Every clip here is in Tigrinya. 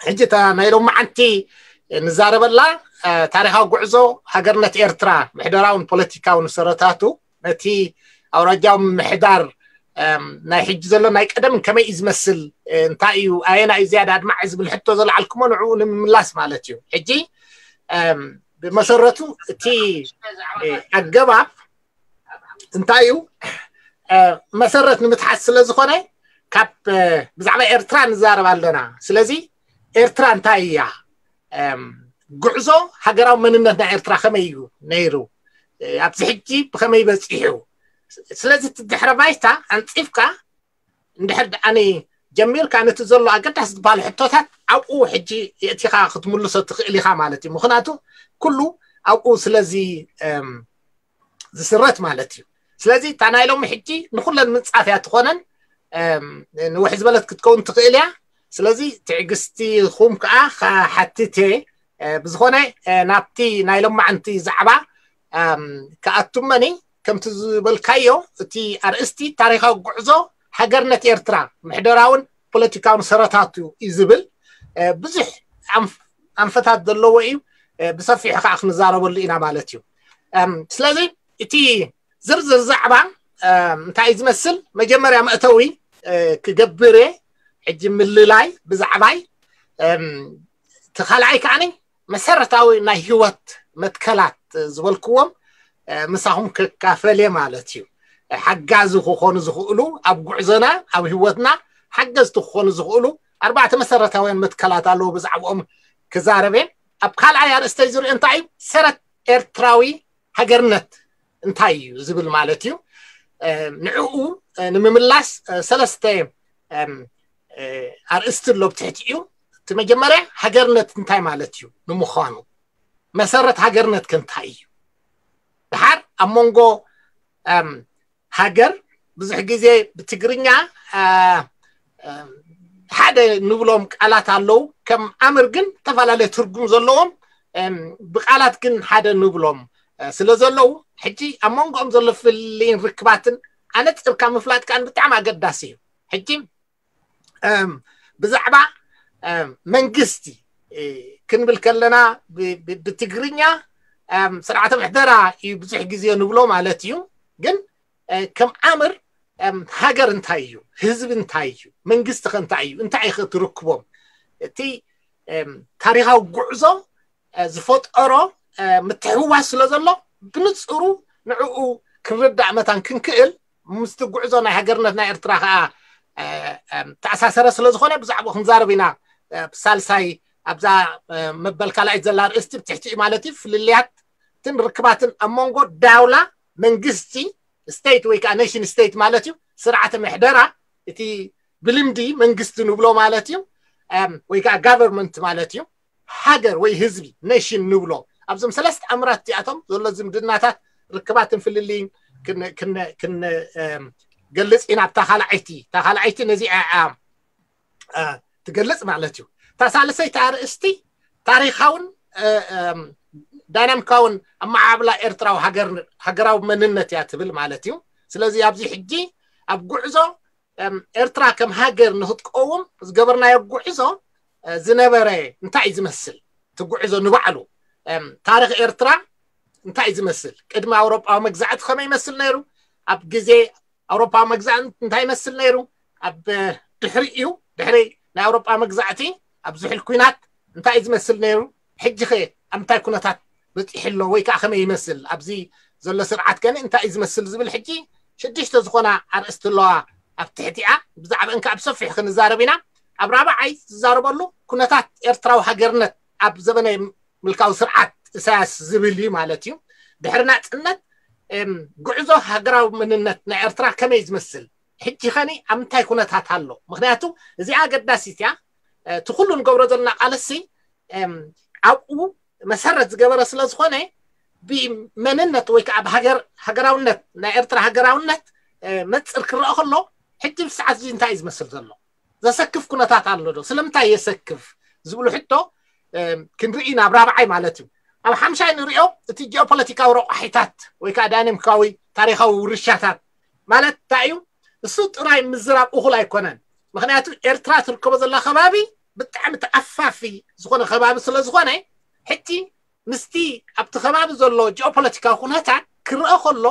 ሕጂ እታ ናይ ሎማዓንቲ ንዛረበላ ታሪኻዊ ጉዕዞ ሃገርነት ኤርትራ፣ ምሕደራውን ፖለቲካውን ሰረታቱ፣ ነቲ ኣውራጃዊ ምሕዳር ናይ ሕጂ ዘሎ ናይ ቀደም ከመይ እዩ ዝመስል፣ እንታይ እዩ ኣየና እዩ ዝያዳ ኣድማዒ ዝብል ሕቶ ዘልዓልኩሞ ንዕኡ ንምምላስ ማለት እዩ። ሕጂ ብመሰረቱ እቲ ኣገባብ እንታይ እዩ? መሰረት ንምትሓዝ ስለ ዝኾነ ካብ ብዛዕባ ኤርትራ ንዛረብ ኣለና። ስለዚ ኤርትራ እንታይ እያ? ጉዕዞ ሃገራዊ መንነት ናይ ኤርትራ ከመይ እዩ ነይሩ? ኣብዚ ሕጂ ብኸመይ በፂሑ? ስለዚ እቲ ድሕረ ባይታ ኣንፂፍካ እንድሕር ደኣኒ ጀሚርካ ነቲ ዘሎ ኣገዳሲ ዝበሃሉ ሕቶታት ኣብኡ ሕጂ የእቲኻ ክትምልሶ ትኽእል ኢኻ ማለት እዩ። ምኽንያቱ ኩሉ ኣብኡ ስለዚ ዝስረት ማለት እዩ። ስለዚ እታ ናይ ሎሚ ሕጂ ንኩለን ምንፃፍ እያ ትኾነን፣ ንውሕ ዝበለት ክትከውን ትኽእል እያ። ስለዚ ትዕግስቲ ኹም ከዓ ሓትቴ ብዝኾነ ናብቲ ናይ ሎማዓንቲ ዛዕባ ክኣቱመኒ ከምቲ ዝበልካዮ እቲ ኣርእስቲ ታሪኻዊ ጉዕዞ ሃገርነት ኤርትራ ምሕደራውን ፖለቲካውን ሰረታቱ እዩ ዝብል ብዙሕ ኣንፈታት ዘለዎ እዩ። ብሰፊሑ ከዓ ክንዛረበሉ ኢና ማለት እዩ። ስለዚ እቲ ዝርዝር ዛዕባ እንታይ ዝመስል መጀመርያ መእተዊ ክገብር ሕጂ ምልላይ ብዛዕባይ እቲ ካልኣይ ከዓኒ መሰረታዊ ናይ ህይወት መትከላት ዝበልክዎም ምሳኹም ክካፈል እየ ማለት እዩ። ሓጋዚ ክኾኑ ዝኽእሉ ኣብ ጉዕዞና ኣብ ህይወትና ሓገዝቲ ክኾኑ ዝኽእሉ ኣርባዕተ መሰረታውያን መትከላት ኣለዉ። ብዛዕባኦም ክዛረብ እየ። ኣብ ካልኣይ ኣርእስተይ ዝሪኦ እንታይ እዩ? ሰረት ኤርትራዊ ሃገርነት እንታይ እዩ ዝብል ማለት እዩ። ንዕኡ ንምምላስ ሰለስተ ኣርእስቲ ኣሎ ብትሕቲ እዩ። እቲ መጀመርያ ሃገርነት እንታይ ማለት እዩ ንምዃኑ፣ መሰረት ሃገርነት ከ እንታይ እዩ? ድሓር ኣብ መንጎ ሃገር ብዙሕ ግዜ ብትግርኛ ሓደ ንብሎም ቃላት ኣለዉ፣ ከም ኣምር ግን ዝተፈላለየ ትርጉም ዘለዎም፣ ብቃላት ግን ሓደ ንብሎም ስለ ዘለዉ ሕጂ ኣብ መንጎኦም ዘሎ ፍልልይን ርክባትን ኣነፂርካ ምፍላጥ ከዓ ብጣዕሚ ኣገዳሲ እዩ። ሕጂ ብዛዕባ መንግስቲ ክንብል ከለና ብትግርኛ ስርዓተ ምሕደራ እዩ ብዙሕ ግዜ ንብሎ ማለት እዩ። ግን ከም ኣምር ሃገር እንታይ እዩ? ህዝቢ እንታይ እዩ? መንግስቲ ከ እንታይ እዩ? እንታይ እዩ ትርክቦም? እቲ ታሪኻዊ ጉዕዞ ዝፈጠሮ ምትሕውዋስ ስለ ዘሎ ብንፅሩ ንዕኡ ክንርዳእ መታን ክንክእል ምስቲ ጉዕዞ ናይ ሃገርነት ናይ ኤርትራ ከዓ ተኣሳሰረ ስለ ዝኾነ ብዛዕባኡ ክንዛረብ ኢና። ሳልሳይ ኣብዛ መበል ካልኣይት ዘላ ርእስቲ ብትሕቲኡ ማለት እዩ ፍልልያትን ርክባትን ኣብ መንጎ ዳውላ መንግስቲ ስቴት ወይ ከዓ ኔሽን ስቴት ማለት እዩ ስርዓተ ምሕደራ እቲ ብልምዲ መንግስቲ ንብሎ ማለት እዩ ወይ ከዓ ጋቨርንመንት ማለት እዩ። ሃገር ወይ ህዝቢ ኔሽን ንብሎ ኣብዞም ሰለስተ ኣምራት እዚኣቶም ዘሎ ዝምድናታት ርክባትን ፍልልይን ክንገልፅ ኢና። ኣብታ ካልዓይቲ እታ ካልዓይቲ ነዚኣ ትገልፅ ማለት እዩ። እታ ሳልሰይቲ ኣርእስቲ ታሪካውን ዳይናሚካውን ኣመዓብላ ኤርትራዊ ሃገራዊ መንነት እያ ትብል ማለት እዩ። ስለዚ ኣብዚ ሕጂ ኣብ ጉዕዞ ኤርትራ ከም ሃገር ንክትቀውም ዝገበርናዮ ጉዕዞ ዝነበረ እንታይ እዩ ዝመስል? እቲ ጉዕዞ ንባዕሉ ታሪክ ኤርትራ እንታይ እዩ ዝመስል? ቅድሚ ኣውሮጳዊ መግዛዕቲ ከመይ ይመስል ነይሩ? ኣብ ግዜ ኣውሮጳዊ መግዛዕቲ እንታይ ይመስል ነይሩ? ኣብ ድሕሪ እዩ ድሕሪ ናይ ኣውሮጳ መግዛዕቲ ኣብ ዝሕል ኩናት እንታይ እዩ ዝመስል ነይሩ? ሕጂ ከ ኣብ እንታይ ኩነታት በፂሑ ኣሎ ወይ ከዓ ከመይ ይመስል? ኣብዚ ዘሎ ስርዓት ከ እንታይ እዩ ዝመስል ዝብል ሕጂ ሽዱሽተ ዝኾና ኣርእስቲ ኣለዋ ኣብ ትሕቲኣ። ብዛዕባእን ከዓ ብሰፊሑ ክንዛረብ ኢና። ኣብ ራብዓይ ዝዛረበሉ ኩነታት ኤርትራዊ ሃገርነት ኣብ ዘበነ ምልካዊ ስርዓት እሳያስ ዝብል እዩ ማለት እዩ። ድሕሪ ናፅነት ጉዕዞ ሃገራዊ መንነት ናይ ኤርትራ ከመይ ዝመስል ሕጂ ኸኒ ኣብ ምንታይ ኩነታት ኣሎ? ምክንያቱ እዚኣ ኣገዳሲት እያ። እቲ ኩሉ ንገብሮ ዘለና ቃልሲ ኣብኡ መሰረት ዝገበረ ስለ ዝኾነ ብመንነት ወይ ከዓ ብሃገር ሃገራውነት ናይ ኤርትራ ሃገራውነት መፅር ክረአ ከሎ ሕጂ ብሰዓት እዚ እንታይ እዩ ዝመስል ዘሎ? ዘሰክፍ ኩነታት ኣሎ ዶ? ስለምንታይ የሰክፍ ዝብሉ ሕቶ ክንርኢ ናብ ራብዓይ ማለት እዩ። ኣብ ሓምሻይ ንሪኦ እቲ ጂኦፖለቲካዊ ረቋሒታት ወይ ከዓ ዳይናሚካዊ ታሪካዊ ውርሻታት ማለት እንታይ እዩ? እሱ ጥራይ ምዝራብ እኹል ኣይኮነን። ምክንያቱ ኤርትራ ትርከቦ ዘላ ከባቢ ብጣዕሚ ተኣፋፊ ዝኾነ ከባቢ ስለ ዝኾነ፣ ሕጂ ምስቲ ኣብቲ ከባቢ ዘሎ ጂኦፖለቲካዊ ኩነታት ክረአ ከሎ፣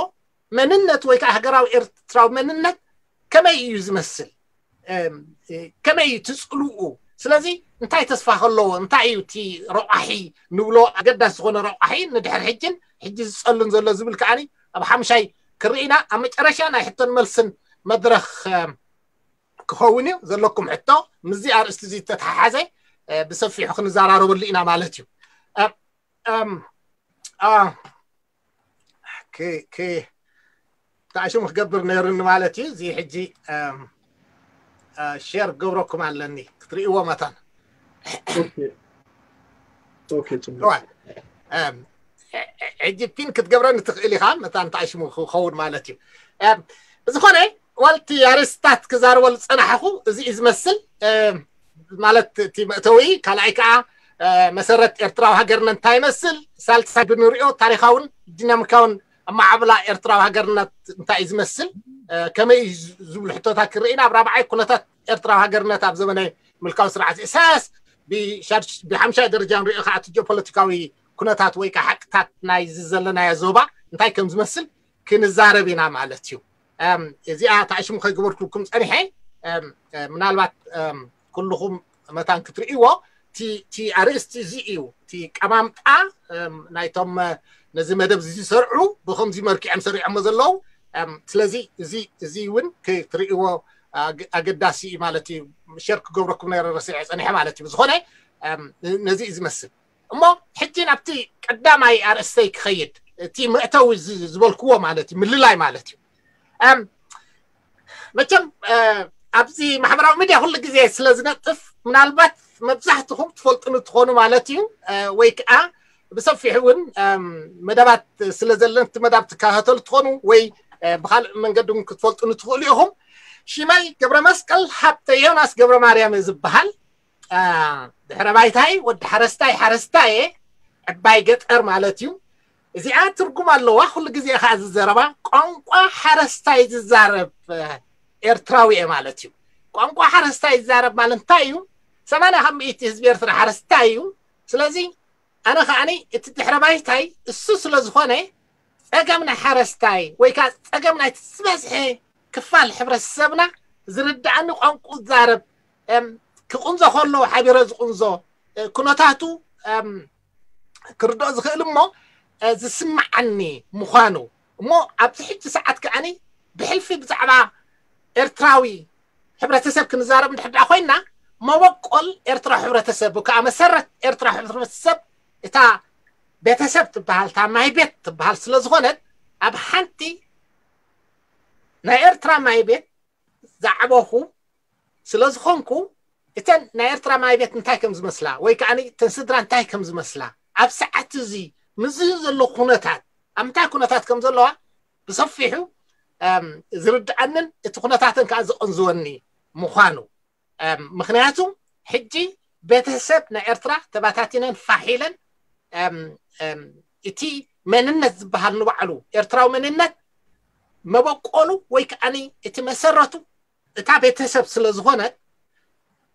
መንነት ወይ ከዓ ሃገራዊ ኤርትራዊ መንነት ከመይ እዩ ዝመስል? ከመይ እዩ ትፅልኡ? ስለዚ እንታይ ተስፋ ከለዎ? እንታይ እዩ እቲ ረቋሒ ንብሎ? ኣገዳሲ ዝኾነ ረቋሒ ንድሕር ሕጅን ሕጂ ዝፀሉን ዘሎ ዝብል ከዓኒ ኣብ ሓምሻይ ክርኢና፣ ኣብ መጨረሻ ናይ ሕቶን መልስን መድረኽ ክኸውን እዩ። ዘለኩም ሕቶ ምስዚ ኣርእስቲ እዚ ዝተተሓሓዘ ብሰፊሑ ክንዘራረበሉ ኢና ማለት እዩ። ተዓሽሙ ክገብር ነይሩኒ ማለት እዩ። እዚ ሕጂ ሼር ገብረኩም ኣለኒ ክትርእይዎ መታን። ሕጂ ፒን ክትገብረኒ ትኽእል ኢኻ፣ መታን ተዓሽሙ ክኸውን ማለት እዩ። ብዝኾነ ዋልቲ ኣርእስታት ክዛርበሉ ዝጸናሕኹ እዚ እዩ ዝመስል። ማለት እቲ መእተዊ፣ ካልኣይ ከዓ መሰረት ኤርትራዊ ሃገርነት እንታይ ይመስል፣ ሳልሳይ ብንሪኦ ታሪኻውን ዲናሚካውን ኣማዓብላ ኤርትራዊ ሃገርነት እንታይ እዩ ዝመስል፣ ከመይ እዩ ዝብሉ ሕቶታት ክርኢና፣ ኣብ ራብዓይ ኩነታት ኤርትራዊ ሃገርነት ኣብ ዘመነ ምልካዊ ስርዓት ኢሳያስ፣ ብሓምሻይ ደረጃ ንሪኦ ከዓ እቲ ጂኦፖለቲካዊ ኩነታት ወይ ከዓ ሓቅታት ናይ ዘለናዮ ዞባ እንታይ ከም ዝመስል ክንዛረብ ኢና ማለት እዩ። እዚኣ ታዕሽሙ ከይገበርኩልኩም ፀኒሐ፣ ምናልባት ኩልኹም መታን ክትርእይዎ፣ እቲ ኣርእስቲ እዚ እዩ። እቲ ቀማምጣ ናይቶም ነዚ መደብ እዚ ዝሰርዑ ብከምዚ መርኪዖም ሰሪዖሞ ዘለዉ። ስለዚ እዚ እውን ክትርእይዎ ኣገዳሲ እዩ ማለት እዩ። ሸር ክገብረኩም ነረ ረሲዐ ፀኒሐ ማለት እዩ። ብዝኾነ ነዚ እዩ ዝመስል። እሞ ሕጂ ናብቲ ቀዳማይ ኣርእስተይ ክኸይድ፣ እቲ መእተዊ ዝበልክዎ ማለት እዩ፣ ምልላይ ማለት እዩ። መቸም ኣብዚ ማሕበራዊ ሚድያ ኩሉ ግዜ ስለ ዝነጥፍ፣ ምናልባት መብዛሕትኹም ትፈልጡኒ ትኾኑ ማለት እዩ። ወይ ከዓ ብሰፊሑ እውን መደባት ስለ ዘለን እቲ መዳብ ትከታተሉ ትኾኑ ወይ ብካልእ መንገዲ እውን ክትፈልጡኒ ትኽእሉ ኢኹም። ሽመይ ገብረ መስቀል ሃብተ ዮናስ ገብረ ማርያም እየ ዝበሃል። ድሕረ ባይታይ ወዲ ሓረስታይ፣ ሓረስታየ፣ ዕባይ ገጠር ማለት እዩ። እዚኣ ትርጉም ኣለዋ። ኩሉ ግዜ ከዓ ዝዘረባ ቋንቋ ሓረስታይ ዝዛረብ ኤርትራዊ እየ ማለት እዩ። ቋንቋ ሓረስታይ ዝዛረብ ማለት እንታይ እዩ? ሰማንያ ካብ ሚእቲ ህዝቢ ኤርትራ ሓረስታይ እዩ። ስለዚ ኣነ ከዓኒ እቲ ድሕረ ባይታይ እሱ ስለ ዝኾነ፣ ጸገም ናይ ሓረስታይ ወይ ከዓ ጸገም ናይቲ ዝበዝሐ ክፋል ሕብረተሰብና ዝርድኣኒ ቋንቋ ዝዛረብ፣ ክቕንዞ ከሎ ሓቢረ ዝቕንዞ፣ ኩነታቱ ክርድኦ ዝኽእል እሞ ዝስምዓኒ ምዃኑ፣ እሞ ኣብዚ ሕጂ ሰዓት ከዓኒ ብሕልፊ ብዛዕባ ኤርትራዊ ሕብረተሰብ ክንዛረብ እንድሕር ደኣ ኮይና፣ መበቆል ኤርትራ ሕብረተሰብ ወይ ከዓ መሰረት ኤርትራ ሕብረተሰብ እታ ቤተሰብ ትበሃል፣ እታ ማይ ቤት ትበሃል ስለ ዝኾነት፣ ኣብ ሓንቲ ናይ ኤርትራ ማይ ቤት ዝዓበኹ ስለ ዝኾንኩ፣ እተን ናይ ኤርትራ ማይ ቤት እንታይ ከም ዝመስላ ወይ ከዓ እተን ስድራ እንታይ ከም ዝመስላ፣ ኣብ ሰዓት እዚ ምስዚ ዘሎ ኩነታት ኣብ እንታይ ኩነታት ከም ዘለዋ ብሰፊሑ ዝርድኣንን እቲ ኩነታትን ከዓ ዝቕንዝወኒ ምዃኑ። ምኽንያቱ ሕጂ ቤተሰብ ናይ ኤርትራ ተባታቲነን ፋሕ ኢለን፣ እቲ መንነት ዝበሃል ንባዕሉ ኤርትራዊ መንነት መበቆሉ ወይ ከዓኒ እቲ መሰረቱ እታ ቤተሰብ ስለ ዝኾነ፣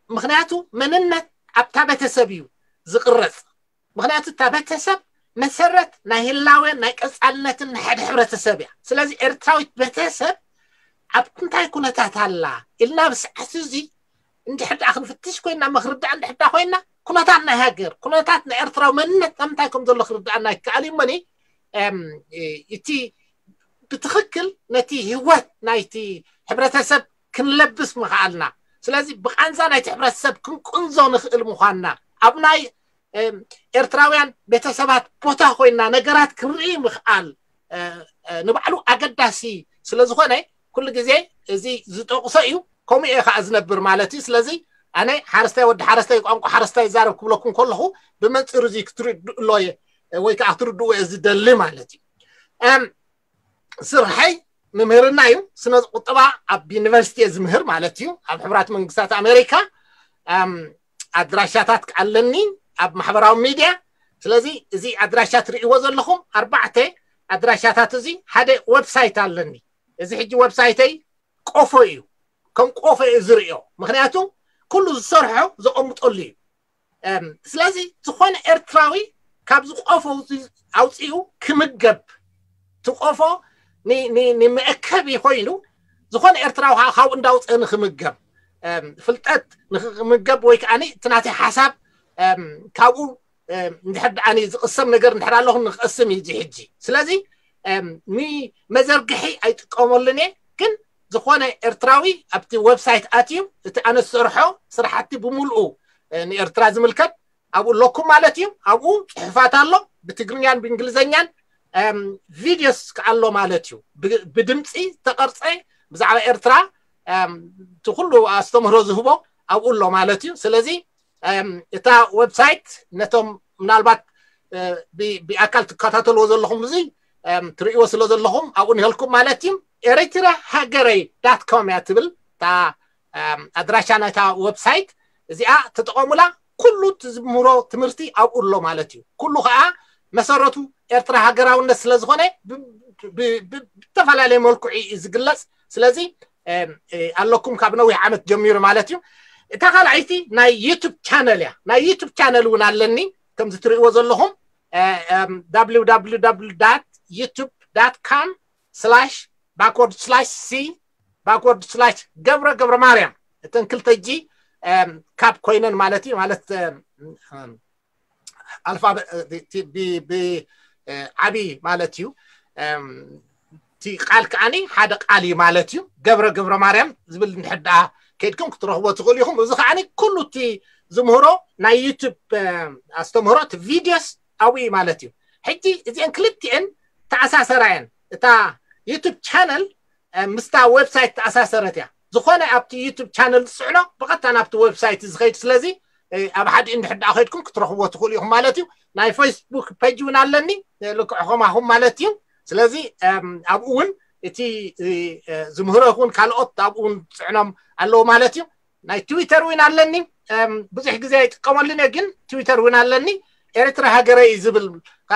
ምኽንያቱ መንነት ኣብታ ቤተሰብ እዩ ዝቕረጽ። ምኽንያቱ እታ ቤተሰብ መሰረት ናይ ህላወን ናይ ቀጻልነትን ናይ ሓደ ሕብረተሰብ እያ። ስለዚ ኤርትራዊት ቤተሰብ ኣብ እንታይ ኩነታት ኣላ ኢልና ብሰዓት እዚ እንድሕር ደኣ ክንፍትሽ ኮይና፣ መክርዳእ እንድሕር ደኣ ኮይና፣ ኩነታት ናይ ሃገር፣ ኩነታት ናይ ኤርትራዊ መንነት ኣብ ምንታይ ከም ዘሎ ክርዳኣና ይከኣል እዩ እሞኒ፣ እቲ ብትኽክል ነቲ ህይወት ናይቲ ሕብረተሰብ ክንለብስ ምኽኣልና። ስለዚ ብቓንዛ ናይቲ ሕብረተሰብ ክንቅንዞ ንኽእል ምዃንና፣ ኣብ ናይ ኤርትራውያን ቤተሰባት ቦታ ኮይና ነገራት ክንርኢ ምኽኣል ንባዕሉ ኣገዳሲ ስለ ዝኾነ፣ ኩሉ ግዜ እዚ ዝጠቕሶ እዩ። ከምኡ እየ ከዓ ዝነብር ማለት እዩ። ስለዚ ኣነ ሓረስታይ፣ ወዲ ሓረስታይ፣ ቋንቋ ሓረስታይ ይዛረብ ክብለኩም ከለኹ፣ ብመንፅር እዚ ክትርድእሎ እየ ወይ ከዓ ክትርድእዎ እየ ዝደሊ ማለት እዩ። ስርሐይ ምምህርና እዩ። ስነ ቁጠባ ኣብ ዩኒቨርሲቲ እየ ዝምህር ማለት እዩ፣ ኣብ ሕቡራት መንግስታት ኣሜሪካ። ኣድራሻታት ኣለኒ ኣብ ማሕበራዊ ሚድያ። ስለዚ እዚ ኣድራሻ ትርእይዎ ዘለኹም ኣርባዕተ ኣድራሻታት፣ እዚ ሓደ ዌብሳይት ኣለኒ። እዚ ሕጂ ዌብሳይተይ ቆፎ እዩ፣ ከም ቆፎ እየ ዝርእዮ። ምኽንያቱ ኩሉ ዝሰርሖ ዘቐምጠሉ እዩ። ስለዚ ዝኾነ ኤርትራዊ ካብዚ ቆፎ ኣውፅኡ ክምገብ፣ ትቆፎ ንመእከቢ ኮይኑ ዝኾነ ኤርትራዊ ካብኡ እንዳውፀ ንክምገብ፣ ፍልጠት ንክምገብ ወይ ከዓ እቲ ናተይ ሓሳብ ካብኡ እንድሕር ደኣ ዝቕሰም ነገር እንድሕር ኣለኹ ንክቐስም እዩ እዚ ሕጂ። ስለዚ ንመዘርግሒ ኣይጥቀመሉን እየ፣ ግን ዝኾነ ኤርትራዊ ኣብቲ ዌብሳይት ኣትዩ እቲ ኣነ ዝሰርሖ ስራሕቲ ብምልኡ ንኤርትራ ዝምልከት ኣብኡ ኣለኩም ማለት እዩ። ኣብኡ ፅሑፋት ኣሎ ብትግርኛን ብእንግሊዝኛን፣ ቪዲዮስ ኣሎ ማለት እዩ። ብድምፂ ዝተቐርፀ ብዛዕባ ኤርትራ እቲ ኩሉ ኣስተምህሮ ዝህቦ ኣብኡ ኣሎ ማለት እዩ። ስለዚ እታ ዌብሳይት ነቶም ምናልባት ብኣካል ትከታተልዎ ዘለኹም እዚ ትርእይዎ ስለ ዘለኹም ኣብኡ ንህልኩም ማለት እዩ። ኤሪትራ ሃገረይ ዳት ኮም እያ ትብል እታ ኣድራሻ ናይታ ዌብሳይት። እዚኣ ተጠቐሙላ። ኩሉ ትምህሮ ትምህርቲ ኣብኡ ኣሎ ማለት እዩ። ኩሉ ከዓ መሰረቱ ኤርትራ ሃገራውነት ስለ ዝኾነ ብተፈላለየ መልክዑ እዩ ዝግለፅ። ስለዚ ኣለኩም ካብ ነዊሕ ዓመት ጀሚሩ ማለት እዩ። እታ ካልኣይቲ ናይ ዩቱብ ቻነል እያ። ናይ ዩቱብ ቻነል እውን ኣለኒ ከምዚ ትርእይዎ ዘለኹም www ዩቱብ ዳት ካም ስላሽ ባክወርድ ስላሽ ሲ ባክወርድ ስላሽ ገብረ ገብረ ማርያም። እተን ክልተ ጂ ካብ ኮይነን ማለት እዩ። ማለት ኣልፋ ዓብዪ ማለት እዩ። እቲ ቃል ከዓኒ ሓደ ቃል እዩ ማለት እዩ። ገብረ ገብረ ማርያም ዝብል እንድሕር ደኣ ከይድኩም ክትረኽቦ ትኽእሉ ኢኹም። እዚ ከዓኒ ኩሉ እቲ ዝምህሮ ናይ ዩቱብ ኣስተምህሮ እቲ ቪዲዮስ ኣብኡ እዩ ማለት እዩ። ሕጂ እዚአን ክልቲአን ተኣሳሰራ እየን። እታ ዩቱብ ቻነል ምስታ ዌብሳይት ተኣሳሰረት እያ። ዝኾነ ኣብቲ ዩቱብ ቻነል ዝስዕኖ ብቐጥታ ናብቲ ዌብሳይት ዝኸይድ። ስለዚ ኣብ ሓደ እንድሕር ደኣ ከይድኩም ክትረኽብዎ ትኽእሉ ኢኹም ማለት እዩ። ናይ ፌስቡክ ፔጅ እውን ኣለኒ ልክዕ ከማኹም ማለት እዩ። ስለዚ ኣብኡ እውን እቲ ዝምህሮ ይኹን ካልኦት ኣብኡ እውን ዝስዕኖም ኣለዉ ማለት እዩ። ናይ ትዊተር እውን ኣለኒ። ብዙሕ ግዜ ኣይጥቀመሉን እየ፣ ግን ትዊተር እውን ኣለኒ። ኤርትራ ሃገረ እዩ ዝብል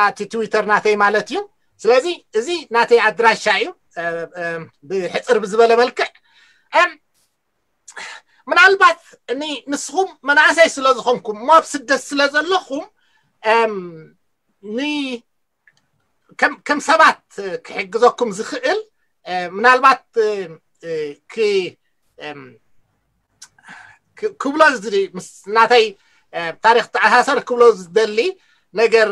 እቲ ትዊተር ናተይ ማለት እዩ። ስለዚ እዚ ናተይ ኣድራሻ እዩ። ብሕፅር ብዝበለ መልክዕ ምናልባት ንስኹም መናእሰይ ስለ ዝኾንኩም እሞ ኣብ ስደት ስለ ዘለኹም ከም ሰባት ክሕግዘኩም ዝኽእል ምናልባት ክብሎ ምስ ናተይ ታሪክ ተኣሳሰር ክብሎ ዝደሊ ነገር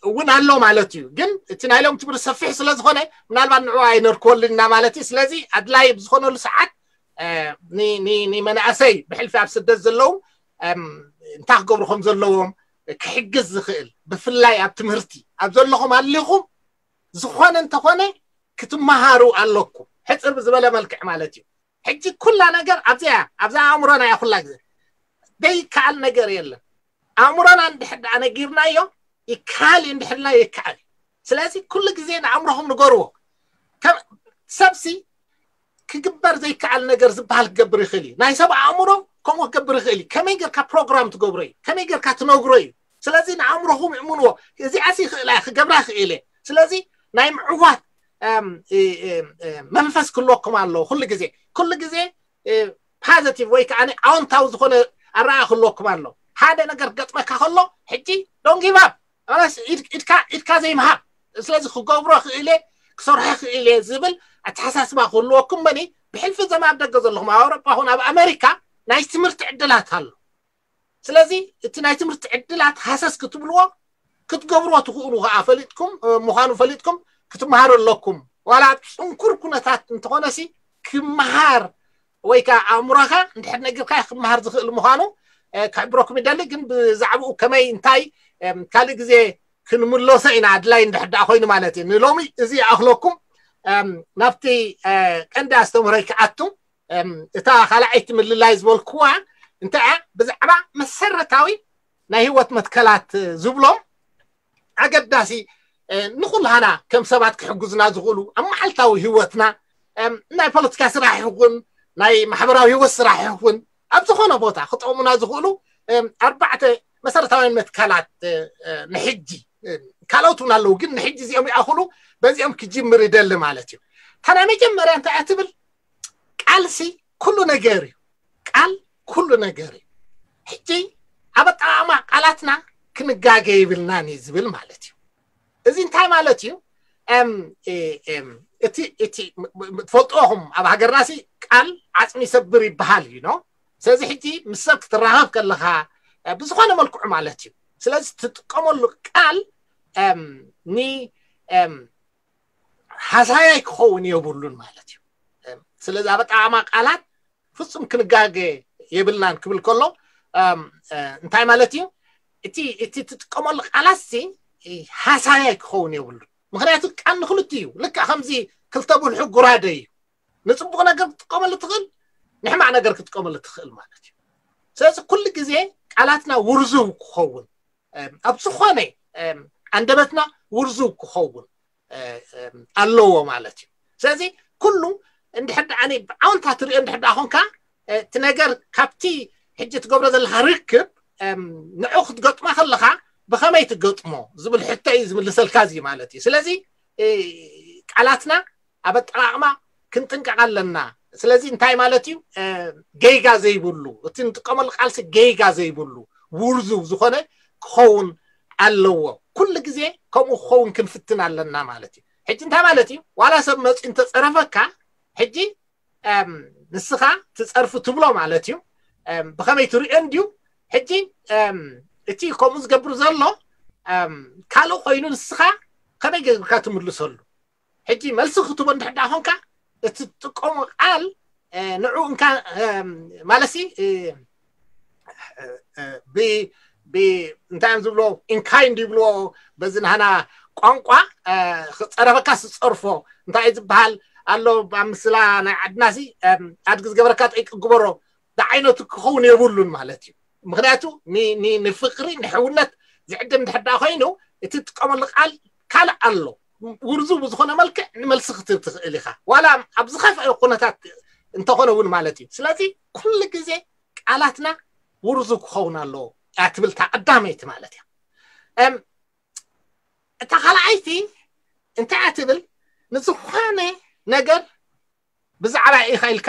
እውን ኣሎ ማለት እዩ። ግን እቲ ናይ ሎም ትምህርቲ ሰፊሕ ስለ ዝኾነ ምናልባት ንዑ ኣይነርክበሉና ማለት እዩ። ስለዚ ኣድላይ ብዝኾነሉ ሰዓት ንመናእሰይ ብሕልፊ ኣብ ስደት ዘለዉ እንታይ ክገብሩ ከም ዘለዎም ክሕግዝ ዝኽእል ብፍላይ ኣብ ትምህርቲ ኣብ ዘለኹም ኣሊኹም ዝኾነ እንተኾነ ክትመሃሩ ኣለኩም። ሕፅር ብዝበለ መልክዕ ማለት እዩ። ሕጂ ኩላ ነገር ኣብዚያ ኣብዛ ኣእምሮና እያ ኩላ ግዜ ዘይከኣል ነገር የለን። ኣእምሮና እንድሕር ደኣ ነጊርናዮ ይከኣል እዩ፣ እንድሕር ኢልና ይከኣል እዩ። ስለዚ ኩሉ ግዜ ንኣእምሮኹም ንገርዎ። ሰብሲ ክግበር ዘይከኣል ነገር ዝበሃል ክገብር ይኽእል እዩ። ናይ ሰብ ኣእምሮ ከምኡ ክገብር ይኽእል እዩ። ከመይ ጌርካ ፕሮግራም ትገብሮ እዩ፣ ከመይ ጌርካ ትነግሮ እዩ። ስለዚ ንኣእምሮኹም እምንዎ። እዚኣሲ ይኽእላ እየ፣ ክገብራ ይኽእል እየ። ስለዚ ናይ ምዕዋት መንፈስ ክህልወኩም ኣለዎ። ኩሉ ግዜ ኩሉ ግዜ ፓዘቲቭ ወይ ከዓ ኣዎንታዊ ዝኾነ ኣረኣያ ክህልወኩም ኣለዎ። ሓደ ነገር ክገጥመካ ከሎ ሕጂ don't give up፣ ኢድካ ዘይምሃብ። ስለዚ ክገብሮ ክእለ ክሰርሖ ክእለ ዝብል ኣተሓሳስባ ክህልወኩም መኒ ብሕልፊ ዘም ኣብ ደገ ዘለኹም ኣብ ኣውሮጳ ኹን ኣብ ኣሜሪካ ናይ ትምህርቲ ዕድላት ኣሎ። ስለዚ እቲ ናይ ትምህርቲ ዕድላት ሃሰስ ክትብልዎ ክትገብርዎ ትኽእሉ ከዓ ፈሊጥኩም ምዃኑ ፈሊጥኩም ክትመሃሩ ኣለኩም። ዋላ ኣብ ፅንኩር ኩነታት እንተኾነሲ ክመሃር ወይ ከዓ ኣእምሮኻ እንድሕር ነጊርካ ክመሃር ዝኽእል ምዃኑ ክሕብረኩም ይደሊ። ግን ብዛዕባኡ ከመይ እንታይ ካልእ ግዜ ክንምለሶ ኢና ኣድላይ እንድሕር ደኣ ኮይኑ ማለት እዩ። ንሎሚ እዚ ይኣኽለኩም። ናብቲ ቀንዲ ኣስተምህሮይ ክኣቱ እታ ካልኣይቲ ምልላይ ዝበልኩዋ እንታይ እያ ብዛዕባ መሰረታዊ ናይ ህይወት መትከላት ዝብሎም ኣገዳሲ ንኩላህና ከም ሰባት ክሕግዙና ዝኽእሉ ኣብ መዓልታዊ ህይወትና ናይ ፖለቲካ ስራሕ ይኹን ናይ ማሕበራዊ ህይወት ስራሕ ይኹን ኣብ ዝኾነ ቦታ ክጠቕሙና ዝኽእሉ ኣርባዕተ መሰረታውያን መትከላት ንሕጂ ካልኦት እውን ኣለዉ፣ ግን ንሕጂ እዚኦም ይኣኽሉ። በዚኦም ክጅምር ይደሊ ማለት እዩ። እታ ናይ መጀመርያ እንታይ እያ ትብል? ቃልሲ ኩሉ ነገር እዩ። ቃል ኩሉ ነገር እዩ። ሕጂ ኣብ ኣጠቓቕማ ቃላትና ክንጋገ ይብልናን እዩ ዝብል ማለት እዩ። እዚ እንታይ ማለት እዩ? እቲ ትፈልጥኹም ኣብ ሃገርናሲ ቃል ዓፅሚ ይሰብር ይበሃል እዩ። ስለዚ ሕጂ ምስ ሰብ ክትራኸብ ከለኻ ብዝኾነ መልክዑ ማለት እዩ። ስለዚ ትጥቀመሉ ቃል ኒ ሃሳያይ ክኸውን የብሉን ማለት እዩ። ስለዚ ኣብ ኣጠቓቕማ ቃላት ፍጹም ክንጋገ የብልናን ክብል ከሎ እንታይ ማለት እዩ? እቲ እቲ ትጥቀመሉ ቃላት ሲ ሃሳያይ ክኸውን የብሉን። ምክንያቱ ቃል ንክልቲ እዩ። ልክዕ ከምዚ ክልተ ብልሑ ጉራደ እዩ። ንፅቡቅ ነገር ክትጥቀመሉ ትኽእል፣ ንሕማቅ ነገር ክትጥቀመሉ ትኽእል ማለት እዩ። ስለዚ ኩሉ ግዜ ቃላትና ውርዙ ክኸውን ኣብ ዝኾነ ኣንደበትና ውርዙ ክኸውን ኣለዎ ማለት እዩ። ስለዚ ኩሉ እንድሕር ደኣ ብዓውንታ ትሪኦ እንድሕር ደኣ ኮንካ እቲ ነገር ካብቲ ሕጂ ትገብሮ ዘለካ ርክብ ንዑ ክትገጥሞ ከለካ ብኸመይ ትገጥሞ ዝብል ሕቶ እዩ ዝምልሰልካ እዚ ማለት እዩ። ስለዚ ቃላትና ኣብ ኣጠቓቕማ ክንጥንቀቕ ኣለና። ስለዚ እንታይ ማለት እዩ? ገይጋ ዘይብሉ፣ እቲ ንጥቀመሉ ቃልሲ ገይጋ ዘይብሉ ውርዙ ዝኾነ ክኸውን ኣለዎ። ኩሉ ግዜ ከምኡ ክኸውን ክንፍትን ኣለና ማለት እዩ። ሕጂ እንታይ ማለት እዩ? ዋላ ሰብ መፂኡ እንተፀረፈካ ሕጂ ንስኻ ትፀርፉ ትብሎ ማለት እዩ። ብኸመይ ትሪኦ እንድዩ? ሕጂ እቲ ከምኡ ዝገብር ዘሎ ካልእ ኮይኑ ንስኻ ከመይ ገብርካ ትምልሰሉ? ሕጂ መልሲ ክትቦ እንድሕር ደኣ ኮንካ እቲ ትጥቀሞ ቃል ንዑ እንካ ማለሲ እንታይ እዮም ዝብሎ ኢንካይንድ ይብልዎ በዚ ናህና ቋንቋ ክፀረፈካ ዝፀርፎ እንታይ ዝበሃል ኣሎ ኣብ ምስላ ናይ ዓድናሲ ኣድጊ ዝገበረካ ጠይቂ ግበሮ ዝዓይነቱ ክኸውን የብሉን ማለት እዩ። ምክንያቱ ንፍቅሪ ንሕውነት ዝዕድም ድሕዳ ኮይኑ እቲ ትጥቀመሉ ቃል ካልእ ኣሎ ውርዙ ብዝኾነ መልክዕ ንመልሲ ክትብ ትኽእል ኢኻ ዋላ ኣብ ዝኸፍአ ኩነታት እንተኾነ እውን ማለት እዩ። ስለዚ ኩሉ ግዜ ቃላትና ውርዙ ክኸውን ኣለዎ እያ ትብል እታ ቀዳመይቲ ማለት እያ። እታ ካልኣይቲ እንታይ እያ ትብል? ንዝኾነ ነገር ብዛዕባ ኢኻ ኢልካ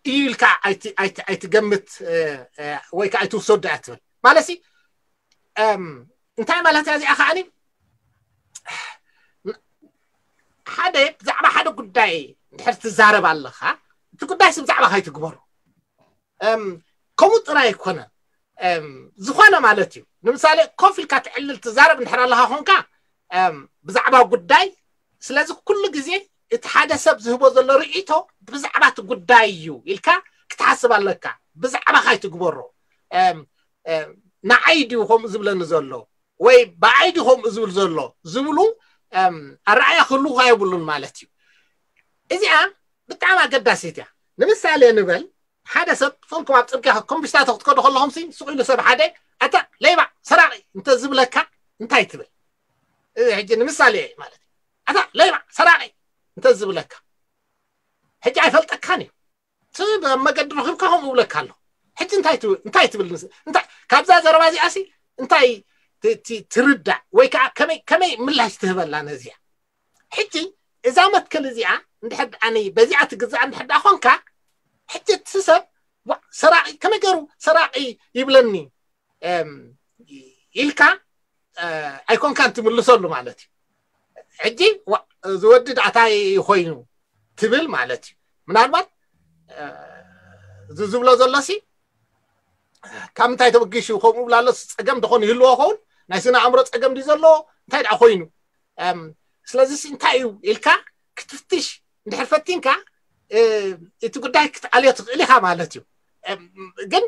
እዩ ኢልካ ኣይትገምት ወይ ከዓ ኣይትውሰዱ እያ ትብል ማለት ሲ እንታይ ማለት እያ እዚኣ ከዓኒ ሓደ ብዛዕባ ሓደ ጉዳይ እንድሕር ትዛረብ ኣለኻ እቲ ጉዳይ ሲ ብዛዕባ ካይትግበሩ ከምኡ ጥራይ ኣይኮነ ዝኾነ ማለት እዩ። ንምሳሌ ኮፍ ኢልካ ትዕልል ትዛረብ እንድሕር ኣለኻ ኮንካ ብዛዕባ ጉዳይ ስለዚ ኩሉ ግዜ እቲ ሓደ ሰብ ዝህቦ ዘሎ ርእይቶ ብዛዕባ እቲ ጉዳይ እዩ ኢልካ ክትሓስብ ኣለካ። ብዛዕባ ካይትግበሮ ንዓይ ድዩ ከምኡ ዝብለኒ ዘሎ ወይ ብኣይ ድዩ ከምኡ ዝብል ዘሎ ዝብሉ ኣረኣያ ክህልውካ የብሉን ማለት እዩ። እዚኣ ብጣዕሚ ኣገዳሲት እያ። ንምሳሌ ንበል ሓደ ሰብ ፈልኩም ኣብ ፅርግያ ኮምቢስታቶ ክትከዱ ከለኹም ሲ ስቕ ኢሉ ሰብ ሓደ ኣታ ለይባ ሰራቂ እንተ ዝብለካ እንታይ ትብል? ሕጂ ንምሳሌ ማለት ኣታ ለይባ ሰራቂ እንተ ዝብለካ ሕጂ ኣይፈልጠካን እዩ። ኣብ መገዲ ረኺብካ ከምኡ እብለካ ኣሎ። ሕጂ እንታይ ትብል? እንታይ ትብል? ካብዛ ዘረባ እዚኣ ሲ እንታይ ትርዳእ ወይ ከዓ ከመይ ምላሽ ትህበላ ነዚያ? ሕጂ እዛ መትከል እዚኣ እንድሕር ኣነ በዚኣ ትግዛእ እንድሕር ደኣ ኮንካ ሕጂ እቲ ሰብ ሰራቂ ከመይ ገይሩ ሰራቂ ይብለኒ ኢልካ ኣይኮንካን ትምልሰሉ ማለት እዩ። ሕጂ ዝወዲ ዳእታይ ኮይኑ ትብል ማለት እዩ። ምናልባት እዚ ዝብሎ ዘሎሲ ካብ ምንታይ ተበጊሹ ከምኡ ብላ ኣሎስ ፀገም ደኾን ይህልዎ ኸውን ናይ ስነ ኣእምሮ ፀገም ድዩ ዘለዎ እንታይ ደኣ ኮይኑ ስለዚ እንታይ እዩ ኢልካ ክትፍትሽ እንድሕር ፈቲንካ እቲ ጉዳይ ክትኣልዮ ትኽእል ኢኻ ማለት እዩ። ግን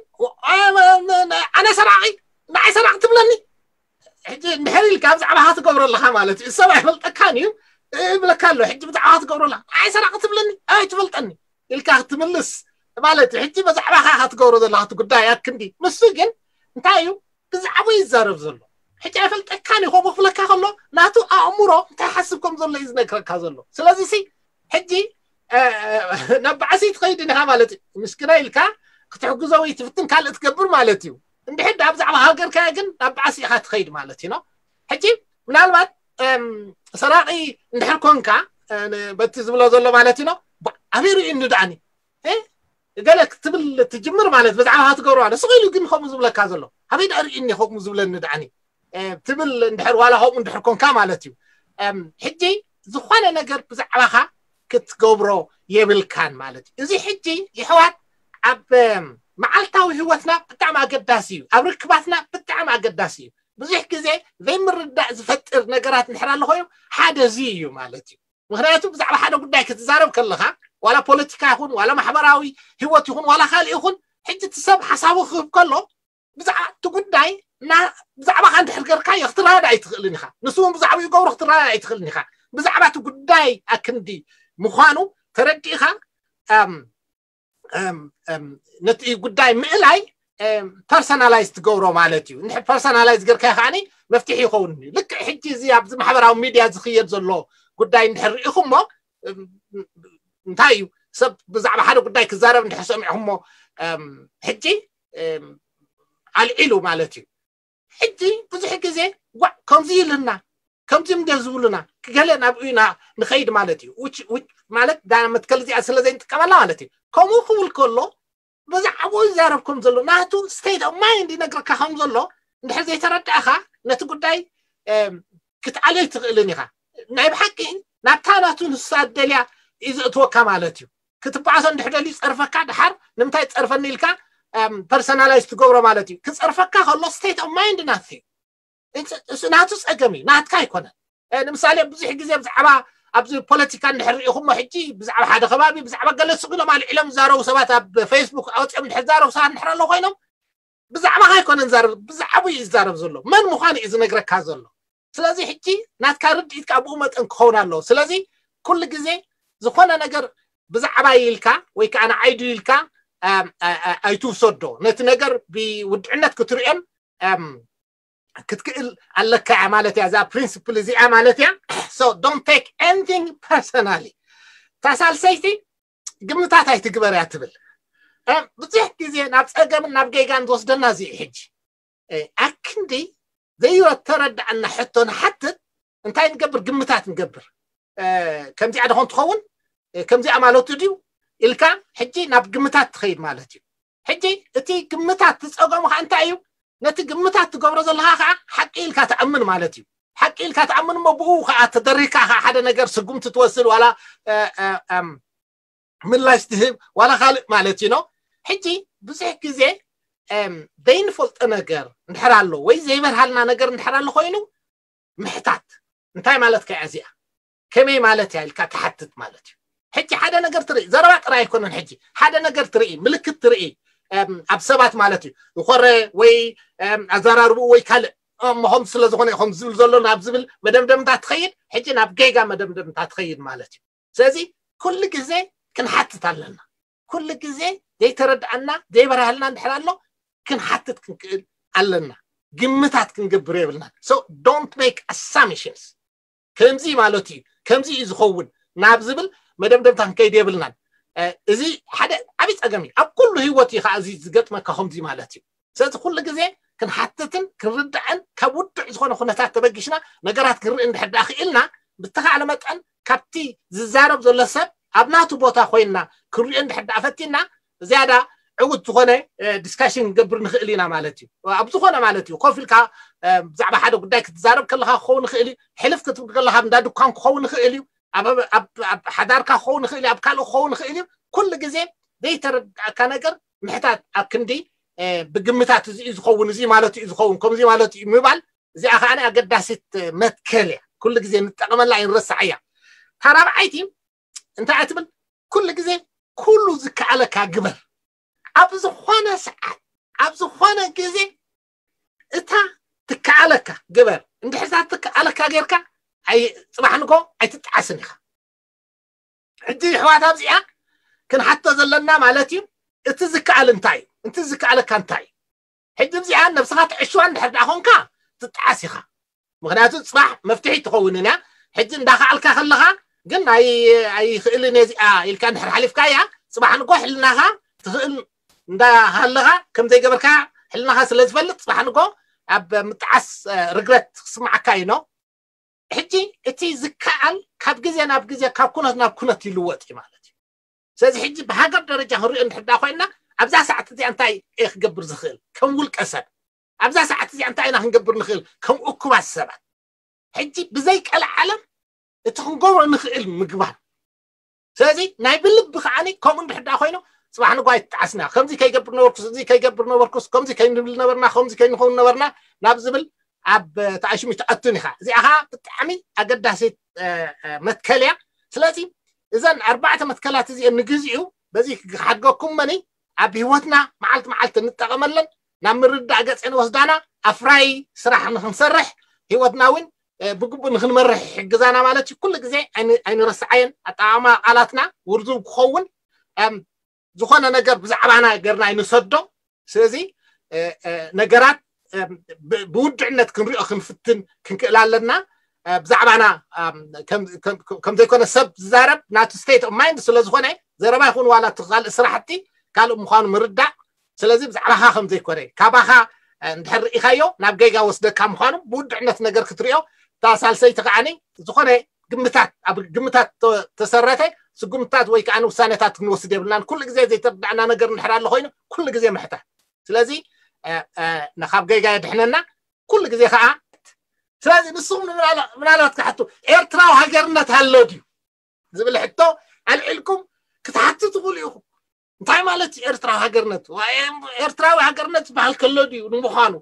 ኣነ ሰራቂ ንዓይ ሰራቂ ትብለኒ ሕጂ እንድሕር ኢልካ ብዛዕባኻ ትገብሮ ኣለኻ ማለት እዩ። ሰብ ኣይፈልጠካን እዩ እብለካ ኣሎ። ሕጂ ብዛዕባኻ ትገብሮ ኣለኻ ንዓይ ሰራቂ ትብለኒ ኣይ ትፈልጠኒ ኢልካ ክትምልስ ማለት እዩ። ሕጂ ብዛዕባኻ ኢኻ ትገብሮ ዘለኻ እቲ ጉዳይ ኣክንዲ ንሱ ግን እንታይ እዩ ብዛዕባ ይዛረብ ዘሎ ሕጂ ኣይፈልጠካን እዩ። ከምኡ ክብለካ ከሎ ናቱ ኣእምሮ እንታይ ሓስብ ከም ዘሎ እዩ ዝነግረካ ዘሎ። ስለዚ ሲ ሕጂ ናብ ባዕሲ ትኸይድ ኢኻ ማለት እዩ። ምስኪና ኢልካ ክትሕግዞ ወይ ትፍትን ካልእ ትገብር ማለት እዩ። እንድሕር ዳ ብዛዕባ ሃገርካ ግን ናብ ባዕሲ ኢኻ ትኸይድ ማለት እዩ። ሕጂ ምናልባት ሰራቂ እንድሕር ኮንካ በቲ ዝብሎ ዘሎ ማለት እዩ። ኣበይ ርእዩኒ ደኣኒ ገለ ክትብል ትጅምር ማለት ብዛዕባ ትገብሮ ኣለ ስቕ ኢሉ ግን ከምኡ ዝብለካ ዘሎ ኣበይ ደኣ ርኢኒ ከምኡ ዝብለኒ ደኣኒ ትብል እንድሕር ዋላ ከምኡ እንድሕር ኮንካ ማለት እዩ። ሕጂ ዝኾነ ነገር ብዛዕባኻ ክትገብሮ የብልካን ማለት እዩ። እዚ ሕጂ ይሕዋት ኣብ መዓልታዊ ህይወትና ብጣዕሚ ኣገዳሲ እዩ። ኣብ ርክባትና ብጣዕሚ ኣገዳሲ እዩ። ብዙሕ ግዜ ዘይምርዳእ ዝፈጥር ነገራት እንድሕር ኣሎ ኮይኑ ሓደ እዚ እዩ ማለት እዩ። ምክንያቱ ብዛዕባ ሓደ ጉዳይ ክትዛረብ ከለካ ዋላ ፖለቲካ ይኹን ዋላ ማሕበራዊ ህይወት ይኹን ዋላ ካልእ ይኹን ሕጂ እቲ ሰብ ሓሳቡ ክህብ ከሎ ብዛዕባ እቲ ጉዳይ ብዛዕባካ እንድሕር ገርካዮ ክትረዳዳእ ኣይትኽእልን ኢኻ። ንሱ እውን ብዛዕባ ይገብሮ ክትረዳዳእ ኣይትኽእልን ኢኻ። ብዛዕባ እቲ ጉዳይ ኣክንዲ ምዃኑ ተረዲእኻ ነቲ ጉዳይ ምእላይ ፐርሰናላይዝ ትገብሮ ማለት እዩ። እንድሕር ፐርሰናላይዝ ገርካዮ ከዓኒ መፍትሒ ይኸውን እዩ። ልክዕ ሕጂ እዚ ኣብዚ ማሕበራዊ ሚድያ ዝኽየድ ዘሎ ጉዳይ እንድሕር ርኢኹሞ እንታይ እዩ ሰብ ብዛዕባ ሓደ ጉዳይ ክዛረብ እንድሕር ሰሚዕኹሞ ሕጂ ኣልዒሉ ማለት እዩ። ሕጂ ብዙሕ ግዜ ጓዕ ከምዚ ኢልና ከምዚ እንደ ዝብሉና ገለ ናብ ኢና ንኸይድ ማለት እዩ። ማለት ዳ መትከል እዚኣ ስለ ዘይንጥቀመላ ማለት እዩ። ከምኡ ክብል ከሎ ብዛዕባኡ ይዛረብ ከም ዘሎ ናቱ ስቴት ኦፍ ማይንድ ይነግረካ ከም ዘሎ እንድሕር ዘይተረዳእኻ ነቲ ጉዳይ ክትኣልዮ ኣይትኽእልን ኢኻ። ናይ ብሓቂ ናብታ ናቱ ንሳ ደልያ እዩ ዘእትወካ ማለት እዩ። ክትበኣሶ እንድሕር ደልዩ ጸርፈካ ድሓር ንምንታይ ጸርፈኒ ኢልካ ፐርሰናላይዝ ትገብሮ ማለት እዩ። ክጸርፈካ ከሎ ስቴት ኦፍ ማይንድ ናት እዩ። ናቱ ጸገም እዩ ናትካ ኣይኮነን። ንምሳሌ ብዙሕ ግዜ ብዛዕባ ኣብዚ ፖለቲካ እንድሕር ርኢኹሞ ሕጂ ብዛዕባ ሓደ ከባቢ ብዛዕባ ገለ ስቕ ኢሎም ኣልዒሎም ዝዛረቡ ሰባት ኣብ ፌስቡክ ኣውፅኦም እንድሕር ዝዛረቡ ሰባት እንድሕር ኣለዉ ኮይኖም ብዛዕባኻ ኣይኮነን ዝዛረብ ብዛዕባኡ እዩ ዝዛረብ ዘሎ። መን ምዃኑ እዩ ዝነግረካ ዘሎ። ስለዚ ሕጂ ናትካ ርድኢት ከዓ ብኡ መጠን ክኸውን ኣለዎ። ስለዚ ኩሉ ግዜ ዝኾነ ነገር ብዛዕባ ኢልካ ወይ ከዓ ንዓይዱ ኢልካ ኣይትውሰዶ። ነቲ ነገር ብውድዕነት ክትርእዮን ክትክእል ኣለካ እያ ማለት እያ። እዛ ፕሪንስፕል እዚኣ ማለት እያ። So don't take anything personally። እታ ሳልሰይቲ ግምታት ኣይትግበር እያ ትብል። ብዙሕ ግዜ ናብ ፀገምን ናብ ጌጋን ዝወስደና እዚ ሕጂ ኣክንዲ ዘይተረዳእና ሕቶ ንሓትት እንታይ ንገብር ግምታት ንገብር። ከምዚኣ ደኾን ትኸውን ከምዚኣ ማለቱ ድዩ ኢልካ ሕጂ ናብ ግምታት ትኸይድ ማለት እዩ። ሕጂ እቲ ግምታት ትፀገሙ ከዓ እንታይ እዩ? ነቲ ግምታት ትገብሮ ዘለካ ከዓ ሓቂ ኢልካ ትኣምን ማለት እዩ። ሓቂ ኢልካ ትኣምን እሞ ብኡ ከዓ ተደሪካ ከዓ ሓደ ነገር ስጉምቲ ትወስድ ዋላ ምላሽ ትህብ ዋላ ካልእ ማለት እዩ። ሕጂ ብዙሕ ግዜ ዘይንፈልጦ ነገር እንድሕር ኣሎ ወይ ዘይበርሃልና ነገር እንድሕር ኣሎ ኮይኑ ምሕታት እንታይ ማለት ከያ እዚኣ ከመይ ማለት እያ ኢልካ ትሓትት ማለት እዩ። ሕጂ ሓደ ነገር ትርኢ ዘረባ ጥራይ ኣይኮነን። ሕጂ ሓደ ነገር ትርኢ ምልክት ትርኢ ኣብ ሰባት ማለት እዩ ዝኾረ ወይ ኣዘራርብኡ ወይ ካልእ እሞ ከም ስለ ዝኾነ ከም ዝብል ዘሎ ናብ ዝብል መደምደምታ ትኸይድ። ሕጂ ናብ ጌጋ መደምደምታ ትኸይድ ማለት እዩ። ስለዚ ኩሉ ግዜ ክንሓትት ኣለና። ኩሉ ግዜ ዘይተረድኣና ዘይበርሃልና እንድሕር ኣሎ ክንሓትት ክንክእል ኣለና። ግምታት ክንገብር የብልናን። So don't make assumptions። ከምዚ ማለት እዩ ከምዚ እዩ ዝኸውን ናብ ዝብል መደምደምታ ክንከይድ የብልናን። እዚ ሓደ ዓብዪ ፀገም እዩ። ኣብ ኩሉ ህይወት እዩ ከዓ እዚ ዝገጥመካ ከምዚ ማለት እዩ። ስለዚ ኩሉ ግዜ ክንሓትትን ክንርዳእን ካብ ውዱዕ ዝኾነ ኩነታት ተበጊሽና ነገራት ክንርኢ እንድሕር ደኣ ክኢልና ብተኻእለ መጠን ካብቲ ዝዛረብ ዘሎ ሰብ ኣብ ናቱ ቦታ ኮይንና ክንሪኦ እንድሕር ደኣ ፈቲና ዝያዳ ዕውት ዝኾነ ዲስካሽን ክንገብር ንኽእል ኢና ማለት እዩ። ኣብ ዝኾነ ማለት እዩ ኮፍ ኢልካ ብዛዕባ ሓደ ጉዳይ ክትዛረብ ከለካ ክኸውን ይኽእል እዩ። ሕልፍ ክትብል ከለካ እንዳ ድኳን ክኸውን ይኽእል እዩ። ኣብ ሓዳርካ ክኸውን ይኽእል እዩ። ኣብ ካልእ ክኸውን ይኽእል እዩ። ኩሉ ግዜ ዘይተረዳእካ ነገር ምሕታት ኣብ ክንዲ ብግምታት እዚ እዩ ዝኸውን እዚ ማለት እዩ ዝኸውን ከምዚ ማለት እዩ ምባል እዚኣ ከዓ ኣገዳሲት መትከል እያ። ኩሉ ግዜ ንጠቐመላ ይንረሳዕ እያ። እታ ራብዓይቲ እንታይ እያ ትብል? ኩሉ ግዜ ኩሉ ዝከኣለካ ግበር። ኣብ ዝኾነ ሰዓት ኣብ ዝኾነ ግዜ እታ ትከኣለካ ግበር። እንድሕር እታ ትከኣለካ ጌርካ ኣይ- ጽባሕ ንጎ ኣይትጠዓስን ኢኻ። ሕጂ ይሕዋት ኣብዚኣ ክንሓቶ ዘለና ማለት እዩ እቲ ዝከኣል እንታይ እዩ? እቲ ዝከኣለካ እንታይ እዩ? ሕጂ ኣብዚኣ ነብስኻ ትዕሽዋ እንድሕር ደኣ ኾንካ ትጠዓስ ኢኻ። ምክንያቱ ፅባሕ መፍትሒ ትኸውን እያ። ሕጂ እንዳኸኣልካ ከለኻ ግን ኣይኽእልን እየ እዚኣ ኢልካ እንድሕር ሓሊፍካ እያ ፅባሕ ንጎ ሕልናኻ ትኽእል እንዳሃለኻ ከም ዘይገበርካ ሕልናኻ ስለ ዝፈልጥ ፅባሕ ንጎ ኣብ ምጥዓስ ርግረት ክስማዓካ እዩ ነው። ሕጂ እቲ ዝከኣል ካብ ግዜ ናብ ግዜ ካብ ኩነት ናብ ኩነት ይልወጥ እዩ ማለት እዩ። ስለዚ ሕጂ ብሃገር ደረጃ ክንሪኦ እንድሕር ዳ ኮይና፣ ኣብዛ ሰዓት እዚኣ እንታይ እየ ክገብር ዝኽእል ከም ውልቀ ሰብ? ኣብዛ ሰዓት እዚኣ እንታይ ኢና ክንገብር ንኽእል ከም እኩባት ሰባት? ሕጂ ብዘይ ቀልዓለም እቲ ክንገብሮ ንኽእል ምግባር። ስለዚ ናይ ብልቢ ከዓኒ ከምኡ እንድሕር ዳ ኮይኑ፣ ጽባሕ ንግሆ ኣይትጣዓስና፣ ከምዚ ከይገብር ነበርኩስ፣ እዚ ከይገብር ነበርኩስ፣ ከምዚ ከይንብል ነበርና፣ ከምዚ ከይንኸውን ነበርና ናብ ዝብል ኣብ ተኣሽሙ ትኣቱን ኢኻ። እዚኣ ኸዓ ብጣዕሚ ኣገዳሲት መትከል እያ። ስለዚ እዘን ኣርባዕተ መትከላት እዚአን ንግዚኡ በዚ ክሓድገኩም መኒ ኣብ ህይወትና መዓልቲ መዓልቲ እንጠቐመለን፣ ናብ ምርዳእ ገጽ ንወስዳና፣ ኣፍራይ ስራሕ ንክንሰርሕ፣ ህይወትና እውን ብግቡእ ንክንመርሕ ይሕግዛና ማለት እዩ። ኩሉ ግዜ ኣይንረስዓየን። ኣጠቓቕማ ቃላትና ውርዙብ ክኸውን፣ ዝኾነ ነገር ብዛዕባና ገርና ኣይንሰዶ። ስለዚ ነገራት ብውድዕነት ክንሪኦ ክንፍትን ክንክእል ኣለና። ብዛዕባና ከም ዘይኮነ ሰብ ዝዛረብ ናቱ state of mind ስለ ዝኾነ፣ ዘረባ ይኹን ዋላ እቲ ካልእ ስራሕቲ ካልእ ምዃኑ ምርዳእ። ስለዚ ብዛዕባኻ ከም ዘይኮነ፣ ካባኻ እንድሕር ርኢኻዮ ናብ ጌጋ ወስደካ ምዃኑ ብውድዕነት ነገር ክትሪኦ። እታ ሳልሰይቲ ከዓኒ ዝኾነ ግምታት፣ ኣብ ግምታት ተሰረተ ስጉምታት ወይ ከዓ ውሳኔታት ክንወስድ የብልናን። ኩሉ ግዜ ዘይተረዳእና ነገር እንድሕር ኣሎ ኮይኑ ኩሉ ግዜ ምሕታት። ስለዚ ካብ ጌጋ የድሕነና ኩሉ ግዜ ከዓ። ስለዚ ንስኹም ምናልባት ክሓቱ፣ ኤርትራዊ ሃገርነት ኣሎ ድዩ ዝብል ሕቶ ኣልዒልኩም ክትሓቱ ትኽእሉ ኢኹም። እንታይ ማለት እዩ ኤርትራዊ ሃገርነት? ኤርትራዊ ሃገርነት ዝበሃል ከሎ ድዩ ንምዃኑ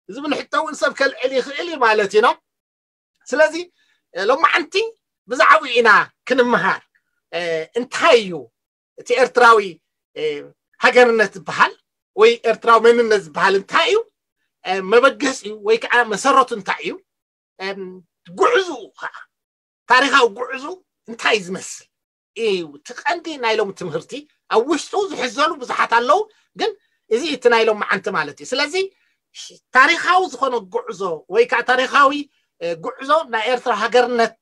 ዝብል ሕቶ እውን ሰብ ከልዕል ይኽእል እዩ ማለት እዩ። ስለዚ ሎማዓንቲ ብዛዕባኡ ኢና ክንምሃር። እንታይ እዩ እቲ ኤርትራዊ ሃገርነት ዝበሃል ወይ ኤርትራዊ መንነት ዝበሃል እንታይ እዩ? መበገሲኡ ወይ ከዓ መሰረቱ እንታይ እዩ? ጉዕዝኡ ከዓ፣ ታሪኻዊ ጉዕዙ እንታይ ዝመስል እዩ እቲ ቀንዲ ናይ ሎም ትምህርቲ። ኣብ ውሽጡ ዝሕዘሉ ብዙሓት ኣለዉ፣ ግን እዚ እቲ ናይ ሎም መዓንቲ ማለት እዩ። ስለዚ ታሪኻዊ ዝኾነ ጉዕዞ ወይ ከዓ ታሪኻዊ ጉዕዞ ናይ ኤርትራ ሃገርነት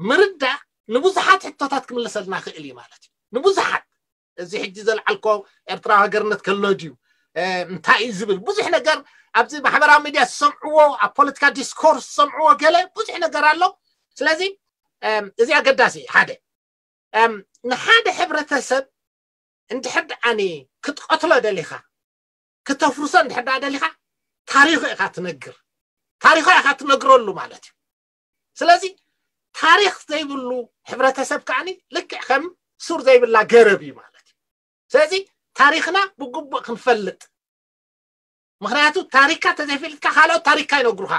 ምርዳእ ንብዙሓት ሕቶታት ክምልሰልና ክእል እዩ ማለት እዩ። ንብዙሓት፣ እዚ ሕጂ ዘልዓልኮ ኤርትራዊ ሃገርነት ከሎ ድዩ፣ እንታይ እዩ ዝብል ብዙሕ ነገር ኣብዚ ማሕበራዊ ሚድያ ዝሰምዕዎ፣ ኣብ ፖለቲካ ዲስኮርስ ዝሰምዕዎ ገለ ብዙሕ ነገር ኣሎ። ስለዚ እዚ ኣገዳሲ ሓደ። ንሓደ ሕብረተሰብ እንድሕር ደኣኒ ክትቐትሎ ደሊኻ፣ ክተፍርሶ እንድሕር ደኣ ደሊኻ፣ ታሪኹ ኢኻ ትነግር። ታሪኹ ኢኻ ትነግረሉ ማለት እዩ። ስለዚ ታሪኽ ዘይብሉ ሕብረተሰብ ከዓኒ ልክዕ ከም ሱር ዘይብላ ገረብ እዩ ማለት እዩ። ስለዚ ታሪኽና ብግቡእ ክንፈልጥ፣ ምኽንያቱ ታሪካ ተዘይፈልጥካ ካልኦት ታሪካ ይነግሩኻ።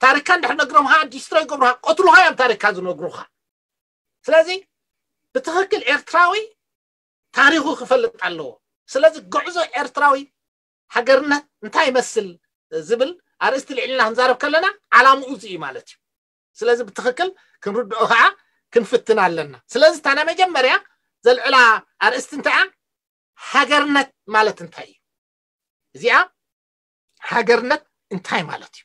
ታሪካ እንድሕር ነግሮምኻ ዲስትሮ ይገብሩኻ፣ ቆትሉኻ እዮም ታሪካ ዝነግሩኻ። ስለዚ ብትኽክል ኤርትራዊ ታሪኹ ክፈልጥ ኣለዎ። ስለዚ ጉዕዞ ኤርትራዊ ሃገርነት እንታይ ይመስል ዝብል ኣርእስቲ ልዕልና ክንዛረብ ከለና ዓላምኡ እዚ እዩ ማለት እዩ። ስለዚ ብትኽክል ክንርድኦ ከዓ ክንፍትን ኣለና። ስለዚ እታ ናይ መጀመርያ ዘልዕላ ኣርእስቲ እንታይ እያ? ሃገርነት ማለት እንታይ እዩ? እዚኣ ሃገርነት እንታይ ማለት እዩ?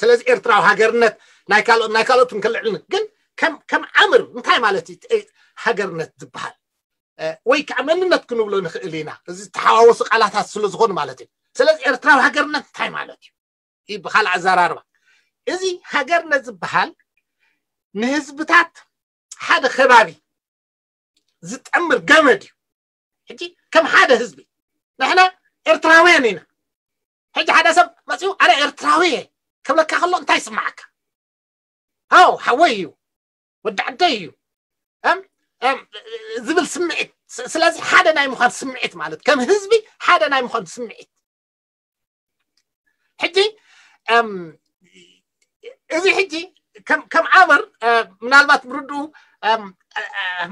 ስለዚ ኤርትራዊ ሃገርነት ናይ ካልኦት ናይ ካልኦት ክንክልዕል ግን ከም ከም ኣምር እንታይ ማለት እዩ ሃገርነት ዝበሃል? ወይ ከዓ መንነት ክንብሎ ንኽእል ኢና። እዚ ዝተሓዋወሱ ቃላታት ስለ ዝኾኑ ማለት እዩ። ስለዚ ኤርትራዊ ሃገርነት እንታይ ማለት እዩ? ብካልእ ኣዘራርባ እዚ ሃገርነት ዝበሃል ንህዝብታት ሓደ ከባቢ ዝጠምር ገመድ እዩ። ሕጂ ከም ሓደ ህዝቢ ንሕና ኤርትራውያን ኢና። ሕጂ ሓደ ሰብ መፅኡ ኣነ ኤርትራዊ እየ ክብለካ ከሎ እንታይ ይስማዓካ? ኣው ሓወይ እዩ፣ ወዲ ዓደይ እዩ ዝብል ስምዒት። ስለዚ ሓደ ናይ ምዃን ስምዒት ማለት ከም ህዝቢ ሓደ ናይ ምዃን ስምዒት። ሕጂ እዚ ሕጂ ከም ኣምር ምናልባት ምርድኡ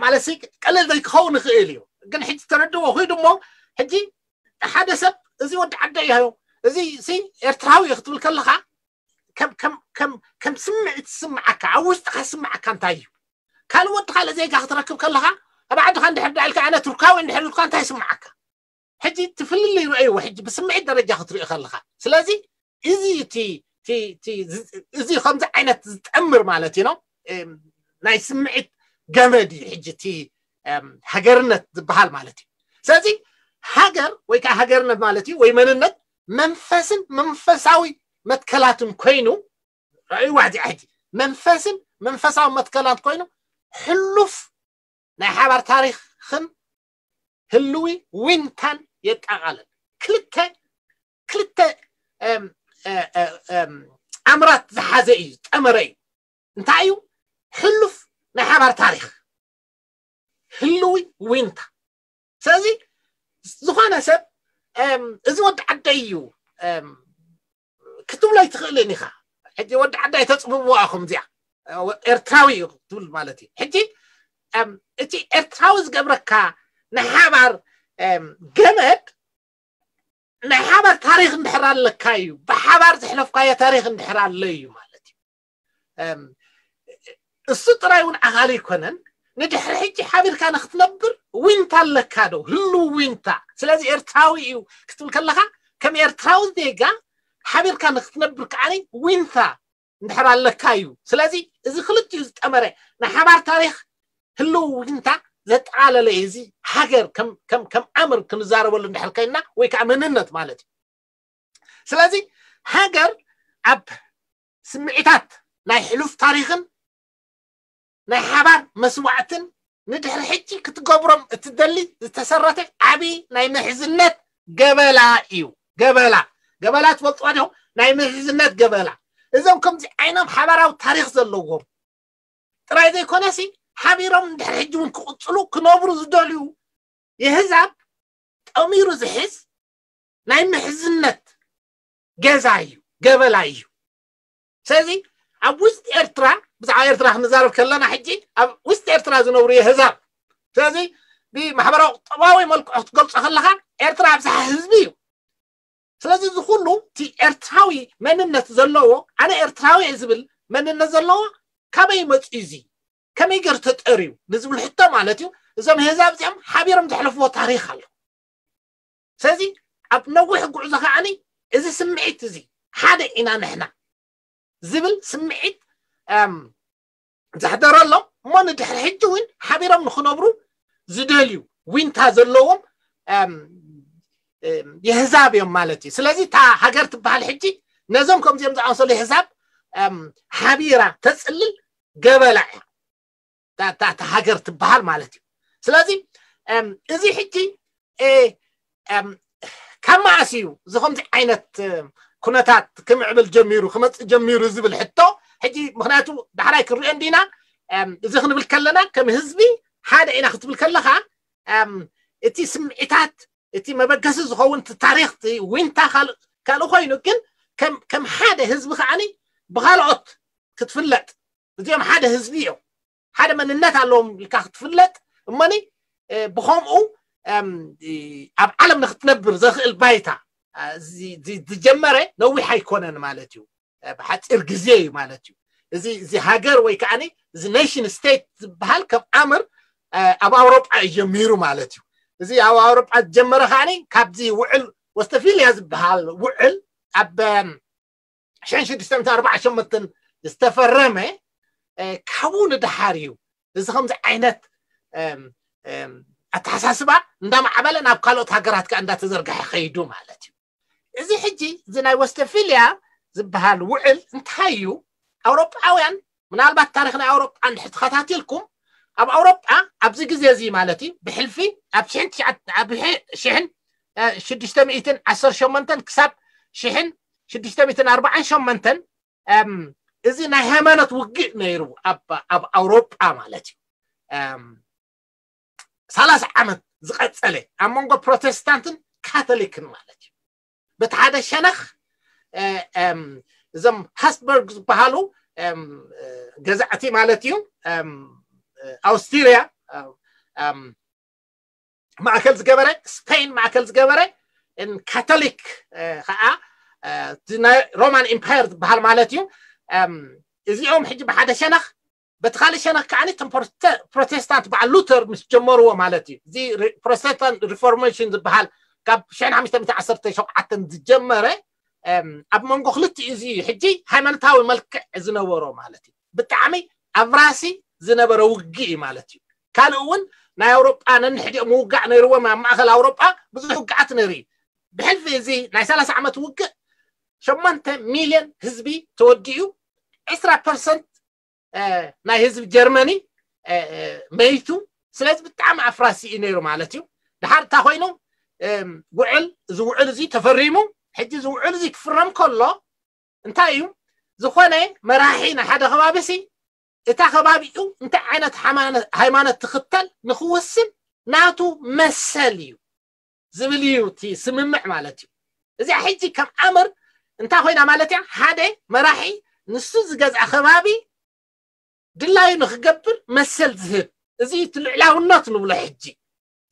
ማለት ቀለል ዘይክኸውን ይኽእል እዩ፣ ግን ሕጂ ተረድዎ ኮይኑ እሞ ሕጂ ሓደ ሰብ እዚ ወዲ ዓደ እዩ፣ እዚ ሲ ኤርትራዊ እዩ ክትብል ከለኻ ከም ስምዒት ዝስምዓካ፣ ኣብ ውሽጥካ ዝስምዓካ እንታይ እዩ? ካልእ ወዲ ካልእ ዜጋ ክትረክብ ከለኻ ኣብ ዓድኻ እንድሕር ዳኢልካ ኣነ ቱርካዊ እንድሕር ኢልካ እንታይ ይስምዓካ? ሕጂ ትፍልልይ ርእይዎ ሕጂ ብስምዒት ደረጃ ክትሪኦ ከለኻ። ስለዚ እዚ እቲ እዚ ከምዚ ዓይነት ዝጠምር ማለት እዩ ነው ናይ ስምዒት ገመድ እዩ ሕጂ እቲ ሃገርነት ዝበሃል ማለት እዩ። ስለዚ ሃገር ወይ ከዓ ሃገርነት ማለት እዩ ወይ መንነት መንፈስን መንፈሳዊ መትከላትን ኮይኑ ርእይዋ እዚኣ ሕጂ መንፈስን መንፈሳዊ መትከላት ኮይኑ ሕሉፍ ናይ ሓባር ታሪኽን ህልዊ ዊንታን የጠቓልል። ክልተ ክልተ ኣምራት ዝሓዘ እዩ፣ ዝጠመረ እዩ። እንታይ እዩ? ሕሉፍ ናይ ሓባር ታሪኽ፣ ህልዊ ዊንታ። ስለዚ ዝኾነ ሰብ እዚ ወዲ ዓደይ እዩ ክትብሎ ኣይትኽእልን ኢኻ። ሕጂ ወዲ ዓደይ ተፅብብዋ ኢኹም እዚኣ፣ ኤርትራዊ እዩ ክትብል ማለት እዩ። ሕጂ እቲ ኤርትራዊ ዝገብረካ ናይ ሓባር ገመድ ናይ ሓባር ታሪኽ እንድሕር ኣለካ እዩ፣ ብሓባር ዘሕለፍካዮ ታሪኽ እንድሕር ኣሎ እዩ ማለት እዩ። እሱ ጥራይ እውን ኣኻሊ ኣይኮነን። ንድሕሪ ሕጂ ሓቢርካ ንክትነብር ዊንታ ኣለካ ዶ? ህሉ ዊንታ። ስለዚ ኤርትራዊ እዩ ክትብል ከለካ ከም ኤርትራዊ ዜጋ ሓቢርካ ንክትነብር ከዓኒ ዊንታ እንድሕር ኣለካ እዩ። ስለዚ እዚ ክልቲኡ ዝጠመረ ናይ ሓባር ታሪኽ ህልው ዊንታ ዘጠቓለለ እዩ። እዚ ሃገር ከም ኣምር ክንዛረበሉ እንድሕር ኮይንና ወይ ከዓ መንነት ማለት እዩ። ስለዚ ሃገር ኣብ ስምዒታት ናይ ሕሉፍ ታሪኽን ናይ ሓባር መስዋዕትን ንድሕሪ ሕጂ ክትገብሮም እትደሊ ዝተሰረተ ዓብዪ ናይ ምሕዝነት ገበላ እዩ። ገበላ ገበላ ትፈልጥዋ ዲኹም? ናይ ምሕዝነት ገበላ። እዞም ከምዚ ዓይኖም ሓባራዊ ታሪኽ ዘለዎም ጥራይ ዘይኮነሲ ሓቢሮም እንድሕር ሕጂ እውን ክቕፅሉ ክነብሩ ዝደልዩ የህዛብ ጠሚሩ ዝሕዝ ናይ ምሕዝነት ገዛ እዩ፣ ገበላ እዩ። ስለዚ ኣብ ውስጥ ኤርትራ፣ ብዛዕባ ኤርትራ ክንዛረብ ከለና ሕጂ ኣብ ውስጥ ኤርትራ ዝነብሩ የህዛብ። ስለዚ ብማሕበራዊ ቁጠባዊ መልክዑ ክትገልጾ ከለካ ኤርትራ ኣብዝሓ ህዝቢ እዩ። ስለዚ እዚ ኩሉ እቲ ኤርትራዊ መንነት ዘለዎ፣ ኣነ ኤርትራዊ እየ ዝብል መንነት ዘለዎ ካበይ መፅኡ እዚ? ከመይ ገር ተጠርዩ ንዝብል ሕቶ ማለት እዩ። እዞም ህዛብ እዚኦም ሓቢሮም ዘሕለፍዎ ታሪኽ ኣሎ። ስለዚ ኣብ ነዊሕ ጉዕዞ ከዓኒ እዚ ስምዒት እዚ ሓደ ኢና ንሕና ዝብል ስምዒት ዘሕደረሎም እሞ ንድሕሪ ሕጂ እውን ሓቢሮም ንክነብሩ ዝደልዩ ዊንታ ዘለዎም የህዛብ እዮም ማለት እዩ። ስለዚ እታ ሃገር ትበሃል ሕጂ ነዞም ከምዚኦም ዝኣመሰሉ የህዛብ ሓቢራ ተፅልል ገበላ እያ እታ ሃገር ትበሃል ማለት እዩ። ስለዚ እዚ ሕጂ ካብ መኣስ እዩ እዚ ከምዚ ዓይነት ኩነታት ክምዕብል ጀሚሩ ክመፅእ ጀሚሩ ዝብል ሕቶ ሕጂ ምክንያቱ ዳሕራይ ክንሪኦ እንዲና። እዚ ክንብል ከለና ከም ህዝቢ ሓደ ኢና ክትብል ከለካ እቲ ስምዒታት እቲ መበገሲ ዝኸውን እቲ ታሪኽ ዊንታ ካልእ ኮይኑ ግን ከም ሓደ ህዝቢ ከዓኒ ብካልኦት ክትፍለጥ እዚኦም ሓደ ህዝቢ እዮም ሓደ መንነት ኣለዎም ኢልካ ክትፍለጥ እሞኒ ብከምኡ ኣብ ዓለም ንክትነብር ዘኽእል ባይታ ዝጀመረ ነዊሕ ኣይኮነን ማለት እዩ። ብሓፂር ግዜ እዩ ማለት እዩ። እዚ እዚ ሃገር ወይ ከዓ እዚ ኔሽን ስቴት ዝበሃል ከም ኣምር ኣብ ኣውሮጳ እዩ ጀሚሩ ማለት እዩ። እዚ ኣብ ኣውሮጳ ዝጀመረ ከዓ ካብዚ ውዕል ወስተፊልያ ዝበሃል ውዕል ኣብ ሽሕን ሽዱሽተ ሚእትን ኣርባዓን ሸሞንተን ዝተፈረመ ካብኡ ንደሓር እዩ እዚ ከምዚ ዓይነት ኣተሓሳስባ እንዳማዕበለ ናብ ካልኦት ሃገራት ከዓ እንዳተዘርግሐ ከይዱ ማለት እዩ። እዚ ሕጂ እዚ ናይ ወስተፊልያ ዝበሃል ውዕል እንታይ እዩ? ኣውሮጳውያን ምናልባት ታሪክ ናይ ኣውሮጳ እንድሕር ተኸታቲልኩም ኣብ ኣውሮጳ ኣብዚ ግዜ እዚ ማለት እዩ ብሕልፊ ኣብ ሽሕን ሽዱሽተ ሚእትን ዓሰርተ ሸሞንተን ክሳብ ሽሕን ሽዱሽተ ሚእትን ኣርባዓን ሸሞንተን እዚ ናይ ሃይማኖት ውግእ ነይሩ ኣብ ኣውሮጳ ማለት እዩ። ሰላሳ ዓመት ዝቐፀለ ኣብ መንጎ ፕሮቴስታንትን ካቶሊክን ማለት እዩ። በቲ ሓደ ሸነኽ እዞም ሃስበርግ ዝበሃሉ ገዛእቲ ማለት እዩ ኣውስትሪያ ማእከል ዝገበረ ስፔን ማእከል ዝገበረ ካቶሊክ ከዓ ናይ ሮማን ኢምፓየር ዝበሃል ማለት እዩ። እዚኦም ሕጂ ብሓደ ሸነኽ በቲ ካልእ ሸነኽ ከዓ ፕሮቴስታንት በዓል ሉተር ምስ ጀመርዎ ማለት እዩ። እዚ ፕሮቴስታንት ሪፎርሜሽን ዝበሃል ካብ ሽሕን ሓሙሽተ ሚእትን ዓሰርተ ሸውዓተን ዝጀመረ ኣብ መንጎ ክልቲኡ እዚ ሕጂ ሃይማኖታዊ መልክዕ ዝነበሮ ማለት እዩ። ብጣዕሚ ኣብራሲ ዝነበረ ውግእ እዩ ማለት እዩ። ካልእ እውን ናይ ኣውሮጳ ነንሕዲኦም ምውጋእ ነይርዎም ኣብ ማእከል ኣውሮጳ ብዙሕ ውግኣት ነይሩ እዩ። ብሕልፊ እዚ ናይ ሰላሳ ዓመት ውግእ ሸሞንተ ሚልዮን ህዝቢ ተወዲኡ ዕስራ ፐርሰንት ናይ ህዝቢ ጀርመኒ መይቱ ስለዚ ብጣዕሚ ኣፍራሲ እዩ ነይሩ ማለት እዩ። ድሓር እንታይ ኮይኑ፣ እም፣ ውዕል፣ እዚ ውዕል እዚ ተፈሪሙ፣ ሕጂ እዚ ውዕል እዚ ክፍረም ከሎ እንታይ እዩ፣ ዝኾነ መራሒ ናይ ሓደ ከባቢ ሲ እታ ከባቢኡ እንታይ ዓይነት ሓማነ-፣ ሃይማኖት ትኽተል ንኽውስን ናቱ መሰል እዩ ዝብል እዩ እቲ ስምምዕ ማለት እዩ። እዚኣ ሕጂ ከም ኣምር እንታይ ኮይና ማለት እያ? ሓደ መራሒ ንሱ ዝገዝኣ ከባቢ ድላዩ ንኽገብር መሰል ዝህብ፣ እዚ እቲ ልዕላውነት ንብሎ ሕጂ።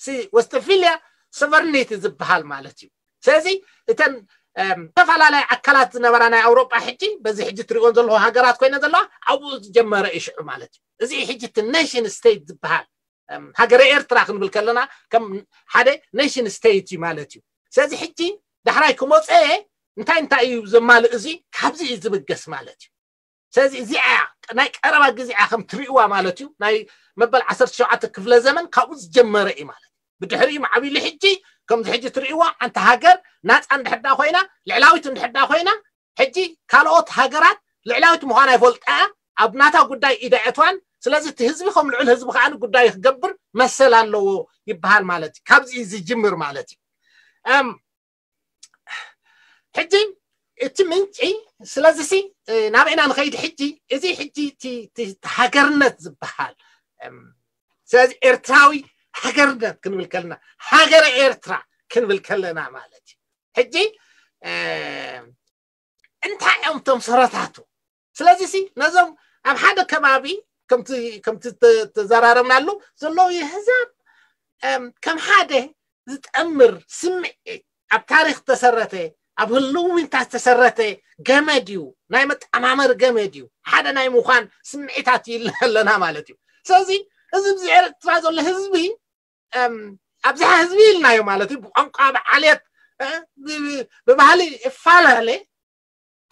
ሲ ወስተፊልያ ሶቨርኒቲ ዝበሃል ማለት እዩ። ስለዚ እተን እም፣ ዝተፈላለያ ኣካላት ዝነበራ ናይ ኣውሮጳ ሕጂ በዚ ሕጂ ትሪእዎን ዘለኹ ሃገራት ኮይነ ዘለዋ ኣብኡ ዝጀመረ እዩ ሽዑ ማለት እዩ። እዚ ሕጂ እቲ ኔሽን ስቴት ዝበሃል፣ እም፣ ሃገረ ኤርትራ ክንብል ከለና ከም ሓደ ኔሽን ስቴት እዩ ማለት እዩ። ስለዚ ሕጂ ዳሕራይ ክመፀ እንታይ እንታይ እዩ ዘማልእ፣ እዚ ካብዚ እዩ ዝብገስ ማለት እዩ። ስለዚ እዚኣ እያ ናይ ቀረባ ግዜ እያ ከም ትሪእዋ ማለት እዩ። ናይ መበል ዓሰርተ ሸውዓተ ክፍለ ዘመን ካብኡ ዝጀመረ እዩ ማለት እዩ። ብድሕሪኡ ማዕቢሉ ሕጂ ከምዚ ሕጂ ትሪእዋ፣ ሓንቲ ሃገር ናፃ እንድሕር ዳ ኮይና፣ ልዕላዊት እንድሕር ዳ ኮይና፣ ሕጂ ካልኦት ሃገራት ልዕላዊት ምዃና ይፈልጣ፣ ኣብ ናታ ጉዳይ ኢዳ የእትዋን። ስለዚ እቲ ህዝቢ ከም ልዑል ህዝቢ ከዓ ጉዳይ ክገብር መሰል ኣለዎ ይበሃል ማለት እዩ። ካብዚ እዩ ዝጅምር ማለት እዩ። እም፣ ሕጂ እቲ ምንጪ፣ ስለዚ ሲ፣ እ፣ ናበይና ንኸይድ ሕጂ? እዚ ሕጂ እቲ፣ እቲ፣ እቲ ሃገርነት ዝበሃል፣ እም፣ ስለዚ ኤርትራዊ ሃገርነት ክንብል ከለና፣ ሃገረ ኤርትራ ክንብል ከለና ማለት እዩ። ሕጂ፣ እ፣ እንታይ እዮም እቶም ሰረታቱ? ስለዚ ሲ ነዞም ኣብ ሓደ ከባቢ ከምቲ፣ ከምቲ ተ-፣ ተዘራረብናሉ ዘለዉ የህዛብ፣ እም፣ ከም ሓደ ዝጠምር ስምዒት፣ ኣብ ታሪኽ ዝተሰረተ፣ ኣብ ህልውንታ ዝተሰረተ ገመድ እዩ፣ ናይ መጠማመር ገመድ እዩ፣ ሓደ ናይ ምዃን ስምዒታት ይለና ማለት እዩ። ስለዚ እዚ ኣብዚ ኤርትራ ዘሎ ህዝቢ፣ እም፣ ኣብዝሓ ህዝቢ ኢልናዮ ማለት እዩ፣ ብቋንቋ፣ ብዓሌት፣ እ፣ ብ-፣ ብ-፣ ብባህሊ ይፈላለ፣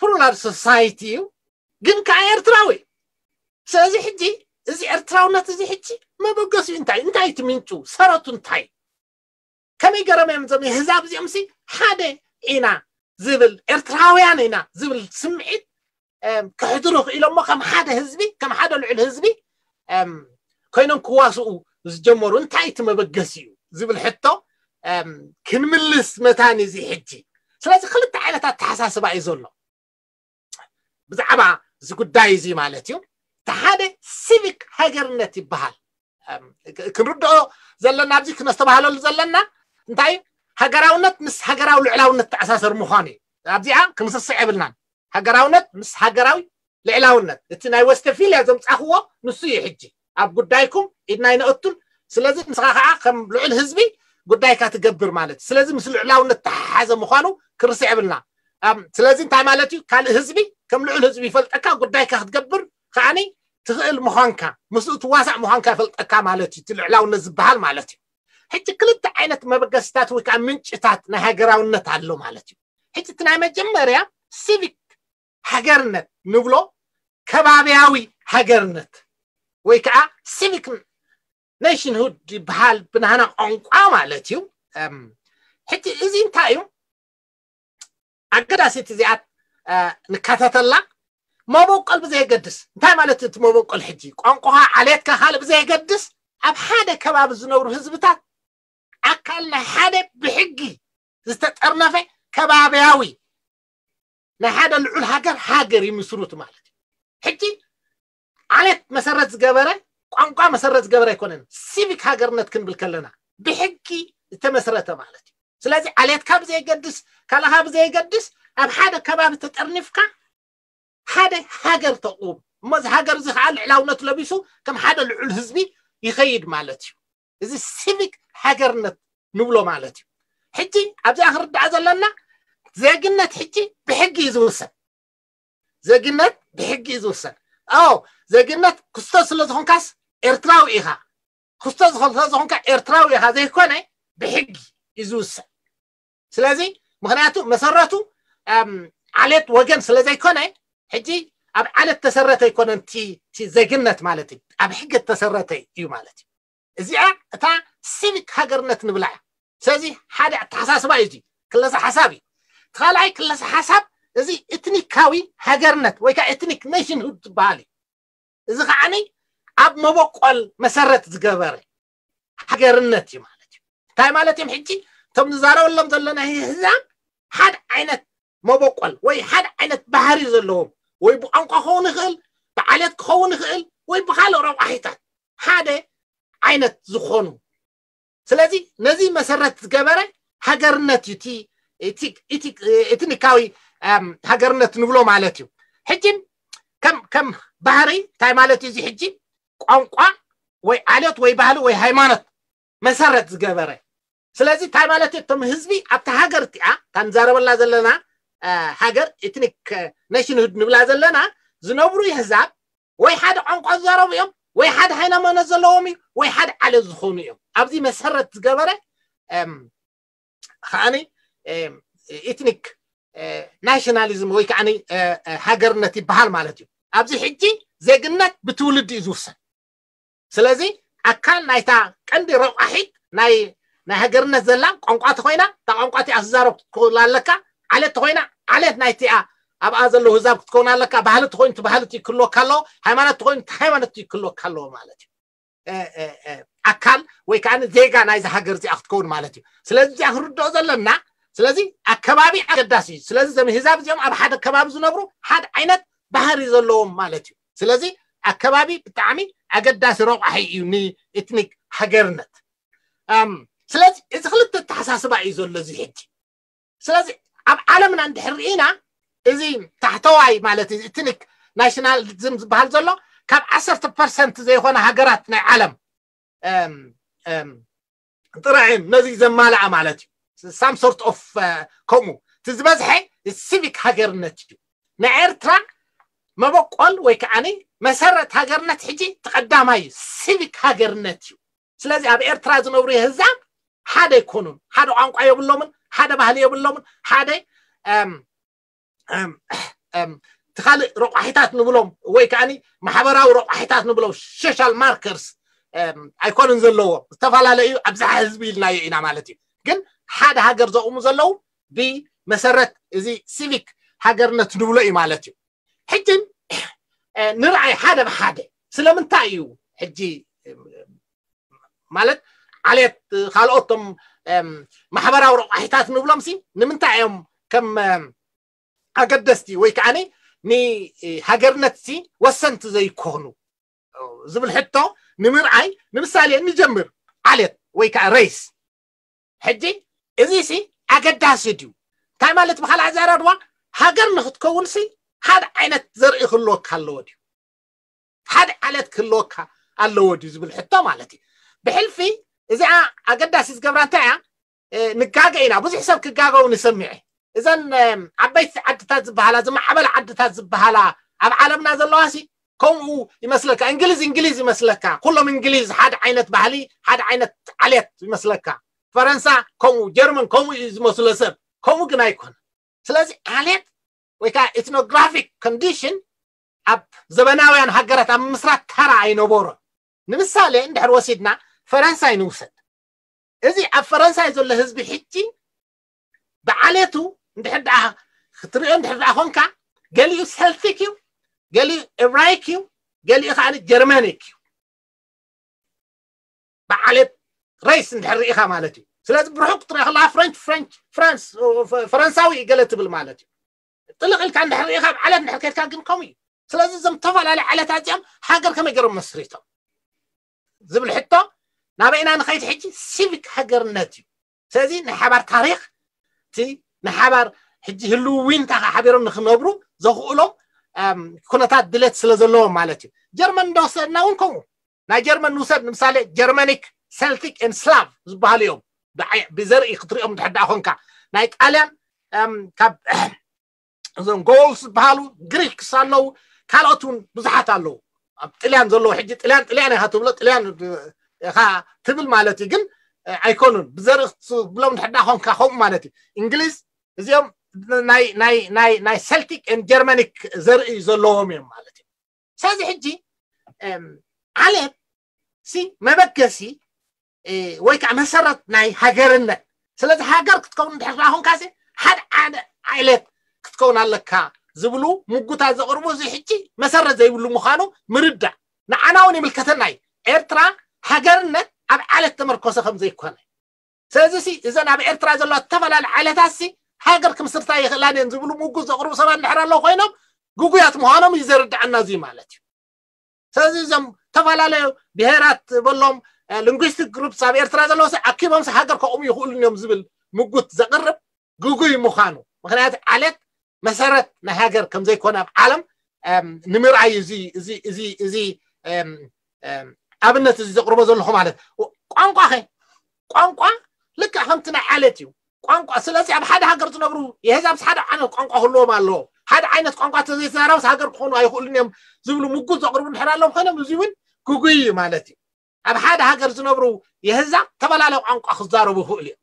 ፕሉራል ሶሳይቲ እዩ፣ ግን ከዓ ኤርትራዊ። ስለዚ ሕጂ እዚ ኤርትራውነት እዚ ሕጂ መበገሲኡ እንታይ? እንታይ እቲ ምንጩ? ሰረቱ እንታይ? ከመይ ገይሮም እዮም እዞም የህዛብ እዚኦም ሲ ሓደ ኢና ዝብል፣ ኤርትራውያን ኢና ዝብል ስምዒት፣ እም፣ ከሕድሩ ክኢሎሞ ከም ሓደ ህዝቢ፣ ከም ሓደ ልዑል ህዝቢ፣ እም፣ ኮይኖም ክዋስኡ ዝጀመሩ? እንታይ እቲ መበገሲ እዩ ዝብል ሕቶ፣ እም፣ ክንምልስ መታን እዚ ሕጂ። ስለዚ ክልተ ዓይነት ኣተሓሳስባ እዩ ዘሎ ብዛዕባ እዚ ጉዳይ እዚ ማለት እዩ። እቲ ሓደ ሲቪክ ሃገርነት ይበሃል። እም፣ ክ-፣ ክንርድኦ ዘለና፣ ኣብዚ ክነስተባህለሉ ዘለና እንታይ እዩ? ሃገራውነት ምስ ሃገራዊ ልዕላውነት ተኣሳሰር ምዃኑ እዩ። ኣብዚኣ ክንስስዕ የብልናን። ሃገራውነት ምስ ሃገራዊ ልዕላውነት፣ እቲ ናይ ወስተፊልያ ዘምጻኽዎ ንሱ እዩ። ሕጂ ኣብ ጉዳይኩም ኢድና ይነእቱን። ስለዚ ንስኻ ከዓ ከም ልዑል ህዝቢ ጉዳይካ ትገብር ማለት እዩ። ስለዚ ምስ ልዕላውነት ተሓሓዘ ምዃኑ ክርስዕ የብልና። ኣም፣ ስለዚ እንታይ ማለት እዩ? ካልእ ህዝቢ ከም ልዑል ህዝቢ ይፈልጠካ፣ ጉዳይካ ክትገብር ከዓኒ ትኽእል ምዃንካ፣ ምስኡ ትዋሳእ ምዃንካ ይፈልጠካ ማለት እዩ፣ እቲ ልዕላውነት ዝበሃል ማለት እዩ። ሕጂ ክልተ ዓይነት መበገስታት ወይ ከዓ ምንጭታት ናይ ሃገራውነት ኣሎ ማለት እዩ። ሕጂ እቲ ናይ መጀመርያ ሲቪክ ሃገርነት ንብሎ፣ ከባብያዊ ሃገርነት ወይ ከዓ ሲቪክ ኔሽንሁድ ይበሃል ብናህና ቋንቋ ማለት እዩ። እም፣ ሕጂ እዚ እንታይ እዩ? ኣገዳሲት እዚኣት፣ እ፣ ንካተተላ። መበቆል ብዘየገድስ፣ እንታይ ማለት እቲ መበቆል? ሕጂ ቋንቋኻ፣ ዓሌትካ ካልእ ብዘየገድስ፣ ኣብ ሓደ ከባቢ ዝነብሩ ህዝብታት ኣካል ናይ ሓደ ብሕጊ ዝተጠርነፈ ከባብያዊ ናይ ሓደ ልዑል ሃገር ሃገር ይምስሩት ማለት እዩ። ሕጂ ዓሌት መሰረት ዝገበረ፣ ቋንቋ መሰረት ዝገበረ ኣይኮነን። ሲቪክ ሃገርነት ክንብል ከለና ብሕጊ ዝተመስረተ ማለት እዩ። ስለዚ ዓሌትካ ብዘየገድስ፣ ካልእኻ ብዘየገድስ፣ ኣብ ሓደ ከባቢ ተጠርኒፍካ ሓደ ሃገር ተቑም። እሞ እዚ ሃገር እዚ ከዓ ልዕላውነት ለቢሱ ከም ሓደ ልዑል ህዝቢ ይኸይድ ማለት እዩ። እዚ ሲቪክ ሃገርነት ንብሎ ማለት እዩ። ሕጂ ኣብዚኣ ክርዳእ ዘለና፣ ዜግነት ሕጂ ብሕጊ እዩ ዝውሰን። ዜግነት ብሕጊ እዩ ዝውሰን። ኣዎ፣ ዜግነት ክስቶ ስለ ዝኾንካስ ኤርትራዊ ኢኻ። ክስቶ ዝኾ-፣ ስለ ዝኾንካ ኤርትራዊ ኢኻ ዘይኮነ፣ ብሕጊ እዩ ዝውሰን። ስለዚ ምኽንያቱ መሰረቱ፣ ኣም፣ ዓሌት ወገን ስለ ዘይኮነ፣ ሕጂ ኣብ ዓሌት ተሰረተ ኣይኮነን እቲ፣ እቲ ዜግነት ማለት እዩ፣ ኣብ ሕጊ ተሰረተ እዩ ማለት እዩ። እዚኣ እታ ሲቪክ ሃገርነት ንብላ እያ። ስለዚ ሓደ ኣተሓሳስባ እዩ እዚ፣ ክለሳ ሓሳብ እዩ። እቲ ካልኣይ ክለሳ ሓሳብ እዚ ኤትኒካዊ ሃገርነት ወይ ከዓ ኤትኒክ ኔሽንሁድ ዝበሃል እዩ። እዚ ከዓኒ ኣብ መበቆል መሰረት ዝገበረ፣ ሃገርነት እዩ ማለት እዩ። እንታይ ማለት እዮም? ሕጂ እቶም ንዛረበሎም ዘለና ህዛብ ሓደ ዓይነት መበቆል ወይ ሓደ ዓይነት ባህሪ ዘለዎም ወይ ብቋንቋ ክኸውን ይኽእል፣ ብዓሌት ክኸውን ይኽእል ወይ ብካልእ ረቋሒታት ሓደ ዓይነት ዝኾኑ። ስለዚ ነዚ መሰረት ዝገበረ ሃገርነት እዩ ኢትኒካዊ ሃገርነት ንብሎ ማለት እዩ። ሕጂ ከም ባህሪ እንታይ ማለት እዩ? እዚ ሕጂ ቋንቋ ወይ ዓሌት ወይ ባህሊ ወይ ሃይማኖት መሰረት ዝገበረ። ስለዚ እንታይ ማለት እዩ? እቶም ህዝቢ ኣብታ ሃገር እቲኣ እታ ንዛረበላ ዘለና ሃገር ኢትኒክ ኔሽንሁድ ንብላ ዘለና ዝነብሩ ህዛብ ወይ ሓደ ቋንቋ ዝዛረቡ እዮም ወይ ሓደ ሃይማኖት ዘለዎም እዩ ወይ ሓደ ዓሌት ዝኾኑ እዮም። ኣብዚ መሰረት ዝገበረ ከዓኒ ኢትኒክ ናሽናሊዝም ወይ ከዓ ሃገርነት ይበሃል ማለት እዩ። ኣብዚ ሕጂ ዜግነት ብትውልዲ እዩ ዝውሰን። ስለዚ ኣካል ናይታ ቀንዲ ረቋሒት ናይ ናይ ሃገርነት ዘላ ቋንቋ ተኮይና እታ ቋንቋ እቲኣ ዝዛረብ ክትከውን ኣለካ። ዓሌት ተኮይና ዓሌት ናይቲኣ ኣብኣ ዘለዉ ህዛብ ክትከውን ኣለካ። ባህሊ ተኮይኑ እቲ ባህሊ እቲ ክህልወካ ኣለዎ። ሃይማኖት ተኮይኑ እቲ ሃይማኖት እቲ ክህልወካ ኣለዎ ማለት እዩ። ኣካል ወይ ከዓ ዜጋ ናይዚ ሃገር እዚኣ ክትከውን ማለት እዩ። ስለዚ እዚኣ ክንርድኦ ዘለና። ስለዚ ኣከባቢ ኣገዳሲ እዩ። ስለዚ እዞም ህዛብ እዚኦም ኣብ ሓደ ከባቢ ዝነብሩ ሓደ ዓይነት ባህሪ ዘለዎም ማለት እዩ። ስለዚ ኣከባቢ ብጣዕሚ ኣገዳሲ ረቋሒ እዩ ንኤትኒክ ሃገርነት። ስለዚ እዚ ክልተ ኣተሓሳስባ እዩ ዘሎ እዚ ሕጂ። ስለዚ ኣብ ዓለምና እንድሕር ርኢና እዚ ታሕተዋይ ማለት እዚ ኤትኒክ ናሽናሊዝም ዝበሃል ዘሎ ካብ ዓሰርተ ፐርሰንት ዘይኮነ ሃገራት ናይ ዓለም ጥራይ ነዚ ዘማልኣ ማለት እዩ። ሳም ሶርት ኦፍ ከምኡ እቲ ዝበዝሐ ሲቪክ ሃገርነት እዩ። ናይ ኤርትራ መበቆል ወይ ከዓ መሰረት ሃገርነት ሕጂ ተቀዳማይ እዩ፣ ሲቪክ ሃገርነት እዩ። ስለዚ ኣብ ኤርትራ ዝነብሩ ህዛብ ሓደ ኣይኮኑን። ሓደ ቋንቋ የብሎምን፣ ሓደ ባህሊ የብሎምን፣ ሓደ እቲ ካልእ ረቋሒታት ንብሎም ወይ ከዓ ማሕበራዊ ረቋሒታት ንብሎም ሶሻል ማርከርስ ኣይኮኑን ዘለዎ፣ ዝተፈላለዩ ኣብዝሓ ህዝቢ ኢልናዮ ኢና ማለት እዩ። ግን ሓደ ሃገር ዘቑሙ ዘለዉ ብመሰረት እዚ ሲቪክ ሃገርነት ንብሎ እዩ ማለት እዩ። ሕጂ ንርኣይ ሓደ ብሓደ ስለምንታይ እዩ ሕጂ ማለት ዓሌት ካልኦቶም ማሕበራዊ ረቋሒታት ንብሎም ሲ ንምንታይ እዮም ከም ኣገደስቲ ወይ ከዓ ንሃገርነት ሲ ወሰንቲ ዘይኮኑ ዝብል ሕቶ ንምርኣይ ንምሳሌ ንጀምር። ዓሌት ወይ ከዓ ሬስ ሕጂ እዚ ሲ ኣገዳሲ ድዩ? እንታይ ማለት ብካልእ ኣዘራርባ ሃገር ንክትከውን ሲ ሓደ ዓይነት ዘርኢ ክህልወካ ኣለዎ ድዩ? ሓደ ዓሌት ክህልወካ ኣለዎ ድዩ ዝብል ሕቶ ማለት እዩ። ብሕልፊ እዚኣ ኣገዳሲ ዝገብራ እንታይ እያ? ንጋገ ኢና፣ ብዙሕ ሰብ ክጋገው ንሰምዐ። እዘን ዓበይቲ ዓድታት ዝበሃላ ዝማዕበላ ዓድታት ዝበሃላ ኣብ ዓለምና ዘለዋ ሲ ከምኡ ይመስለካ። እንግሊዝ እንግሊዝ ይመስለካ፣ ኩሎም እንግሊዝ ሓደ ዓይነት ባህሊ ሓደ ዓይነት ዓሌት ይመስለካ። ፈረንሳ ከምኡ፣ ጀርመን ከምኡ እዩ ዝመስሎ ሰብ፣ ከምኡ ግን ኣይኮነ። ስለዚ ዓሌት ወይ ከዓ ኢትኖግራፊክ ኮንዲሽን ኣብ ዘበናውያን ሃገራት ኣብ ምስራት ተራ ኣይነበሮን። ንምሳሌ እንድሕር ወሲድና ፈረንሳይ ንውሰድ። እዚ ኣብ ፈረንሳይ ዘሎ ህዝቢ ሕጂ ብዓሌቱ እንድሕር ደኣ ክትሪኦ እንድሕር ደኣ ኮንካ ገሊኡ ሰልቲክ እዩ፣ ገሊኡ ኤብራይክ እዩ፣ ገሊኡ ከዓ ጀርመኒክ እዩ። ብዓሌት ሬስ እንድሕር ርኢኻ ማለት እዩ። ስለዚ ብርሑቅ ክትሪኦ ከለካ ፍሬንች ፍሬንች ፍራንስ ፈረንሳዊ እዩ ገለ ትብል ማለት እዩ። ጥልቕ ኢልካ እንድሕር ርኢኻ ኣብ ዓሌት እንድሕር ከድካ ግን ከምኡ እዩ። ስለዚ እዞም ዝተፈላለዩ ዓሌታት እዚኦም ሃገር ከመይ ገይሮም መስሪቶም ዝብል ሕቶ ናበይና ንኸይድ ሕጂ ሲቪክ ሃገርነት እዩ። ስለዚ ናይ ሓባር ታሪክ እቲ ናይ ሓባር ሕጂ ህልው ዊንታ ከዓ ሓቢሮም ንክነብሩ ዘኽእሎም ኩነታት ድሌት ስለ ዘለዎም ማለት እዩ። ጀርመን እንደወሰድና እውን ከምኡ ናይ ጀርመን ንውሰድ ንምሳሌ ጀርመኒክ ሰልቲክ ን ስላቭ ዝበሃሉ እዮም። ብዘርኢ ክትሪኦም ድሕዳ ኮንካ ናይ ጣልያን ካብ እዞም ጎልስ ዝበሃሉ ግሪክስ ኣለዉ፣ ካልኦት እውን ብዙሓት ኣለዉ። ኣብ ጥልያን ዘለዉ ሕጂ ጥልያን ጥልያን ኢኻ ትብሎ ጥልያን ኢኻ ትብል ማለት እዩ። ግን ኣይኮኑን ብዘርኢ ክትብሎም ድሕዳ ኮንካ ከምኡ ማለት እዩ። እንግሊዝ እዚኦም ናይ ናይ ናይ ናይ ሰልቲክ ን ጀርመኒክ ዘርኢ ዘለዎም እዮም ማለት እዩ። ስለዚ ሕጂ ዓሌት ሲ መበገሲ ወይ ከዓ መሰረት ናይ ሃገርነት። ስለዚ ሃገር ክትከውን እንድሕር ደኣ ኮንካ ሲ ሓደ ዓሌት ክትከውን ኣለካ ዝብሉ ምጉታት ዘቕርቡ እዚ ሕጂ መሰረት ዘይብሉ ምዃኑ ምርዳእ ንዓና እውን ይምልከተና እዩ። ኤርትራ ሃገርነት ኣብ ዓለት ተመርኮሰ ከም ዘይኮነ። ስለዚ ሲ እዘን ኣብ ኤርትራ ዘለዋ ዝተፈላለዩ ዓለታት ሲ ሃገር ክምስርታ ይኽእላን እየን ዝብሉ ምጉት ዘቕርቡ ሰባት እንድሕር ኣለዉ ኮይኖም፣ ግጉያት ምዃኖም እዩ ዘርድኣና እዚ ማለት እዩ። ስለዚ እዞም ዝተፈላለዩ ብሄራት በሎም፣ እ፣ linguistic groups ኣብ ኤርትራ ዘለዉ ሲ ኣኪቦም ሲ ሃገር ከቑሙ ይኽእሉን እዮም ዝብል ምጉት ዘቕርብ ግጉይ ምዃኑ፣ ምኽንያቱ ዓለት መሰረት ናይ ሃገር ከም ዘይኮነ ኣብ ዓለም፣ እም፣ ንምርኣይ እዚ፣ እዚ፣ እዚ፣ እዚ፣ እም፣ እም፣ ኣብነት እዚ ዘቕርቦ ዘለኹ ማለት። ቋንቋ ኸ? ቋንቋ ልክዕ ከምቲ ናይ ዓለት እዩ። ቋንቋ፣ ስለዚ ኣብ ሓደ ሃገር ዝነብሩ የህዛብስ ሓደ ዓይነት ቋንቋ ክህልዎም ኣለዎ። ሓደ ዓይነት ቋንቋ ተዘይተዛረብስ ሃገር ክኾኑ ኣይኽእሉን እዮም ዝብሉ ምጉት ዘቕርቡ እንድሕር ኣለዎም ኮይኖም፣ እዚ እውን ግጉይ እዩ ማለት እዩ። ኣብ ሓደ ሃገር ዝነብሩ የህዛብ ተፈላለየ ቋንቋ ክዛረቡ ይኽእሉ እዮም።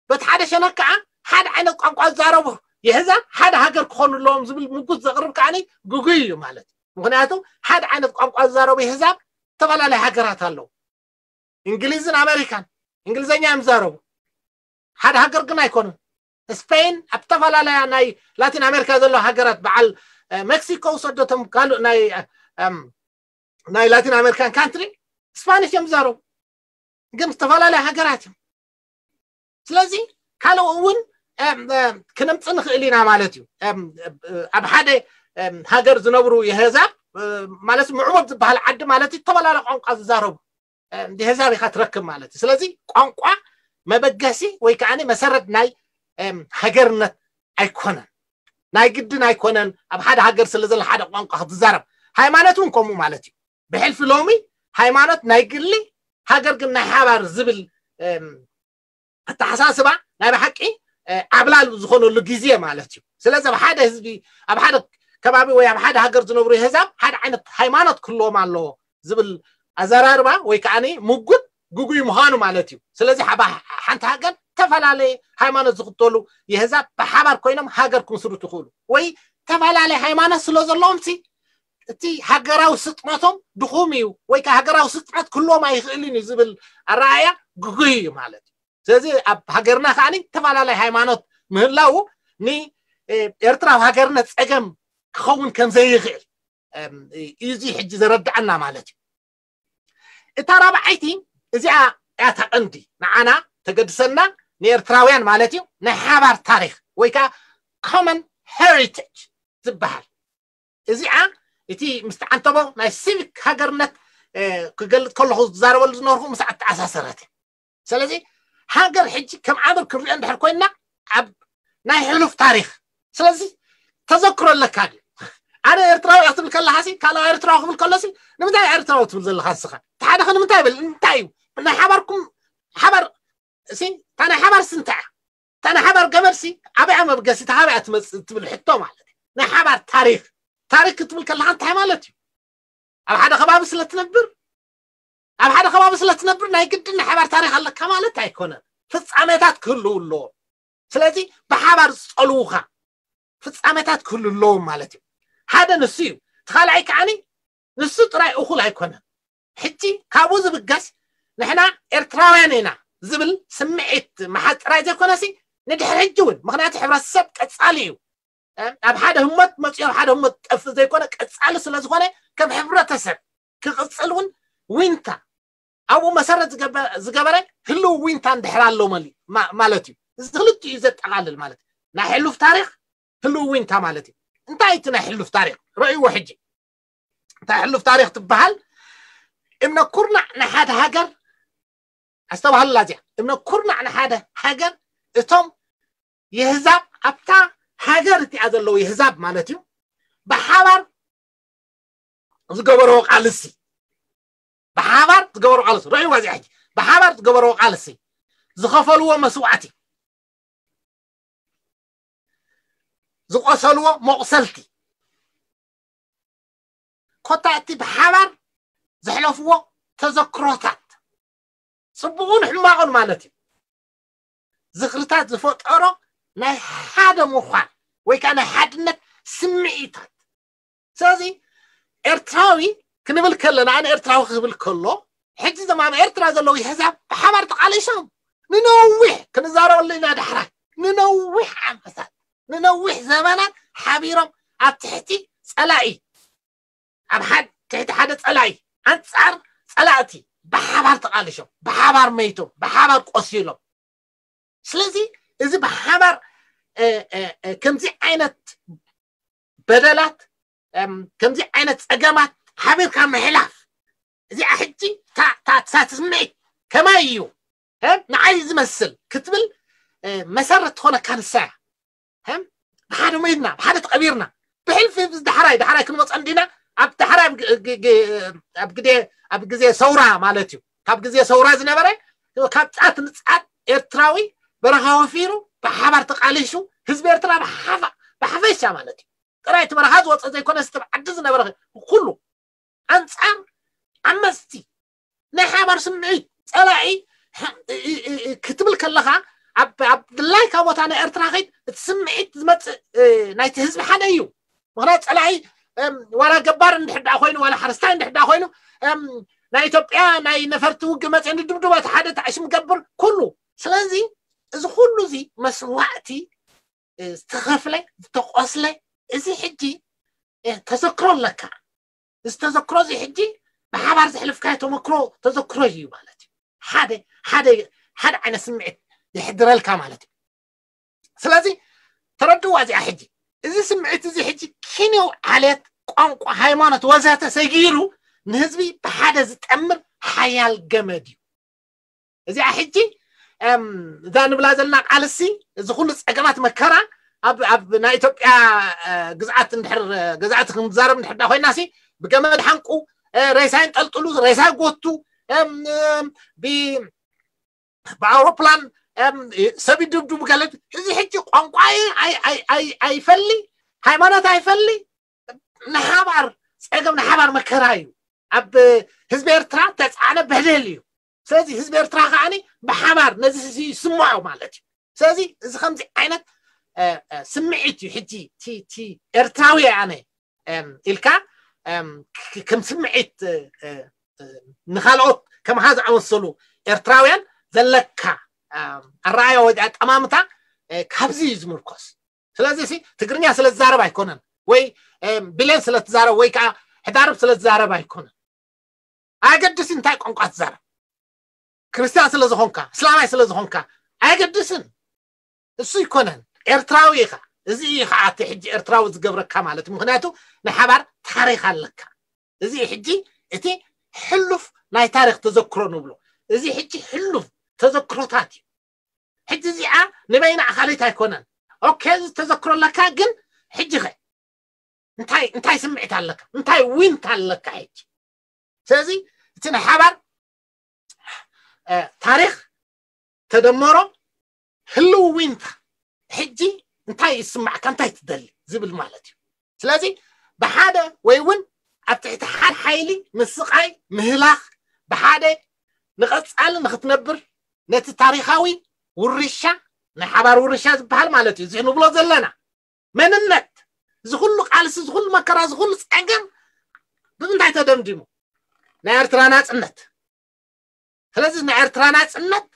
በቲ ሓደ ሸነክ ከዓ ሓደ ዓይነት ቋንቋ ዝዛረቡ የህዛብ ሓደ ሃገር ክኾኑ ኣለዎም ዝብል ምጉት ዘቕርብ ከዓኒ ግጉይ እዩ ማለት እዩ። ምኽንያቱ ሓደ ዓይነት ቋንቋ ዝዛረቡ የህዛብ ተፈላለየ ሃገራት ኣለዉ። እንግሊዝን ኣሜሪካን እንግሊዝኛ እዮም ዝዛረቡ። ሓደ ሃገር ግን ኣይኮኑን። ስፔን ኣብ ዝተፈላለያ ናይ ላቲን ኣሜሪካ ዘለዋ ሃገራት፣ በዓል፣ እ፣ ሜክሲኮ ውሰዶቶም ካልእ ናይ፣ እም፣ ናይ ላቲን ኣሜሪካን ካንትሪ ስፓኒሽ እዮም ዝዛረቡ። ግን ዝተፈላለያ ሃገራት እዮም። ስለዚ ካልእ እውን፣ እም፣ እም፣ ክነምጽእ ንኽእል ኢና ማለት እዩ። እም፣ እ፣ ኣብ ሓደ፣ እም፣ ሃገር ዝነብሩ የህዛብ፣ እ፣ ማለት ምዕቡል ዝበሃል ዓዲ ማለት እዩ፣ ዝተፈላለያ ቋንቋ ዝዛረቡ፣ እም፣ የህዛብ ኢኻ ትረክብ ማለት እዩ። ስለዚ ቋንቋ መበገሲ ወይ ከዓኒ መሰረት ናይ፣ እም፣ ሃገርነት ኣይኮነን። ናይ ግድን ኣይኮነን ኣብ ሓደ ሃገር ስለ ዘሎ ሓደ ቋንቋ ክትዛረብ። ሃይማኖት እውን ከምኡ ማለት እዩ። ብሕልፊ ሎሚ ሃይማኖት ናይ ግሊ፣ ሃገር ግን ናይ ሓባር ዝብል፣ እም፣ ኣተሓሳስባ ናይ ብሓቂ፣ እ፣ ዓብላል ዝኾነሉ ግዜ ማለት እዩ። ስለዚ ኣብ ሓደ ህዝቢ፣ ኣብ ሓደ ከባቢ ወይ ኣብ ሓደ ሃገር ዝነብሩ የህዛብ ሓደ ዓይነት ሃይማኖት ክህልዎም ኣለዎ ዝብል ኣዘራርባ ወይ ከዓኒ ምጉት ግጉይ ምዃኑ ማለት እዩ። ስለዚ ሓባ-፣ ሓንቲ ሃገር ዝተፈላለየ ሃይማኖት ዝኽተሉ የህዛብ ብሓባር ኮይኖም ሃገር ክምስርቱ ይኽእሉ። ወይ ዝተፈላለየ ሃይማኖት ስለ ዘለዎም ሲ እቲ ሃገራዊ ስጥመቶም ድኹም እዩ፣ ወይ ከዓ ሃገራዊ ስጥመት ክህልዎም ኣይኽእልን እዩ ዝብል ኣረኣእያ ግጉይ እዩ ማለት እዩ። ስለዚ ኣብ ሃገርና ከዓኒ ዝተፈላለየ ሃይማኖት ምህላው ን-፣ ኤ-፣ ኤርትራዊ ሃገርነት ጸገም ክኸውን ከም ዘይኽእል፣ እም፣ እዩ እዚ ሕጂ ዘረድኣና ማለት እዩ። እታ ራብዓይቲ እዚኣ እያ እታ ቀንዲ ንዓና ተገድሰና ንኤርትራውያን ማለት እዩ፣ ናይ ሓባር ታሪኽ ወይ ከዓ common heritage ዝበሃል። እዚኣ እቲ ምስ ተዓንተቦ ናይ ሲቪክ ሃገርነት፣ እ፣ ክገልጽ ከለኹ ዝዛረበሉ ዝነበርኩ ምስ ኣተኣሳሰረት እያ። ስለዚ ሃገር ሕጂ ከም ዓምር ክንሪኦ እንድሕር ኮይንና ኣብ ናይ ሕሉፍ ታሪኽ። ስለዚ ተዘክሮ ኣለካ ድዩ? ኣነ ኤርትራዊ እየ ክትብል ከለኻ ሲ፣ ካልኣይ ኤርትራዊ ክብል ከሎ ሲ፣ ንምንታይ ኤርትራዊ ትብል ዘለኻ ንስኻ? እቲ ሓደ ከ ንምንታይ ይብል? እንታይ እዩ? ናይ ሓባርኩም ሓባር ሲ፣ እታ ናይ ሓባር ሲ እንታይ እያ? እታ ናይ ሓባር ገመድ ሲ፣ ኣበይ እያ መብገሲታ? ካበይ እያ ትመጽእ? ትብል ሕቶ ማለት እዩ። ናይ ሓባር ታሪኽ። ታሪኽ ክትብል ከለኻ እንታይ ማለት እዩ? ኣብ ሓደ ከባቢ ስለ ትነብር፣ ኣብ ሓደ ከባቢ ስለ ትነብር ናይ ግድን ናይ ሓባር ታሪኽ ኣለካ ማለት ኣይኮነን። ፍጻሜታት ክህልው ኣለዎም። ስለዚ ብሓባር ዝጸልዉኻ ፍጻሜታት ክህሉ ኣለዎም ማለት እዩ። ሓደ ንሱ እዩ። እቲ ካልኣይ ከዓኒ ንሱ ጥራይ እኹል ኣይኮነን። ሕጂ ካብኡ ዝብገስ ንሕና ኤርትራውያን ኢና ዝብል ስምዒት ምሓዝ ጥራይ ዘይኮነሲ ንድሕሪ ሕጂ እውን፣ ምኽንያቱ ሕብረተሰብ ቀጻሊ እዩ። ኣብ ሓደ ህሞት መጺኡ ኣብ ሓደ ህሞት ጠፍእ ዘይኮነ ቀጻሊ ስለ ዝኾነ ከም ሕብረተሰብ ክቕጽል እውን ዊንታ ኣብኡ መሰረት ዝገበ-፣ ዝገበረ ህልው ዊንታ እንድሕር ኣሎ መሊ-፣ ማ-፣ ማለት እዩ። እዚ ክልቲኡ እዩ ዘጠቓልል ማለት እዩ። ናይ ሕሉፍ ታሪኽ ህልው ዊንታ ማለት እዩ። እንታይ እቲ ናይ ሕሉፍ ታሪኽ? ረእይዎ ሕጂ። እንታይ ሕሉፍ ታሪኽ ትበሃል? እምነ ኩርናዕ ናይ ሓደ ሃገር፣ ኣስተባህሉላ እዚኣ። እምነ ኩርናዕ ናይ ሓደ ሃገር እቶም የህዛብ ኣብታ ሃገር እቲኣ ዘለዉ የህዛብ ማለት እዩ። ብሓባር ዝገበርዎ ቃልሲ፣ ብሓባር ዝገበርዎ ቃልሲ፣ ረእይዋ እዚኣ ሕጂ። ብሓባር ዝገበርዎ ቃልሲ፣ ዝኸፈልዎ መስዋዕቲ፣ ዝቆሰልዎ መቑሰልቲ፣ ኮታ እቲ ብሓባር ዘሕለፍዎ ተዘክሮታት፣ ጽቡቑን ሕማቑን ማለት እዩ። ዝኽርታት ዝፈጠሮ ናይ ሓደ ምዃን ወይ ከዓ ናይ ሓድነት ስምዒታት። ስለዚ ኤርትራዊ ክንብል ከለና፣ ኣነ ኤርትራዊ ክብል ከሎ፣ ሕጂ እዞም ኣብ ኤርትራ ዘለዉ የህዛብ ብሓባር ተቓሊሶም ንነዊሕ፣ ክንዛረበሉ ኢና ዳሕራይ፣ ንነዊሕ ዓመታት፣ ንነዊሕ ዘመናት ሓቢሮም ኣብ ትሕቲ ጸላኢ፣ ኣብ ሓድ-፣ ትሕቲ ሓደ ጸላኢ፣ ኣንጻር ጸላእቲ፣ ብሓባር ተቓሊሾም፣ ብሓባር መይቶም፣ ብሓባር ቆሲሎም። ስለዚ እዚ ብሓባር ከምዚ ዓይነት በደላት፣ ከምዚ ዓይነት ፀገማት ሓቢርካ ምሕላፍ፣ እዚኣ ሕጂ እታ ትስምዒት ከማይ እዩ ንዓይ ዝመስል ክትብል መሰረት ትኾነካ ንሳ እያ። ብሓደ ሞይትና፣ ብሓደ ተቐቢርና፣ ብሕልፊ ዳሕራይ ዳሕራይ ክንመፀ እንዲና። ኣብ ዳሕራይ ኣብ ግዜ ሰውራ ማለት እዩ፣ ካብ ግዜ ሰውራ ዝነበረ ካብ ፃት ንፃት ኤርትራዊ በረኻ ወፊሩ ብሓባር ተቃሊሹ ህዝቢ ኤርትራ ብሓፈሻ ማለት እዩ። ጥራይ እቲ በረኻ ዝወፀ ዘይኮነ፣ እቲ ዓዲ ዝነበረ ኩሉ ኣንፃር ዓመፅቲ ናይ ሓባር ስምዒት ፀላኢ ክትብል ከለኻ፣ ኣብ ድላይካ ቦታ ናይ ኤርትራ ኸይድ እቲ ስምዒት ዝመፅእ ናይቲ ህዝቢ ሓደ እዩ። ምክንያቱ ፀላኢ ዋላ ገባር እንድሕዳ ኮይኑ፣ ዋላ ሓረስታይ እንድሕዳ ኮይኑ፣ ናይ ኢትዮጵያ ናይ ነፈርቲ ውግ መፅእ ንድብድቦ እቲ ሓደ ተዕሽም ገብር ኩሉ። ስለዚ እዚ ኩሉ እዚ መስዋእቲ ዝተኸፍለ ዝተቆስለ፣ እዚ ሕጂ ተዘክሮ ኣለካ። እዚ ተዘክሮ እዚ ሕጂ ብሓባር ዘሕልፍካዮ ተመክሮ ተዘክሮ እዩ ማለት እዩ። ሓደ ሓደ ሓደ ዓይነት ስምዒት የሕድረልካ ማለት እዩ። ስለዚ ተረድዋ እዚኣ ሕጂ፣ እዚ ስምዒት እዚ ሕጂ ኪንዮ ዓሌት፣ ቋንቋ፣ ሃይማኖት ወዘተ ሰጊሩ ንህዝቢ ብሓደ ዝጠምር ሓያል ገመድ እዩ። እዚኣ ሕጂ እዛ ንብላ ዘለና ቃልሲ፣ እዚ ኩሉ ፀገማት መከራ ኣብ ናይ ኢትዮጵያ ግዝኣት እንድሕር ገዛእቲ ክንዛረብ እንድሕር ዳ ኮይናሲ፣ ብገመድ ሓንቁ፣ ሬሳ ይንጠልጥሉ፣ ሬሳ ይጎቱ፣ ብኣውሮፕላን ሰብ ይድብድቡ ገለ። እዚ ሕጂ ቋንቋ ኣይፈሊ፣ ሃይማኖት ኣይፈሊ፣ ንሓባር ፀገም ንሓባር መከራ እዩ። ኣብ ህዝቢ ኤርትራ ተፃዕነ በደል እዩ። ስለዚ ህዝቢ ኤርትራ ከዓኒ ብሓባር ነዚ ይስምዖ ማለት እዩ። ስለዚ እዚ ከምዚ ዓይነት ስምዒት እዩ ሕጂ እቲ ኤርትራዊ ኣነ ኢልካ ከም ስምዒት ንካልኦት ከምኻ ዝኣመሰሉ ኤርትራውያን ዘለካ ኣረኣያ ወይ ኣጠማምታ ካብዚ እዩ ዝምርኮስ። ስለዚ ሲ ትግርኛ ስለ ዝዛረብ ኣይኮነን፣ ወይ ብሌን ስለ ትዛረብ፣ ወይ ከዓ ሕዳርብ ስለ ዝዛረብ ኣይኮነን። ኣየገድስን እንታይ ቋንቋ ትዛረብ፣ ክርስትያን ስለ ዝኾንካ፣ እስላማይ ስለ ዝኾንካ ኣየገድስን። እሱ ይኮነን፣ ኤርትራዊ ኢኻ። እዚ እዩ ከዓ እቲ ሕጂ ኤርትራዊ ዝገብረካ ማለት እዩ። ምክንያቱ ናይ ሓባር ታሪክ ኣለካ። እዚ ሕጂ እቲ ሕሉፍ ናይ ታሪክ ተዘክሮ ንብሎ፣ እዚ ሕጂ ሕሉፍ ተዘክሮታት እዩ። ሕጂ እዚኣ ንበይና ኣኻሊት ኣይኮነን። ኦኬ፣ እዚ ተዘክሮ ኣለካ፣ ግን ሕጂ ኸ እንታይ እንታይ ስምዒት ኣለካ? እንታይ ዊንታ ኣለካ ሕጂ? ስለዚ እቲ ናይ ሓባር ታሪክ ተደመሮ ህልው ዊንታ ሕጂ እንታይ ይስማዕካ፣ እንታይ ትደሊ ዝብል ማለት እዩ። ስለዚ ብሓደ ወይ እውን ኣብ ትሕቲ ሓደ ሓይሊ ምስቓይ ምህላኽ፣ ብሓደ ንቐፃሊ ንክትነብር ነቲ ታሪካዊ ውርሻ፣ ናይ ሓባር ውርሻ ዝበሃል ማለት እዩ፣ እዚ ንብሎ ዘለና መንነት፣ እዚ ኩሉ ቃልሲ፣ እዚ ኩሉ መከራ፣ እዚ ኩሉ ፀገም ብምንታይ ተደምዲሙ? ናይ ኤርትራ ናፅነት። ስለዚ ናይ ኤርትራ ናፅነት፣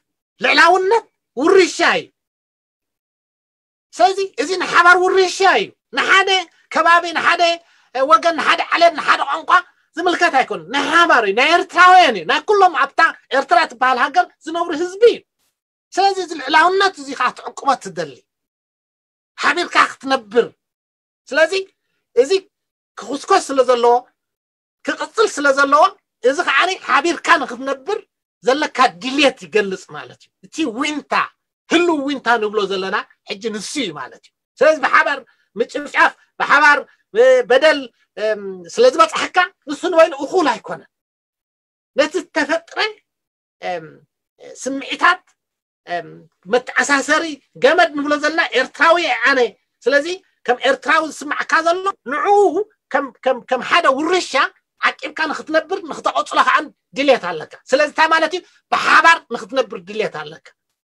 ልዕላውነት ውርሻ እዩ። ስለዚ እዚ ንሓባር ውርሻ እዩ። ንሓደ ከባቢ፣ ንሓደ ወገን፣ ንሓደ ዓሌት፣ ንሓደ ቋንቋ ዝምልከት ኣይኮነን። ናይ ሓባር እዩ፣ ናይ ኤርትራውያን እዩ፣ ናይ ኩሎም ኣብታ ኤርትራ ትበሃል ሃገር ዝነብሩ ህዝቢ እዩ። ስለዚ እዚ ልዕላውነት እዚ ከዓ ትዕቅቦ ትደሊ፣ ሓቢርካ ክትነብር። ስለዚ እዚ ክኹስኮስ ስለ ዘለዎ፣ ክቕፅል ስለ ዘለዎ፣ እዚ ከዓ ሓቢርካ ንክትነብር ዘለካ ድልየት ይገልፅ ማለት እዩ። እቲ ዊንታ፣ ህልው ዊንታ ንብሎ ዘለና ሕጂ ንሱ እዩ ማለት እዩ። ስለዚ ብሓባር ምጭፍጫፍ፣ ብሓባር በደል ስለ ዝበፅሓካ፣ ንሱ ንበይኑ እኹል ኣይኮነን። ነቲ ዝተፈጥረ ስምዒታት መተኣሳሰሪ ገመድ ንብሎ ዘለና ኤርትራዊ እየ ኣነ። ስለዚ ከም ኤርትራዊ ዝስማዕካ ዘሎ ንዕኡ ከም ሓደ ውርሻ ዓቂብካ ንክትነብር፣ ንክተቐፅሎ ከዓ ድሌት ኣለካ። ስለዚ እንታይ ማለት እዩ? ብሓባር ንክትነብር ድሌት ኣለካ።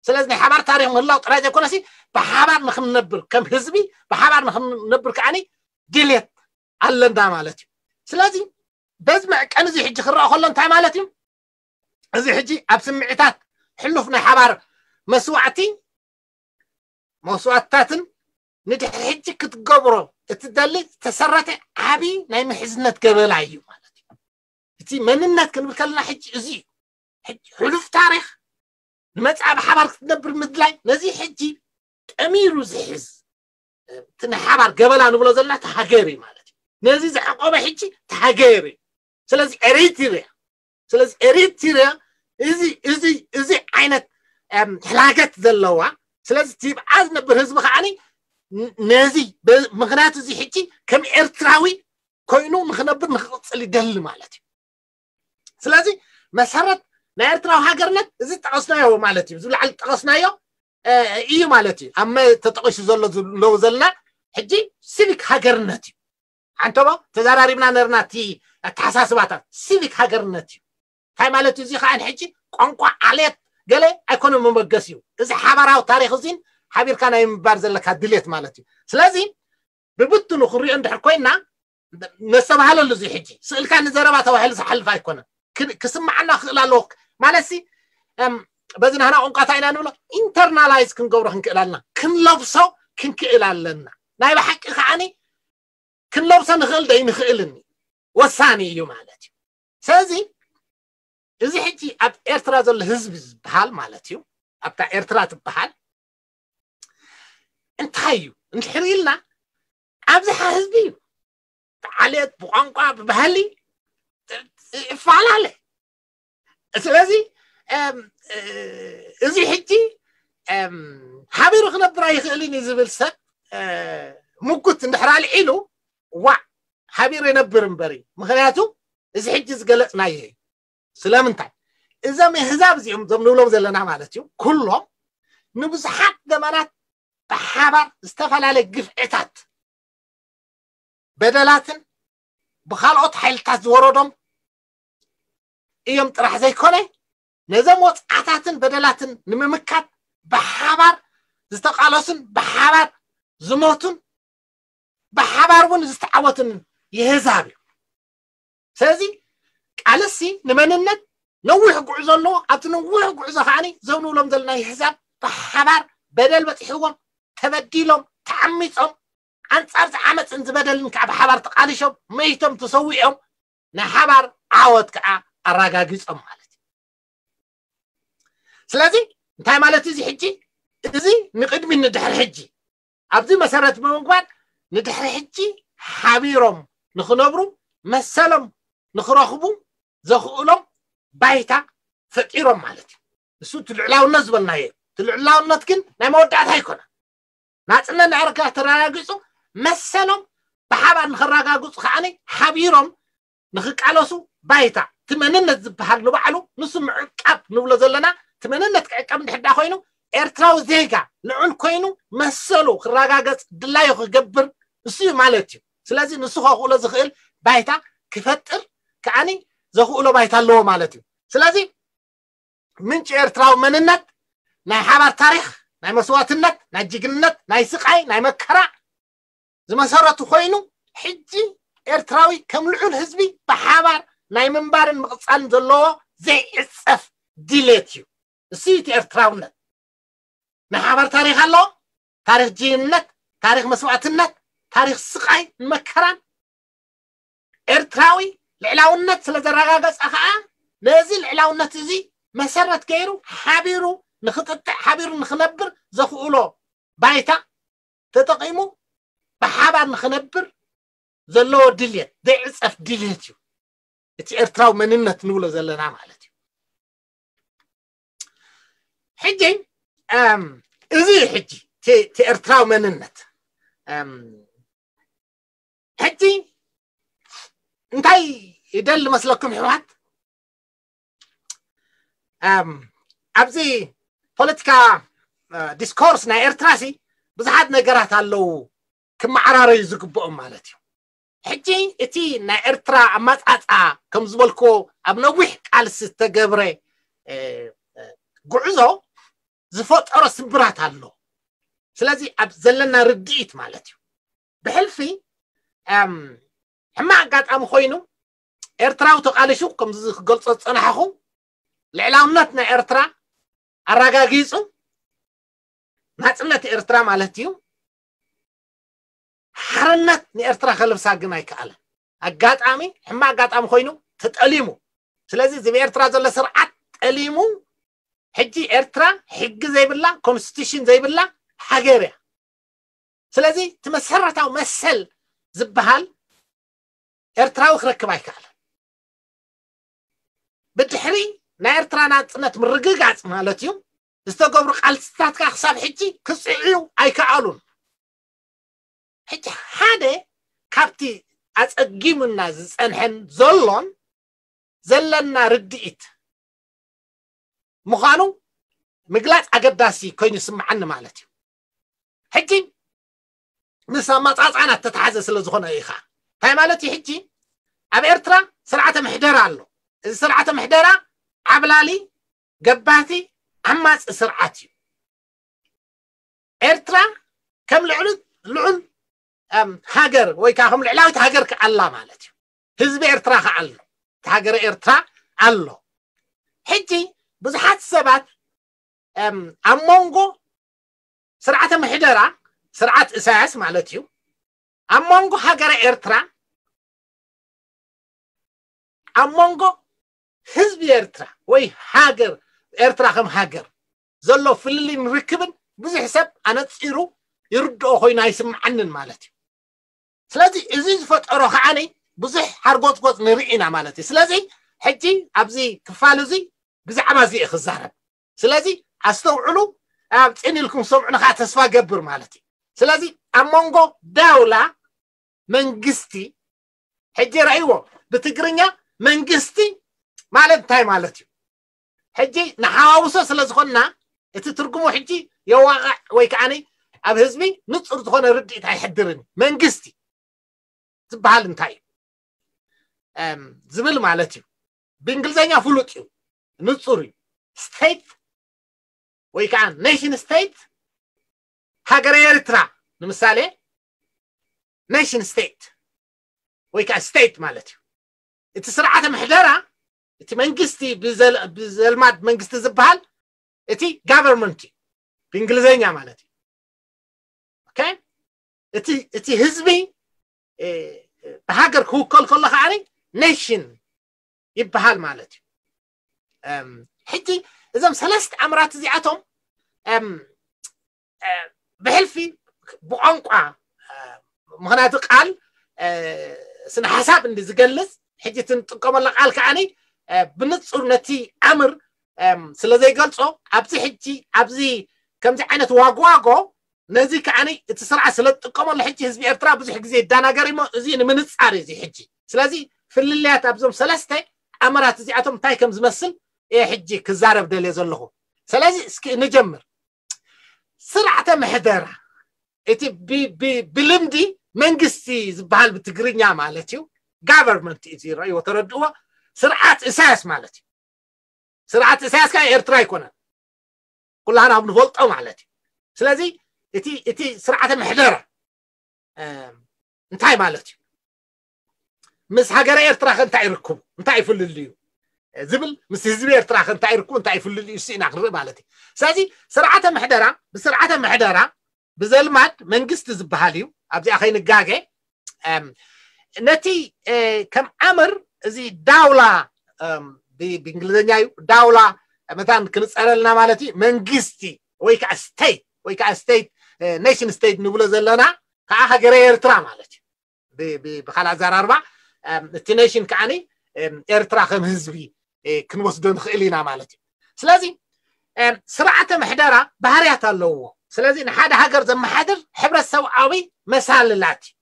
ስለዚ ናይ ሓባር ታሪክ ምህላው ጥራይ ዘይኮነሲ፣ ብሓባር ንክንነብር፣ ከም ህዝቢ ብሓባር ንክንነብር ከዓኒ ድሌት ኣለና ማለት እዩ። ስለዚ በዚ መዕቀኒ እዚ ሕጂ ክረኣ ከሎ እንታይ ማለት እዩ? እዚ ሕጂ ኣብ ስምዒታት ሕሉፍ ናይ ሓባር መስዋዕቲ፣ መስዋዕትታትን ንድሕሪ ሕጂ ክትገብሮ እትደሊ ዝተሰረተ ዓቢ ናይ ምሕዝነት ገበላ እዩ ማለት እዩ። እቲ መንነት ክንብል ከለና ሕጂ እዚ እዩ። ሕሉፍ ታሪኽ ንመጻኢ ብሓባር ክትነብር ምድላይ ነዚ ሕጂ ጠሚሩ ዝሕዝ እቲ ንሓባር ገበላ ንብሎ ዘለና እቲ ሃገር እዩ ማለት እዩ። ነዚ ዝዓቆበ ሕጂ እቲ ሃገር እዩ። ስለዚ ኤሪትሪያ ስለዚ ኤሪትሪያ እዚ እዚ እዚ ዓይነት ሕላገት ዘለዋ ስለዚ ቲብዓ ዝነብር ህዝቢ ከዓኒ ነዚ ምክንያቱ እዚ ሕጂ ከም ኤርትራዊ ኮይኑ ንክነብር ንክቅፅል ይደሊ ማለት እዩ። ስለዚ መሰረት ናይ ኤርትራዊ ሃገርነት እዚ ጠቀስናዮ ማለት እዩ። ዝብላዓል ጠቀስናዮ እዩ ማለት እዩ። ኣብ ተጠቂሱ ዘሎ ዘለዉ ዘለና ሕጂ ሲቪክ ሃገርነት እዩ። ሓንቶቦ ተዘራሪብና ነርና እቲ ኣተሓሳስባታት ሲቪክ ሃገርነት እዩ። እንታይ ማለት እዩ? እዚ ከዓ ሕጂ ቋንቋ ዓሌት ገለ ኣይኮነ መበገስ እዩ። እዚ ሓባራዊ ታሪክ እዚን ሓቢርካ ናይ ምባር ዘለካ ድሌት ማለት እዩ። ስለዚ ብብትኑ ክንሪኦ እንድሕር ኮይና ነስተባሃለሉ እዚ ሕጂ ስእልካ ንዘረባ ተባሂሉ ዝሓልፍ ኣይኮነን። ክስማዓና ክእል ኣለዎ ማለት ሲ በዚ ናህና ቋንቋታ ኢና ንብሎ ኢንተርናላይዝ ክንገብሮ ክንክእል ኣለና፣ ክንለብሶ ክንክእል ኣለና። ናይ ብሓቂ ከዓኒ ክንለብሶ ንኽእል ደይ ንኽእልን ወሳኒ እዩ ማለት እዩ። ስለዚ እዚ ሕጂ ኣብ ኤርትራ ዘሎ ህዝቢ ዝበሃል ማለት እዩ ኣብታ ኤርትራ ትበሃል እንታይ እዩ እንድሕር ኢልና ኣብዝሓ ህዝቢ እዩ ብዓሌት ብቋንቋ ብባህሊ ይፈላለ። ስለዚ እዚ ሕጂ ሓቢሩ ክነብር ኣይኽእልን እዩ ዝብል ሰብ ምጉት እንድሕር ኣልዒሉ ዋዕ ሓቢሩ የነብር እምበሪ። ምክንያቱ እዚ ሕጂ ዝገለፅናዮ እዩ። ስለምንታይ እዞም ኣህዛብ እዚኦም እዞም ንብሎም ዘለና ማለት እዩ ኩሎም ንብዙሓት ዘመናት ብሓባር ዝተፈላለየ ግፍዕታት በደላትን ብካልኦት ሓይልታት ዝወረዶም እዮም ጥራሕ ዘይኮነ ነዞም ወፅዓታትን በደላትን ንምምካት ብሓባር ዝተቃለሱን ብሓባር ዝሞቱን ብሓባር እውን ዝተዓወቱን የህዛብ እዩ። ስለዚ ቃልሲ ንመንነት ነዊሕ ጉዕዞ ኣለዎ። ኣብቲ ነዊሕ ጉዕዞ ከዓ ዘውንብሎም ዘለና የህዛብ ብሓባር በደል በፂሕዎም ተበዲሎም ተዓሚፆም ኣንፃር ዝዓመፅን ዝበደልን ከዓ ብሓባር ተቃሊሾም መይቶም ተሰዊኦም ናይ ሓባር ዓወት ከዓ ኣረጋጊፆም ማለት እዩ። ስለዚ እንታይ ማለት እዚ ሕጂ እዚ ንቅድሚ ንድሕሪ ሕጂ ኣብዚ መሰረት ብምግባር ንድሕሪ ሕጂ ሓቢሮም ንክነብሩ መሰሎም ንክረኽቡ ዘኽእሎም ባይታ ፈጢሮም ማለት እዩ። እሱ እቲ ልዕላውነት ዝበልናዮ እዩ። እቲ ልዕላውነት ግን ናይ መወዳእታ ኣይኮነ። ናፅነት ናይ ኤርትራ ተረጋጊፁ መሰሎም ብሓባር ንክረጋግፁ ከዓኒ ሓቢሮም ንክቃለሱ ባይታ እቲ መንነት ዝበሃል ንባዕሉ ንሱ ምዕቃብ ንብሎ ዘለና እቲ መንነት ክዕቀብ እንድሕዳ ኮይኑ ኤርትራዊ ዜጋ ልዑል ኮይኑ መሰሉ ክረጋገፅ ድላዩ ክገብር እሱ እዩ ማለት እዩ። ስለዚ ንሱ ከኽእሎ ዝኽእል ባይታ ክፈጥር ከዓኒ ዘኽእሎ ባይታ ኣለዎ ማለት እዩ። ስለዚ ምንጪ ኤርትራዊ መንነት ናይ ሓባር ታሪክ ናይ መስዋእትነት ናይ ጅግንነት ናይ ስቃይ ናይ መከራ ዝመሰረቱ ኮይኑ ሕጂ ኤርትራዊ ከም ልዑል ህዝቢ ብሓባር ናይ ምንባርን ምቕፃልን ዘለዎ ዘይዕፀፍ ድሌት እዩ። እሱ እቲ ኤርትራውነት ናይ ሓባር ታሪክ ኣለዎ። ታሪክ ጅግንነት፣ ታሪክ መስዋእትነት፣ ታሪክ ስቃይ መከራን ኤርትራዊ ልዕላውነት ስለ ዘረጋገፀ ከዓ ነዚ ልዕላውነት እዚ መሰረት ገይሩ ሓቢሩ ንክጥጥዕ ሓቢሩ ንክነብር ዘኽእሎ ባይታ ተጠቂሙ ብሓባር ንክነብር ዘለዎ ድልየት ዘይዕፀፍ ድልየት እዩ። እቲ ኤርትራዊ መንነት ንብሎ ዘለና ማለት እዩ። ሕጂ እዚ ሕጂ እቲ ኤርትራዊ መንነት ሕጂ እንታይ ይደሊ መስለኩም ሕዋት ኣብዚ ፖለቲካ ዲስኮርስ ናይ ኤርትራ ሲ ብዙሓት ነገራት ኣለዉ ክመዓራረዩ ዝግብኦም ማለት እዩ። ሕጂ እቲ ናይ ኤርትራ ኣማፃፃ ከም ዝበልክዎ ኣብ ነዊሕ ቃልሲ ዝተገብረ ጉዕዞ ዝፈጠሮ ስብራት ኣሎ። ስለዚ ኣብ ዘለና ርድኢት ማለት እዩ ብሕልፊ ሕማቅ ኣጋጣሚ ኮይኑ ኤርትራዊ ተቃሊሹ ከምዚ ክገልፆ ዝፀናሕኹ ልዕላውነት ናይ ኤርትራ ኣረጋጊፁ ናፅነት ኤርትራ ማለት እዩ። ሓርነት ንኤርትራ ከለብሳ ግን ኣይከኣለን። ኣጋጣሚ ሕማቅ ኣጋጣሚ ኮይኑ ተጠሊሙ። ስለዚ እዚ ብኤርትራ ዘሎ ስርዓት ጠሊሙ ሕጂ ኤርትራ ሕጊ ዘይብላ ኮንስቲቱሽን ዘይብላ ሃገር እያ። ስለዚ እቲ መሰረታዊ መሰል ዝበሃል ኤርትራዊ ክረክብ ኣይከኣለን። ብድሕሪ ናይ ኤርትራ ናጽነት ምርግጋጽ ማለት እዩ ዝተገብሩ ቃልስታት ከዓ ክሳብ ሕጂ ክጽዕዩ ኣይከኣሉን። ሕጂ ሓደ ካብቲ ኣጸጊሙና ዝጸንሐን ዘሎን ዘለና ርድኢት ምዃኑ ምግላጽ ኣገዳሲ ኮይኑ ይስምዓኒ ማለት እዩ። ሕጂ ምስ ኣመጻጽኣና እተተሓዘ ስለ ዝኾነ ኢኻ። እንታይ ማለት እዩ? ሕጂ ኣብ ኤርትራ ስርዓተ ምሕደራ ኣሎ። እዚ ስርዓተ ምሕደራ ዓብላሊ፣ ገባቲ፣ ዓማጺ ስርዓት እዩ። ኤርትራ ከም ልዕሉ ልዑል ሃገር ወይ ከዓ ከም ልዕላዊት ሃገር ክኣላ ማለት እዩ። ህዝቢ ኤርትራ ክኣሎ፣ እቲ ሃገረ ኤርትራ ኣሎ። ሕጂ ብዙሓት ሰባት ኣብ መንጎ ስርዓተ ምሕደራ፣ ስርዓት እሳያስ ማለት እዩ፣ ኣብ መንጎ ሃገረ ኤርትራ፣ ኣብ መንጎ ህዝቢ ኤርትራ ወይ ሃገር ኤርትራ ከም ሃገር ዘሎ ፍልልይን ርክብን ብዙሕ ሰብ ኣነጺሩ ይርድኦ ኮይኑ ኣይስምዓንን ማለት እዩ። ስለዚ እዚ ዝፈጠሮ ከዓኒ ብዙሕ ሓርጎጽጎጽ ንርኢ ኢና ማለት እዩ። ስለዚ ሕጂ ኣብዚ ክፋል እዚ ብዛዕባ እዚ እየ ክዛረብ። ስለዚ ኣስተውዕሉ፣ ኣብ ጽን ኢልኩም ሰምዑ ንኻ ተስፋ ገብር ማለት እዩ። ስለዚ ኣብ መንጎ ዳውላ መንግስቲ ሕጂ ረእይዎ ብትግርኛ መንግስቲ ማለት እንታይ ማለት እዩ? ሕጂ ንሓዋውሶ ስለ ዝኾንና እቲ ትርጉሙ ሕጂ የዋቕዕ ወይ ከዓኒ ኣብ ህዝቢ ንጹር ዝኾነ ርድኢት ኣይሕድርን። መንግስቲ ዝበሃል እንታይ እዩ ዝብል ማለት እዩ። ብእንግሊዝኛ ፍሉጥ እዩ፣ ንጹር እዩ። ስቴት ወይ ከዓ ኔሽን ስቴት፣ ሃገረ ኤርትራ ንምሳሌ ኔሽን ስቴት ወይ ከዓ ስቴት ማለት እዩ። እቲ ስርዓተ ምሕደራ፣ እቲ መንግስቲ ብዘልማድ መንግስቲ ዝበሃል እቲ ጋቨርንመንት እዩ ብእንግሊዝኛ ማለት እዩ። ኦኬ፣ እቲ ህዝቢ ብሃገር ክውከል ከሎ ከዓ ኔሽን ይበሃል ማለት እዩ። ሕጂ እዞም ሰለስተ ኣምራት እዚኣቶም ብሕልፊ ብቋንቋ፣ ምክንያቱ ቃል ስነ ሓሳብ እንዲ ዝገልጽ፣ ሕጂ እቲ ንጥቀመሎ ቃል ከዓኒ ብንጹር ነቲ ኣምር ስለ ዘይገልጾ፣ ኣብዚ ሕጂ ኣብዚ ከምዚ ዓይነት ዋግዋጎ ነዚ ከዓኒ እቲ ስርዓት ስለ ዝጥቀመሉ ሕጂ ህዝቢ ኤርትራ ብዙሕ ግዜ ይደናገር እሞ እዚ ንምንጻር እዩ እዚ ሕጂ። ስለዚ ፍልልያት ኣብዞም ሰለስተ ኣምራት እዚኣቶም እንታይ ከም ዝመስል እየ ሕጂ ክዛረብ ደልየ ዘለኹ። ስለዚ እስኪ ንጀምር። ስርዓተ ምሕደራ እቲ ብልምዲ መንግስቲ ዝበሃል ብትግርኛ ማለት እዩ። ጋቨርንመንት እዩ ዝረእይዎ፣ ተረድእዎ። ስርዓት እሳያስ ማለት እዩ። ስርዓት እሳያስ ከዓ ኤርትራ ኣይኮነን፣ ኩላህና ኣብ ንፈልጦ ማለት እዩ። ስለዚ እቲ እቲ ስርዓተ ምሕደራ እንታይ ማለት እዩ? ምስ ሃገረ ኤርትራ ከ እንታይ ርክቡ፣ እንታይ ይፍልልዩ ዝብል፣ ምስ ህዝቢ ኤርትራ ከ እንታይ ርክቡ፣ እንታይ ይፍልልዩ፣ እሱ ኢና ክንርኢ ማለት እዩ። ስለዚ ስርዓተ ምሕደራ ብስርዓተ ምሕደራ ብዘልማድ መንግስቲ ዝበሃል እዩ። ኣብዚኣ ከይንጋገ ነቲ ከም ኣምር እዚ ዳውላ ብእንግሊዝኛ እዩ፣ ዳውላ መታን ክንፀረልና ማለት እዩ። መንግስቲ ወይ ከዓ ስቴት ወይ ከዓ ስቴት ኔሽን ስቴት ንብሎ ዘለና ከዓ ሃገረ ኤርትራ ማለት እዩ። ብካልእ ኣዘራርባ እቲ ኔሽን ከዓኒ ኤርትራ ከም ህዝቢ ክንወስዶ ንኽእል ኢና ማለት እዩ። ስለዚ ስርዓተ ምሕደራ ባህርያት ኣለዎ። ስለዚ ንሓደ ሃገር ዘመሓድር ሕብረተሰብኣዊ መሳልላት እዩ።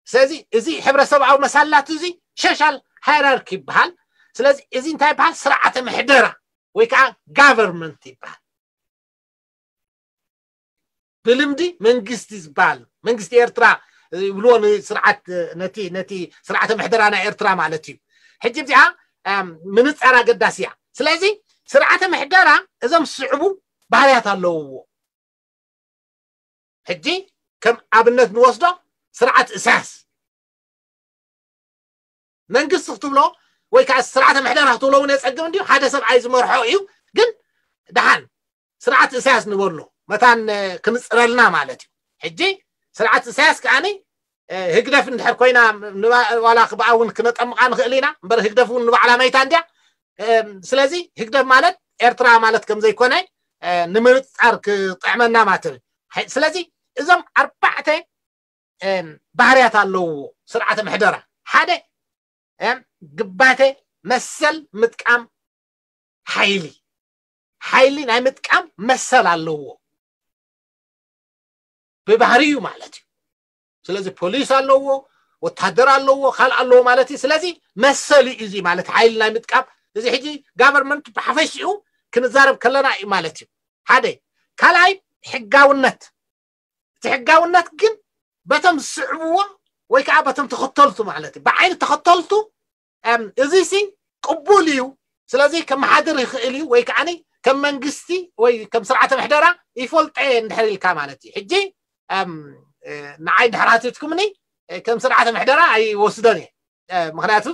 ስለዚ እዚ ሕብረተሰብኣዊ መሳልላት እዚ ሶሻል ሃይራርኪ ይበሃል። ስለዚ እዚ እንታይ ይበሃል? ስርዓተ ምሕደራ ወይ ከዓ ጋቨርንመንት ይበሃል። ብልምዲ መንግስቲ ዝበሃል መንግስቲ ኤርትራ ይብልዎ ንስርዓት ነቲ ነቲ ስርዓተ ምሕደራ ናይ ኤርትራ ማለት እዩ። ሕጂ እዚኣ ምንጻር ኣገዳሲ እያ። ስለዚ ስርዓተ ምሕደራ እዞም ዝስዕቡ ባህርያት ኣለውዎ። ሕጂ ከም ኣብነት ንወስዶ ስርዓት እሳያስ መንግስቲ ክትብሎ ወይ ከዓ ስርዓተ ምሕደራ ክትብሎ እውን የፀግም እንዲዩ። ሓደ ሰብኣይ ዝመርሖ እዩ። ግን ደሓን ስርዓት እሳያስ ንበሎ መታን ክንፅረልና ማለት እዩ። ሕጂ ስርዓት እሳያስ ከዓኒ ህግደፍ እንድሕር ኮይና ዋላ ክብኣ እውን ክነጠምቃ ንኽእል ኢና እምበር ህግደፍ እውን ንባዕላ መይታ እንድያ። ስለዚ ህግደፍ ማለት ኤርትራ ማለት ከም ዘይኮነ ንምንጻር ክጥዕመና ማለት እዩ። ስለዚ እዞም ኣርባዕተ ባህርያት ኣለዎ ስርዓተ ምሕደራ። ሓደ ግባተ መሰል ምጥቃም ሓይሊ፣ ሓይሊ ናይ ምጥቃም መሰል ኣለዎ ብባህሪኡ ማለት እዩ። ስለዚ ፖሊስ ኣለዎ፣ ወታደር ኣለዎ፣ ካልእ ኣለዎ ማለት እዩ። ስለዚ መሰል እዩ እዚ ማለት ሓይሊ ናይ ምጥቃም። እዚ ሕጂ ጋቨርንመንት ብሓፈሽኡ ክንዛረብ ከለና እዩ ማለት እዩ። ሓደ ካልኣይ ሕጋውነት። እቲ ሕጋውነት ግን በቶም ዝስዕብዎ ወይ ከዓ በቶም ተኸተልቱ ማለት እዩ። ብዓይኒ ተኸተልቱ እዚ ሲ ቅቡል እዩ። ስለዚ ከመሓድር ይኽእል እዩ ወይ ከዓ ከም መንግስቲ ወይ ከም ስርዓተ ምሕደራ ይፈልጦ እየ እንድሕር ኢልካ ማለት እዩ። ሕጂ ንዓይ እንድሕር ሃቲትኩምኒ ከም ስርዓተ ምሕደራ ኣይወስዶን እየ። ምክንያቱ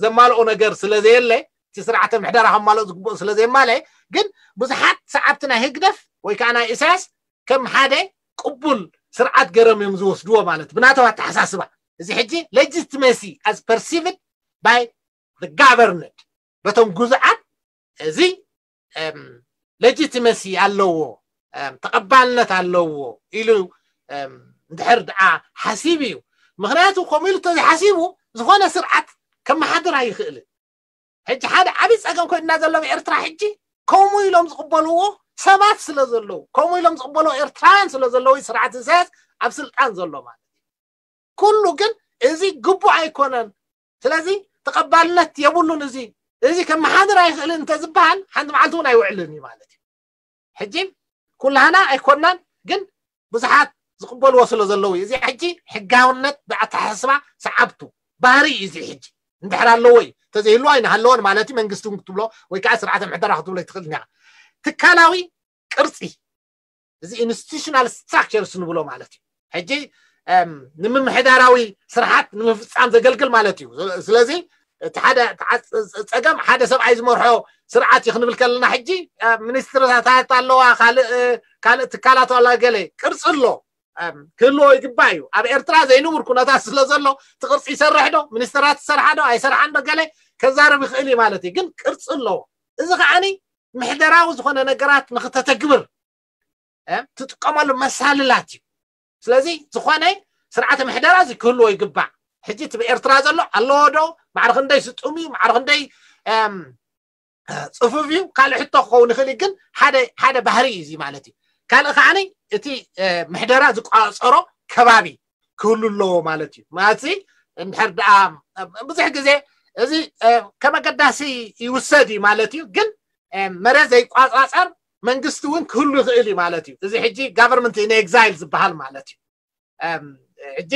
ዘማልኦ ነገር ስለዘየለ፣ እቲ ስርዓተ ምሕደራ ከማልኦ ዝግብኦ ስለዘየማልአ፣ ግን ብዙሓት ሰዓብቲ ናይ ህግደፍ ወይ ከዓ ናይ ኢሳያስ ከም ሓደ ቅቡል ስርዓት ገይሮም እዮም ዝወስድዎ ማለት ብናቶም ኣተሓሳስባ። እዚ ሕጂ legitimacy as perceived by the governed በቶም ግዙዓት እዚ legitimacy ኣለዎ፣ ተቐባልነት ኣለዎ ኢሉ እንድሕር ደኣ ሓሲቡ እዩ። ምክንያቱ ከምኡ ኢሉ ተዘይሓሲቡ ዝኾነ ስርዓት ከመሓድር ኣይኽእልን። ሕጂ ሓደ ዓብዪ ፀገም ኮይና ዘሎ ኣብ ኤርትራ ሕጂ ከምኡ ኢሎም ዝቕበልዎ ሰባት ስለ ዘለዉ፣ ከምኡ ኢሎም ዝቕበልዎ ኤርትራውያን ስለ ዘለዉ ስርዓት ኢሳያስ ኣብ ስልጣን ዘሎ ማለት እዩ። ኩሉ ግን እዚ ግቡእ ኣይኮነን፣ ስለዚ ተቐባልነት የብሉን፣ እዚ እዚ ከመሓድር ኣይኽእልን እንተዝበሃል ሓንቲ መዓልቲ እውን ኣይውዕልን እዩ ማለት እዩ። ሕጂ ኩላህና ኣይኮናን፣ ግን ብዙሓት ዝቕበልዎ ስለ ዘለዉ እዩ። እዚ ሕጂ ሕጋውነት ብኣተሓሳስባ ሰዓብቱ ባህሪ እዩ። እዚ ሕጂ እንድሕር ኣለዎ እዩ፣ ተዘይህልዎ ኣይንሃለዎን ማለት እዩ። መንግስቲ እውን ክትብሎ ወይ ከዓ ስርዓተ ምሕደራ ክትብሎ ይትኽእል እኒኻ። ትካላዊ ቅርፂ፣ እዚ institutional structures ንብሎ ማለት እዩ። ሕጂ ንምምሕዳራዊ ስርሓት ንምፍፃም ዘገልግል ማለት እዩ። ስለዚ እቲ ሓደ ፀገም ሓደ ሰብኣይ ዝመርሖ ስርዓት እዩ ክንብል ከለና፣ ሕጂ ሚኒስትርታት ኣለዋ፣ ካልእ ትካላት ኣላ፣ ገለ ቅርፂ ኣሎ፣ ክህልዎ ይግባእ እዩ። ኣብ ኤርትራ ዘይንቡር ኩነታት ስለ ዘሎ እቲ ቅርፂ ይሰርሕ ዶ፣ ሚኒስትራት ይሰርሓ ዶ ኣይሰርሓን ዶ ገለ ከዛርብ ይኽእል እዩ ማለት እዩ። ግን ቅርፂ ኣለዎ። እዚ ከዓኒ ምሕደራዊ ዝኾነ ነገራት ንክተተግብር ትጥቀመሉ መሳልላት እዩ። ስለዚ ዝኾነ ስርዓተ ምሕደራ እዚ ክህልዎ ይግባእ። ሕጂ እቲ ብኤርትራ ዘሎ ኣለዎ ዶ፣ ማዕረ ክንደይ ስጡም እዩ፣ ማዕረ ክንደይ ፅፉፍ እዩ፣ ካልእ ሕቶ ክኸውን ይኽእል እዩ። ግን ሓደ ሓደ ባህሪ እዩ እዚ ማለት እዩ። ካልእ ከዓኒ እቲ ምሕደራ ዝቋፀሮ ከባቢ ክህሉ ኣለዎ ማለት እዩ። ማለት እንድሕር ደኣ ብዙሕ ግዜ እዚ ከም ኣገዳሲ ይውሰድ እዩ ማለት እዩ። ግን መሬት ዘይቋፃፀር መንግስቲ እውን ክህሉ ይኽእል እዩ ማለት እዩ። እዚ ሕጂ government in exile ዝበሃል ማለት እዩ። ሕጂ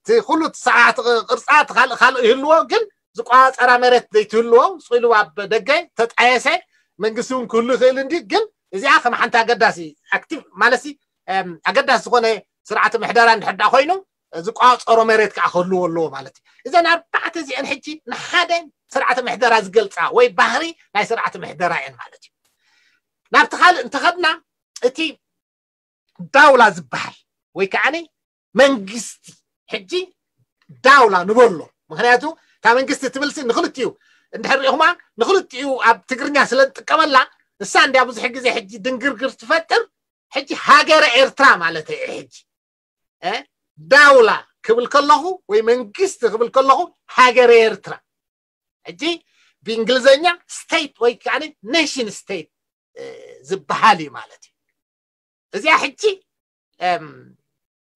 እቲ ኩሉ ስርዓት ቅርፃ ካልእ ይህልዎ፣ ግን ዝቋፀራ መሬት ዘይትህልዎ ስኢሉ ኣብ ደገ ተጣየሰ መንግስቲ እውን ክህሉ ይኽእል እንዲ። ግን እዚኣ ከም ሓንቲ ኣገዳሲ ኣክቲቭ ማለት ኣገዳሲ ዝኾነ ስርዓተ ምሕደራ እንድሕር ደኣ ኮይኑ ዝቋፀሮ መሬት ከዓ ክህልዎ ኣለዎ ማለት እዩ። እዘን ኣርባዕተ እዚአን ሕጂ ንሓደ ስርዓተ ምሕደራ ዝገልፃ ወይ ባህሪ ናይ ስርዓተ ምሕደራ እየን ማለት እዩ። ናብቲ ካልእ እንተኸድና እቲ ዳውላ ዝበሃል ወይ ከዓ መንግስቲ ሕጂ ዳውላ ንበሎ። ምክንያቱ እታ መንግስቲ ትብልሲ ንክልቲኡ እንድሕር ሪኢኹማ ንክልቲኡ ኣብ ትግርኛ ስለ ንጥቀመላ ንሳ እንዲያ ብዙሕ ግዜ ሕጂ ድንግርግር ትፈጥር። ሕጂ ሃገረ ኤርትራ ማለት እየ። ሕጂ ዳውላ ክብል ከለኹ ወይ መንግስቲ ክብል ከለኹ ሃገረ ኤርትራ፣ ሕጂ ብእንግሊዝኛ ስቴት ወይ ከዓ ኔሽን ስቴት ዝበሃል እዩ ማለት እዩ። እዚኣ ሕጂ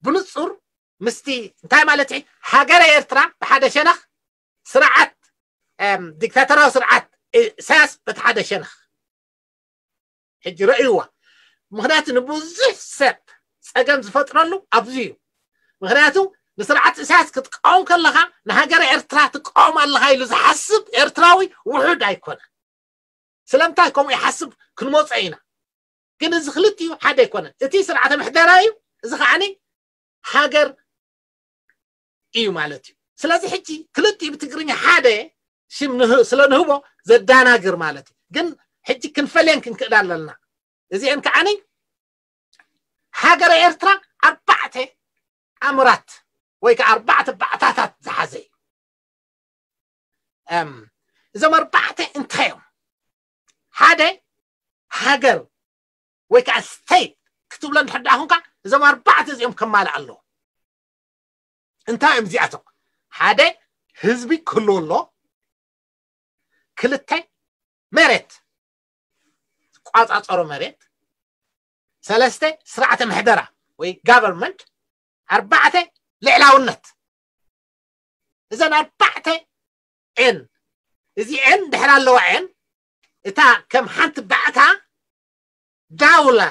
ብንፁር ምስቲ እንታይ ማለት እዩ፣ ሃገረ ኤርትራ ብሓደ ሸነኽ፣ ስርዓት ዲክታተራዊ ስርዓት ኢሳያስ በቲ ሓደ ሸነኽ። ሕጂ ረእይዋ። ምክንያቱ ንብዙሕ ሰብ ፀገም ዝፈጥረሉ ኣብዚ እዩ። ምክንያቱ ንስርዓት ኢሳያስ ክትቃወም ከለካ ንሃገረ ኤርትራ ትቃወም ኣለካ ኢሉ ዝሓስብ ኤርትራዊ ውሑድ ኣይኮነ። ስለምንታይ ከምኡ ይሓስብ ክንመፆ ኢና። ግን እዚ ክልቲኡ ሓደ ኣይኮነን። እቲ ስርዓተ ምሕደራ እዩ፣ እዚ ከዓኒ ሃገር እዩ ማለት እዩ። ስለዚ ሕጂ ክልቲኡ ብትግርኛ ሓደ ሽም ስለ ንህቦ ዘዳናግር ማለት እዩ። ግን ሕጂ ክንፈለየን ክንክእዳ ኣለና። እዚአን ከዓኒ ሃገረ ኤርትራ ኣርባዕተ ኣምራት ወይ ከዓ ኣርባዕተ ባእታታት ዝሓዘ እዩ። እዞም ኣርባዕተ እንታይ እዮም? ሓደ ሃገር ወይ ከዓ ስቴት ክትብሎ እንድሕር ደኣ ኹንካ፣ እዞም ኣርባዕተ እዚኦም ከማልእ ኣለዎ። እንታይ እዮም እዚኣቶም? ሓደ፣ ህዝቢ ክህልዎ ኣሎ። ክልተ፣ መሬት፣ ዝቋጻጸሮ መሬት። ሰለስተ፣ ስርዓተ ምሕደራ ወይ ጋቨርንመንት። ኣርባዕተ፣ ልዕላውነት። እዘን ኣርባዕተ ኤን፣ እዚ ኤን ድሕር ኣለዋ ኤን፣ እታ ከም ሓንቲ ባእታ ዳውላ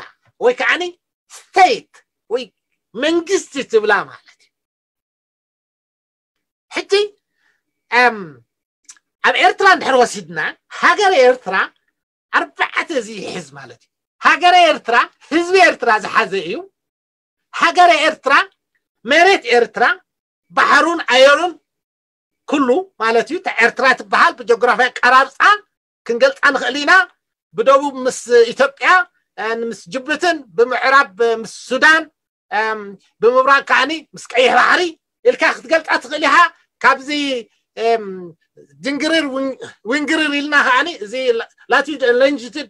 ወይ ከዓኒ ስቴት ወይ መንግስቲ ትብላ ማለት እዩ። ሕጂ ኣብ ኤርትራ እንድሕር ወሲድና፣ ሃገር ኤርትራ ኣርባዕተ እዚ ይሕዝ ማለት እዩ። ሃገረ ኤርትራ፣ ህዝቢ ኤርትራ ዝሓዘ እዩ። ሃገረ ኤርትራ፣ መሬት ኤርትራ፣ ባሕሩን ኣየሩን ኩሉ ማለት እዩ። እታ ኤርትራ ትበሃል ብጂኦግራፊ ኣቀራርፃ ክንገልፃ ንኽእል ኢና። ብደቡብ ምስ ኢትዮጵያ፣ ምስ ጅቡትን፣ ብምዕራብ ምስ ሱዳን፣ ብምብራቅ ከዓኒ ምስ ቀይሕ ባሕሪ ኢልካ ክትገልፃ ትኽእል ኢኻ። ካብዚ ድንግርር ዊንግርር ኢልና ከዓኒ እዚ ላቲቱድ ሎንጂቱድ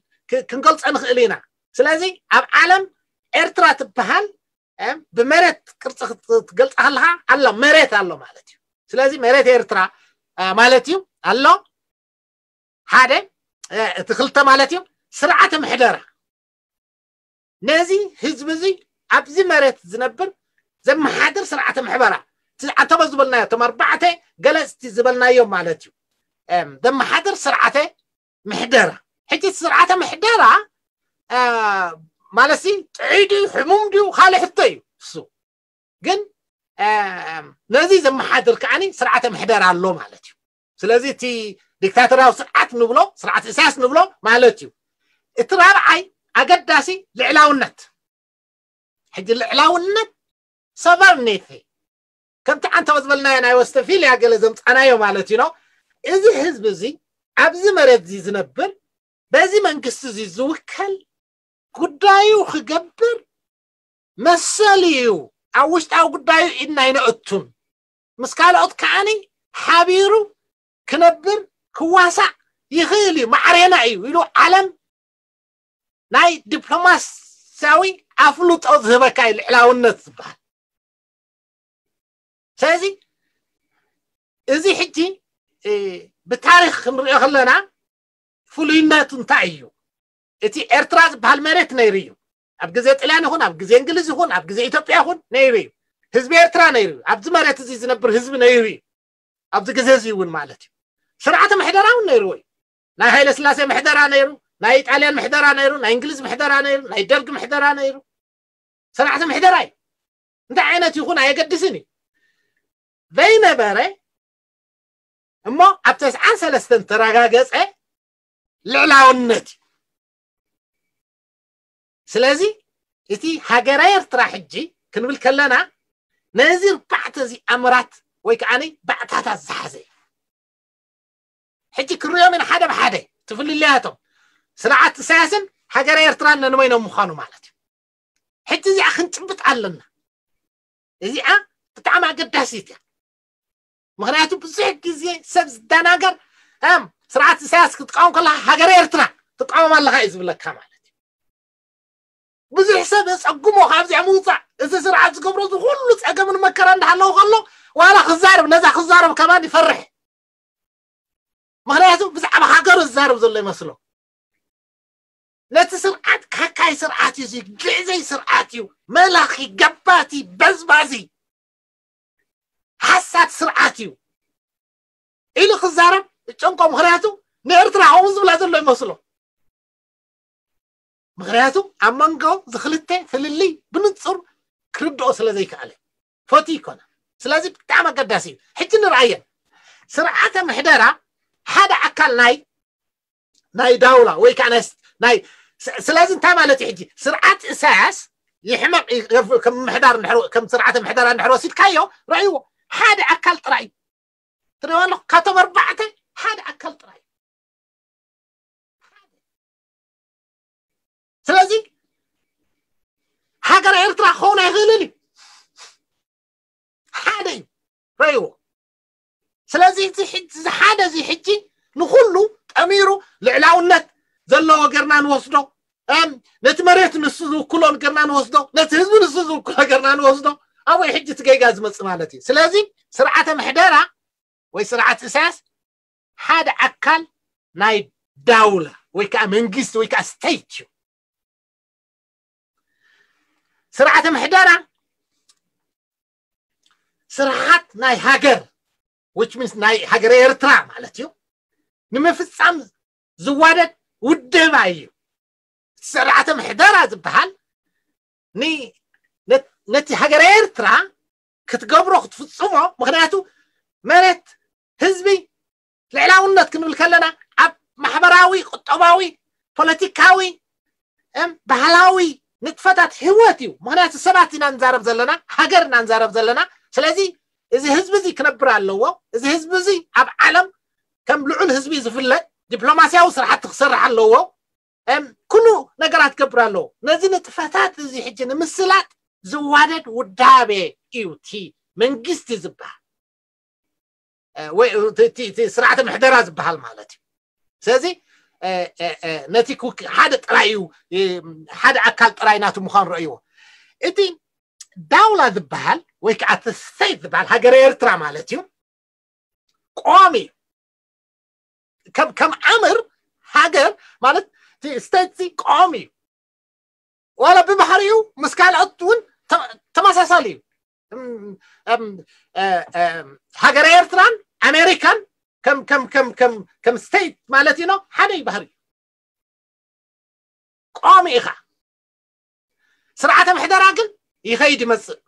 ክንገልፆ ንኽእል ኢና። ስለዚ ኣብ ዓለም ኤርትራ ትበሃል ብመሬት ቅርፂ ክትገልፃ ከለካ ኣሎ፣ መሬት ኣሎ ማለት እዩ። ስለዚ መሬት ኤርትራ ማለት እዩ ኣሎ። ሓደ፣ እቲ ክልተ ማለት እዩ ስርዓተ ምሕደራ። ነዚ ህዝቢ እዚ ኣብዚ መሬት ዝነብር ዘመሓድር ስርዓተ ምሕደራ። ኣንተበ ዝበልናዮ እቶም ኣርባዕተ ገለፅቲ ዝበልናዮም ማለት እዩ። ዘመሓድር ስርዓተ ምሕደራ። ሕጂ ስርዓተ ምሕደራ ማለት ጥዑይ ድዩ ሕሙም ድዩ ካልእ ሕቶ እዩ። እሱ ግን ነዚ ዘመሓድር ከዓኒ ስርዓተ ምሕደራ ኣሎ ማለት እዩ። ስለዚ እቲ ዲክታቶርያዊ ስርዓት ንብሎ፣ ስርዓት ኢሳያስ ንብሎ ማለት እዩ። እቲ ራብዓይ ኣገዳሲ ልዕላውነት። ሕጂ ልዕላውነት፣ ሶቨርኒቲ፣ ከምቲ ኣንተወ ዝበልናዮ ናይ ወስተፊልያ ገለ ዘምፃናዮ ማለት እዩ። እዚ ህዝቢ እዚ ኣብዚ መሬት እዚ ዝነብር፣ በዚ መንግስቲ እዚ ዝውከል፣ ጉዳዩ ክገብር መሰል እዩ። ኣብ ውሽጣዊ ጉዳዩ ኢድና ኣይነእቱን። ምስ ካልኦት ከዓኒ ሓቢሩ ክነብር ክዋሳእ ይኽእል እዩ፣ ማዕሬና እዩ ኢሉ ዓለም ናይ ዲፕሎማስያዊ ኣፍልጦ ዝህበካ እዩ ልዕላውነት ዝበሃል። ስለዚ እዚ ሕጂ ብታሪክ ክንሪኦ ከለና ፍሉይነቱ እንታይ እዩ? እቲ ኤርትራ ዝበሃል መሬት ነይሩ እዩ። ኣብ ግዜ ጥልያን ይኹን፣ ኣብ ግዜ እንግሊዝ ይኹን፣ ኣብ ግዜ ኢትዮጵያ ይኹን ነይሩ እዩ። ህዝቢ ኤርትራ ነይሩ እዩ። ኣብዚ መሬት እዚ ዝነብር ህዝቢ ነይሩ እዩ። ኣብዚ ግዜ እዚ እውን ማለት እዩ። ስርዓተ ምሕደራ እውን ነይርዎ እዩ። ናይ ሃይለ ስላሴ ምሕደራ ነይሩ፣ ናይ ኢጣልያን ምሕደራ ነይሩ፣ ናይ እንግሊዝ ምሕደራ ነይሩ፣ ናይ ደርግ ምሕደራ ነይሩ። ስርዓተ ምሕደራ እዩ። እንታይ ዓይነት ይኹን ኣየገድስን እዩ። ዘይነበረ እሞ ኣብ ተስዓን ሰለስተን ተረጋገፀ ልዕላውነት እዩ። ስለዚ እቲ ሃገረ ኤርትራ ሕጂ ክንብል ከለና ነዚ ኣርባዕተ እዚ ኣምራት ወይ ከዓ ባዕታታት ዝሓዘ እዩ። ሕጂ ክንሪኦም ኢና ሓደ ብሓደ እቲ ፍልልያቶም። ስርዓት ኢሳያስን ሃገረ ኤርትራን ነንበይኖም ምዃኑ ማለት እዩ። ሕጂ እዚኣ ክንጭብጥ ኣለና። እዚኣ ብጣዕሚ ኣገዳሲት እያ። ምክንያቱ ብዙሕ ግዜ ሰብ ዝደናገር፣ እም፣ ስርዓት ኢሳያስ ክትቃወም ከለካ ሃገረ ኤርትራ ትቃወም ኣለካ እዩ ዝብለካ ማለት እዩ። ብዙሕ ሰብ የፀግሞ ካብዚኣ ምውፃእ፣ እዚ ስርዓት ዝገብሮ እዚ ኩሉ ፀገምን መከራ እንዳሃለዎ ከሎ ዋላ ክዛረብ፣ ነዛ ክዛረብ ከማን ይፈርሕ። ምክንያቱ ብዛዕባ ሃገሩ ዝዛረብ ዘሎ ይመስሎ። ነቲ ስርዓት ካካይ ስርዓት እዩ፣ እዚ ግዕዘይ ስርዓት እዩ፣ መላኺ፣ ገባቲ፣ በዝባዚ፣ ሓሳድ ስርዓት እዩ ኢሉ ክዛረብ ይጨንቆ። ምክንያቱ ንኤርትራ ከምኡ ዝብላ ዘሎ ይመስሎ። ምክንያቱ ኣብ መንጎ ዝክልተ ፍልልይ ብንጹር ክርድኦ ስለ ዘይከኣለ ፈትዩ ይኮነ። ስለዚ ብጣዕሚ ኣገዳሲ እዩ። ሕጂ ንርኣየን። ስርዓተ ምሕደራ ሓደ ኣካል ናይ ናይ ዳውላ ወይ ከዓ ናይ ስ- ናይ ስ- ስለዚ እንታይ ማለት እዩ? ሕጂ ስርዓት ኢሳያስ ይሕመቕ ይ- ከም ምሕዳር እንድሕር- ከም ስርዓተ ምሕደራ እንድሕር ወሲድካዮ፣ ረእይዎ፣ ሓደ ኣካል ጥራይ እዩ። ትሪእዎ ኣለኹ፣ ካብቶም ኣርባዕተ ሓደ ኣካል ጥራይ እዩ። ስለዚ ሃገር ኤርትራ ክኸውን ኣይኽእልን እዩ። ሓደ እዩ፣ ረእይዎ። ስለዚ እዚ ሕጂ፣ እዚ ሓደ እዚ ሕጂ ንኹሉ ጠሚሩ ልዕላውነት፣ ዘለዎ ገርና ንወስዶ፣ ነቲ መሬት ንሱ ዝውክሎ ገርና ንወስዶ፣ ነቲ ህዝቢ ንሱ ዝውክሎ ገርና ንወስዶ። ኣብኡ ሕጂ እቲ ጌጋ ዝመጽእ ማለት እዩ። ስለዚ ስርዓተ ምሕደራ ወይ ስርዓት ኢሳያስ ሓደ ኣካል ናይ ዳውላ ወይ ከዓ መንግስቲ ወይ ከዓ ስቴት እዩ። ስርዓተ ምሕደራ ስርዓት ናይ ሃገር፣ which means ናይ ሃገር ኤርትራ ማለት እዩ፣ ንምፍጻም ዝዋደድ ውድባ እዩ። ስርዓተ ምሕደራ ዝበሃል ነቲ ሃገር ኤርትራ ክትገብሮ ክትፍጽሞ። ምክንያቱ መሬት ህዝቢ ልዕላውነት ክንብል ከለና ኣብ ማሕበራዊ፣ ቁጠባዊ፣ ፖለቲካዊ፣ ባህላዊ ንጥፈታት ህይወት እዩ። ምክንያቱ ሰባት ኢና ንዛረብ ዘለና፣ ሃገር ኢና ንዛረብ ዘለና። ስለዚ እዚ ህዝቢ እዚ ክነብር ኣለዎ። እዚ ህዝቢ እዚ ኣብ ዓለም ከም ልዑል ህዝቢ ዝፍለጥ ዲፕሎማሲያዊ ስራሕቲ ክሰርሕ ኣለዎ። ኩሉ ነገራት ክገብር ኣለዎ። ነዚ ንጥፈታት እዚ ሕጂ ንምስላጥ ዝዋደድ ውዳቤ እዩ እቲ መንግስቲ ዝበሃል ወይ እቲ ስርዓተ ምሕደራ ዝበሃል ማለት እዩ። ስለዚ ነቲ ሓደ ጥራይ እዩ፣ ሓደ ኣካል ጥራይ ናቱ ምዃኑ ረእይዎ። እቲ ዳውላ ዝበሃል ወይ ከዓ እቲ ስቴት ዝበሃል ሃገር ኤርትራ ማለት እዩ፣ ቆሚ ከም ኣምር ሃገር ማለት እቲ ስቴት እዚ ቆሚ እዩ። ዋላ ብባህሪኡ ምስ ካልኦት እውን ተመሳሳሊ እዩ። ሃገር ኤርትራን ኣሜሪካን ከም ስቴት ማለት እዩ፣ ሓደ እዩ ባህሪኡ። ቆሚ ኢኻ። ስርዓተ ምሕደራ ግን ይኸይድ ይመፅእ፣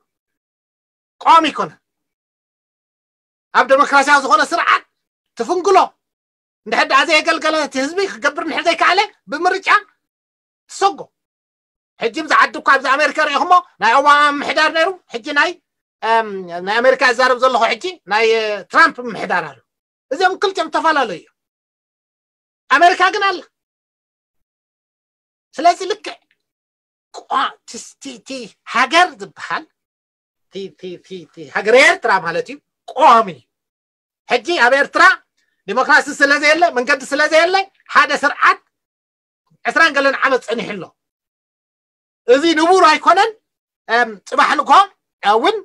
ቆሚ ይኮነ። ኣብ ዴሞክራሲያዊ ዝኾነ ስርዓት ትፍንግሎ እንድሕር ደኣ ዘየገልገለ እቲ ህዝቢ ክገብር እንድሕር ዘይከኣለ ብምርጫ ትሰጎ። ሕጂ ኣብዚ ዓዲ እኳ ኣብዚ ኣሜሪካ ሪኢኹሞ ናይ ኦባማ ምሕዳር ነይሩ፣ ሕጂ ናይ ናይ ኣሜሪካ ይዛረብ ዘለኹ ሕጂ ናይ ትራምፕ ምሕዳር ኣሎ። እዚኦም ክልቲኦም ዝተፈላለዩ እዮም። ኣሜሪካ ግን ኣላ። ስለዚ ልክዕ እቲ ሃገር ዝበሃል ሃገር ኤርትራ ማለት እዩ ቆሚ። ሕጂ ኣብ ኤርትራ ዲሞክራሲ ስለዘየለ፣ መንገዲ ስለዘየለ ሓደ ስርዓት ዕስራን ገለን ዓመት ጸኒሑ ኣሎ። እዚ ንቡር ኣይኮነን። ጽባሕ ንግሆ እውን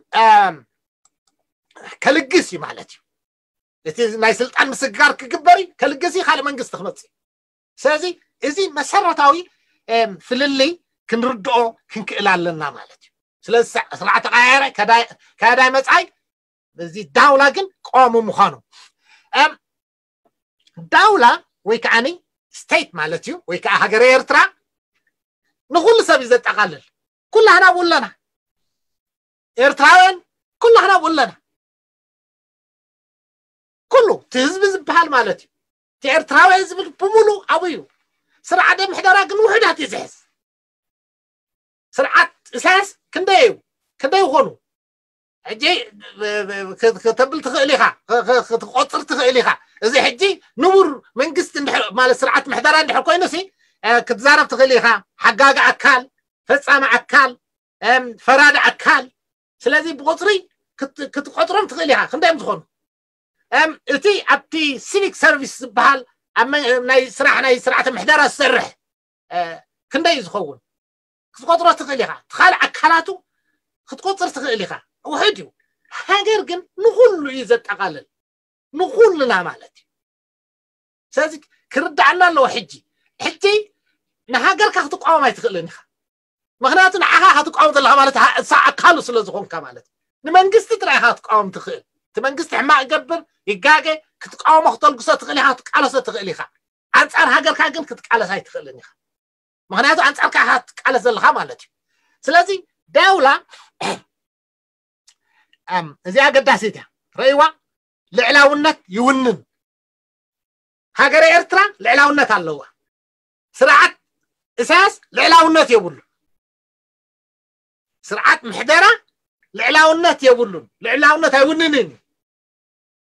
ከልግስ እዩ ማለት እዩ። እቲ ናይ ስልጣን ምስግጋር ክግበር እዩ፣ ከልግስ እዩ፣ ካልእ መንግስቲ ክመጽእ እዩ። ስለዚ እዚ መሰረታዊ ፍልልይ ክንርድኦ ክንክእል ኣለና ማለት እዩ። ስለዚ ስርዓት ተቀያየረ ከዳይ መጻይ፣ እዚ ዳውላ ግን ቀዋሚ ምዃኑ። ዳውላ ወይ ከዓኒ ስቴት ማለት እዩ፣ ወይ ከዓ ሃገረ ኤርትራ ንኩሉ ሰብ እዩ ዘጠቃልል። ኩላህና ኣብኡ ኣለና፣ ኤርትራውያን ኩላህና ኣብኡ ኣለና። ኩሉ እቲ ህዝቢ ዝበሃል ማለት እዩ፣ እቲ ኤርትራውያን ዝብል ብምሉ ኣብኡ እዩ። ስርዓተ ምሕደራ ግን ውሕዳት እዩ ዝሕዝ። ስርዓት ኢሳያስ ክንደይ እዩ፣ ክንደይ ይኾኑ? ሕጂ ከተብል ትኽእል ኢኻ፣ ክትቆፅር ትኽእል ኢኻ። እዚ ሕጂ ንቡር መንግስቲ ማለት ስርዓት ምሕደራ እንድሕር ኮይኑ ሲ ክትዛረብ ትኽእል ኢኻ። ሓጋጊ ኣካል፣ ፈፃሚ ኣካል፣ ፈራዲ ኣካል። ስለዚ ብቁፅሪ ክትቆፅሮም ትኽእል ኢኻ፣ ክንደይ እዮም ዝኾኑ? እቲ ኣብቲ ሲቪክ ሰርቪስ ዝበሃል ናይ ስራሕ ናይ ስርዓተ ምሕደራ ዝሰርሕ ክንደይ እዩ ዝኸውን ክትቆፅሮ ትኽእል ኢኻ። ካልእ ኣካላቱ ክትቆፅር ትኽእል ኢኻ። ውሕድ እዩ። ሃገር ግን ንኹሉ እዩ ዘጠቓልል፣ ንኹልና ማለት እዩ። ስለዚ ክርዳእና ኣለዎ። ሕጂ ሕጂ ንሃገርካ ክትቃወም ኣይትኽእልን ኢኻ። ምክንያቱ ንዓኻ ክትቃወም ዘለካ ማለት እሳ ኣካሉ ስለ ዝኾንካ ማለት እዩ። ንመንግስቲ ጥራይ ኢኻ ክትቃወም ትኽእል። እቲ መንግስቲ ሕማቕ ይገብር ይጋገ ክትቃወሞ ክተልግሶ ትኽእል ኢኻ፣ ክትቃለሶ ትኽእል ኢኻ። ኣንጻር ሃገርካ ግን ክትቃለስ ኣይትኽእልን ኢኻ። ምክንያቱ ኣንጻርካ ኢኻ ክትቃለስ ዘለካ ማለት እዩ። ስለዚ ዳውላ እዚ ኣገዳሲት እያ። ረእይዋ ልዕላውነት ይውንን። ሃገረ ኤርትራ ልዕላውነት ኣለዋ። ስርዓት ኢሳያስ ልዕላውነት የብሉ። ስርዓት ምሕደራ ልዕላውነት የብሉን። ልዕላውነት ኣይውንንን እዩ።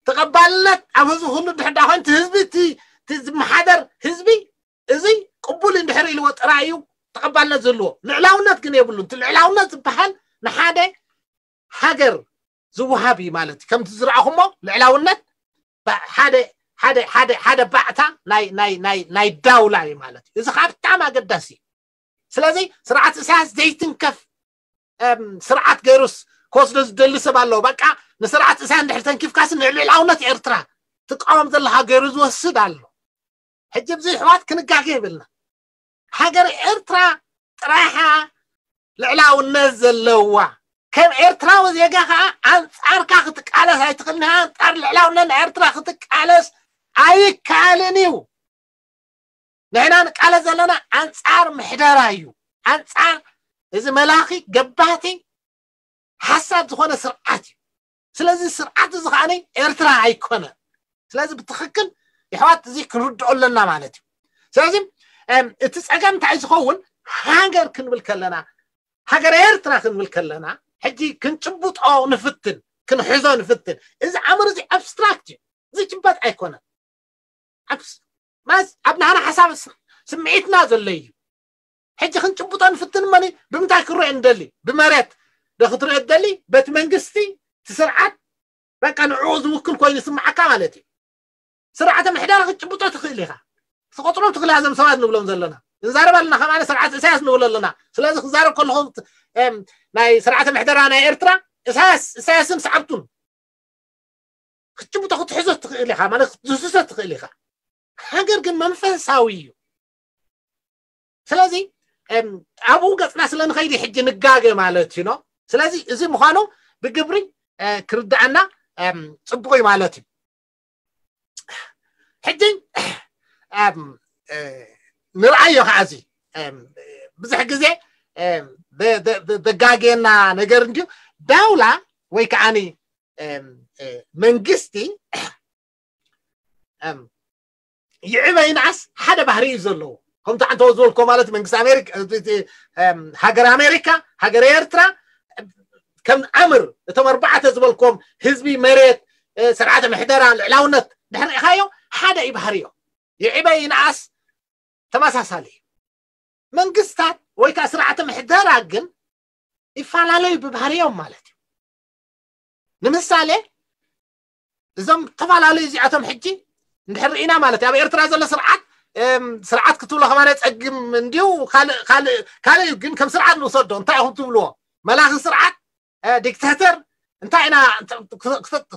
ተቐባልነት ኣብ ህዝቢ ኩሉ ድሕዳ ኮይኑ እቲ ህዝቢ እቲ ዝመሓደር ህዝቢ እዚ ቅቡል እንድሕር ኢልዎ ጥራይ እዩ ተቐባልነት ዝህልዎ። ልዕላውነት ግን የብሉን። እቲ ልዕላውነት ዝበሃል ንሓደ ሃገር ዝወሃብ እዩ ማለት እዩ። ከምቲ ዝረኣኹሞ ልዕላውነት ሓደ ሓደ ሓደ ሓደ ባዕታ ናይ ናይ ናይ ናይ ዳውላ እዩ ማለት እዩ። እዚ ከዓ ብጣዕሚ ኣገዳሲ እዩ። ስለዚ ስርዓት ኢሳያስ ዘይትንከፍ ስርዓት ገይሩስ ክወስዶ ዝደሊ ሰብ ኣለዎ። በቃ ንስርዓት ኢሳያስ እንድሕር ተንኪፍካስ ንልዕላውነት ኤርትራ ትቃወም ዘለካ ገይሩ ዝወስድ ኣሎ። ሕጂ ብዚ ኣሕዋት ክንጋገ ይብልና። ሃገር ኤርትራ ጥራሓ ልዕላውነት ዘለዋ፣ ከም ኤርትራዊ ዜጋ ከዓ ኣንጻርካ ክትቃለስ ኣይትኽእልን። ኣንጻር ልዕላውነት ናይ ኤርትራ ክትቃለስ ኣይከኣልን እዩ። ንሕና ንቃለስ ዘለና ኣንጻር ምሕደራ እዩ። ኣንጻር እዚ መላኺ ገባቲ ሓሳብ ዝኾነ ስርዓት እዩ። ስለዚ ስርዓት እዚ ከዓ ኤርትራ ኣይኮነን። ስለዚ ብትኽክል የሕዋት እዚ ክንርድኦ ኣለና ማለት እዩ። ስለዚ እቲ ፀገም እንታይ ዝኸውን? ሃገር ክንብል ከለና፣ ሃገር ኤርትራ ክንብል ከለና ሕጂ ክንጭብጦ ንፍትን፣ ክንሕዞ ንፍትን። እዚ ኣምር እዚ ኣብስትራክት እዩ፣ ዝጭበጥ ኣይኮነን። ኣብ ናህና ሓሳብ ስምዒትና ዘሎ እዩ። ሕጂ ክንጭብጦ ንፍትን መኒ ብምንታይ ክረአ እንደሊ? ብመሬት ዶ ክትረአ ደሊ? በቲ መንግስቲ እቲ ስርዓት በቃ ንዕኡ ዝውክል ኮይኑ ይስምዓካ ማለት እዩ። ስርዓተ ምሕደራ ክትጭብጦ ትኽእል ኢኻ። ትቆፅሮም ትኽእል እዞም ሰባት ንብሎም ዘለና። ንዛረብ ኣለና ከማን ስርዓት ኢሳያስ ንብል ኣለና። ስለዚ ክዛረብ ከለኹ ናይ ስርዓተ ምሕደራ ናይ ኤርትራ ኢሳያስ ኢሳያስን ሰዓብቱን ክትጭብጦ ክትሕዞ ትኽእል ኢኻ ማለት ክትድስሶ ትኽእል ኢኻ። ሃገር ግን መንፈሳዊ እዩ። ስለዚ ኣብኡ ገፅና ስለ ንኸይዲ ሕጂ ንጋገ ማለት እዩ። ስለዚ እዚ ምዃኑ ብግብሪ ክርዳኣና ፅቡቅ እዩ ማለት እዩ። ሕጂ ንርኣዮ ከዓ እዚ ብዙሕ ግዜ ዘጋግየና ነገር እንድዩ። ዳውላ ወይ ከዓኒ መንግስቲ ይዕበ ይንኣስ ሓደ ባህሪ እዩ ዘለዎ። ከምቲ ዓንተወ ዝበልኮ ማለት መንግስቲ ኣሜሪካ፣ ሃገር ኣሜሪካ፣ ሃገር ኤርትራ ከም ኣምር እቶም ኣርባዕተ ዝበልኮም ህዝቢ፣ መሬት፣ ስርዓተ ምሕደራ፣ ልዕላውነት ድሕሪ ኢኻዮ ሓደ እዩ ባህሪዮ። ይዕበ ይንኣስ ተመሳሳሊ እዩ። መንግስታት ወይ ከዓ ስርዓተ ምሕደራ ግን ይፈላለዩ ብባህሪዮም ማለት እዩ። ንምሳሌ እዞም ዝተፈላለዩ እዚኣቶም ሕጂ እንድሕር ርኢና ማለት እዩ ኣብ ኤርትራ ዘሎ ስርዓት ስርዓት ክትብሎ ከማነ ፀግም እንዲዩ ካልእ ካልእ ካልእ እዩ። ግን ከም ስርዓት ንውሰዶ እንታይ ኢኹም ትብልዎ? መላኺ ስርዓት ዲክታተር እንታይ ኢና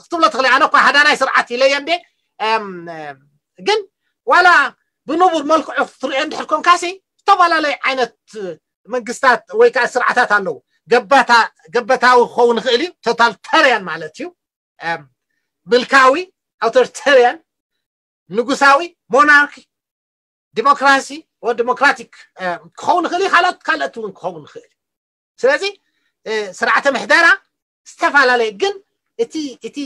ክትብሎ ትኽእል? ኣነ እኳ ሃዳናይ ስርዓት ኢለየ እንዴ። ግን ዋላ ብንቡር መልክዑ ክትሪኦ እንድሕር ኮንካሲ ዝተፈላለዩ ዓይነት መንግስታት ወይ ከዓ ስርዓታት ኣለዉ። ገበታዊ ክኸውን ይኽእል እዩ፣ ቶታልተርያን ማለት እዩ። ምልካዊ፣ ኣውቶሪተርያን፣ ንጉሳዊ፣ ሞናርኪ፣ ዲሞክራሲ ወ ዲሞክራቲክ ክኸውን ይኽእል እዩ። ካልኦት ካልኦት እውን ክኸውን ይኽእል እዩ። ስለዚ ስርዓተ ምሕደራ ዝተፈላለየ ግን እቲ እቲ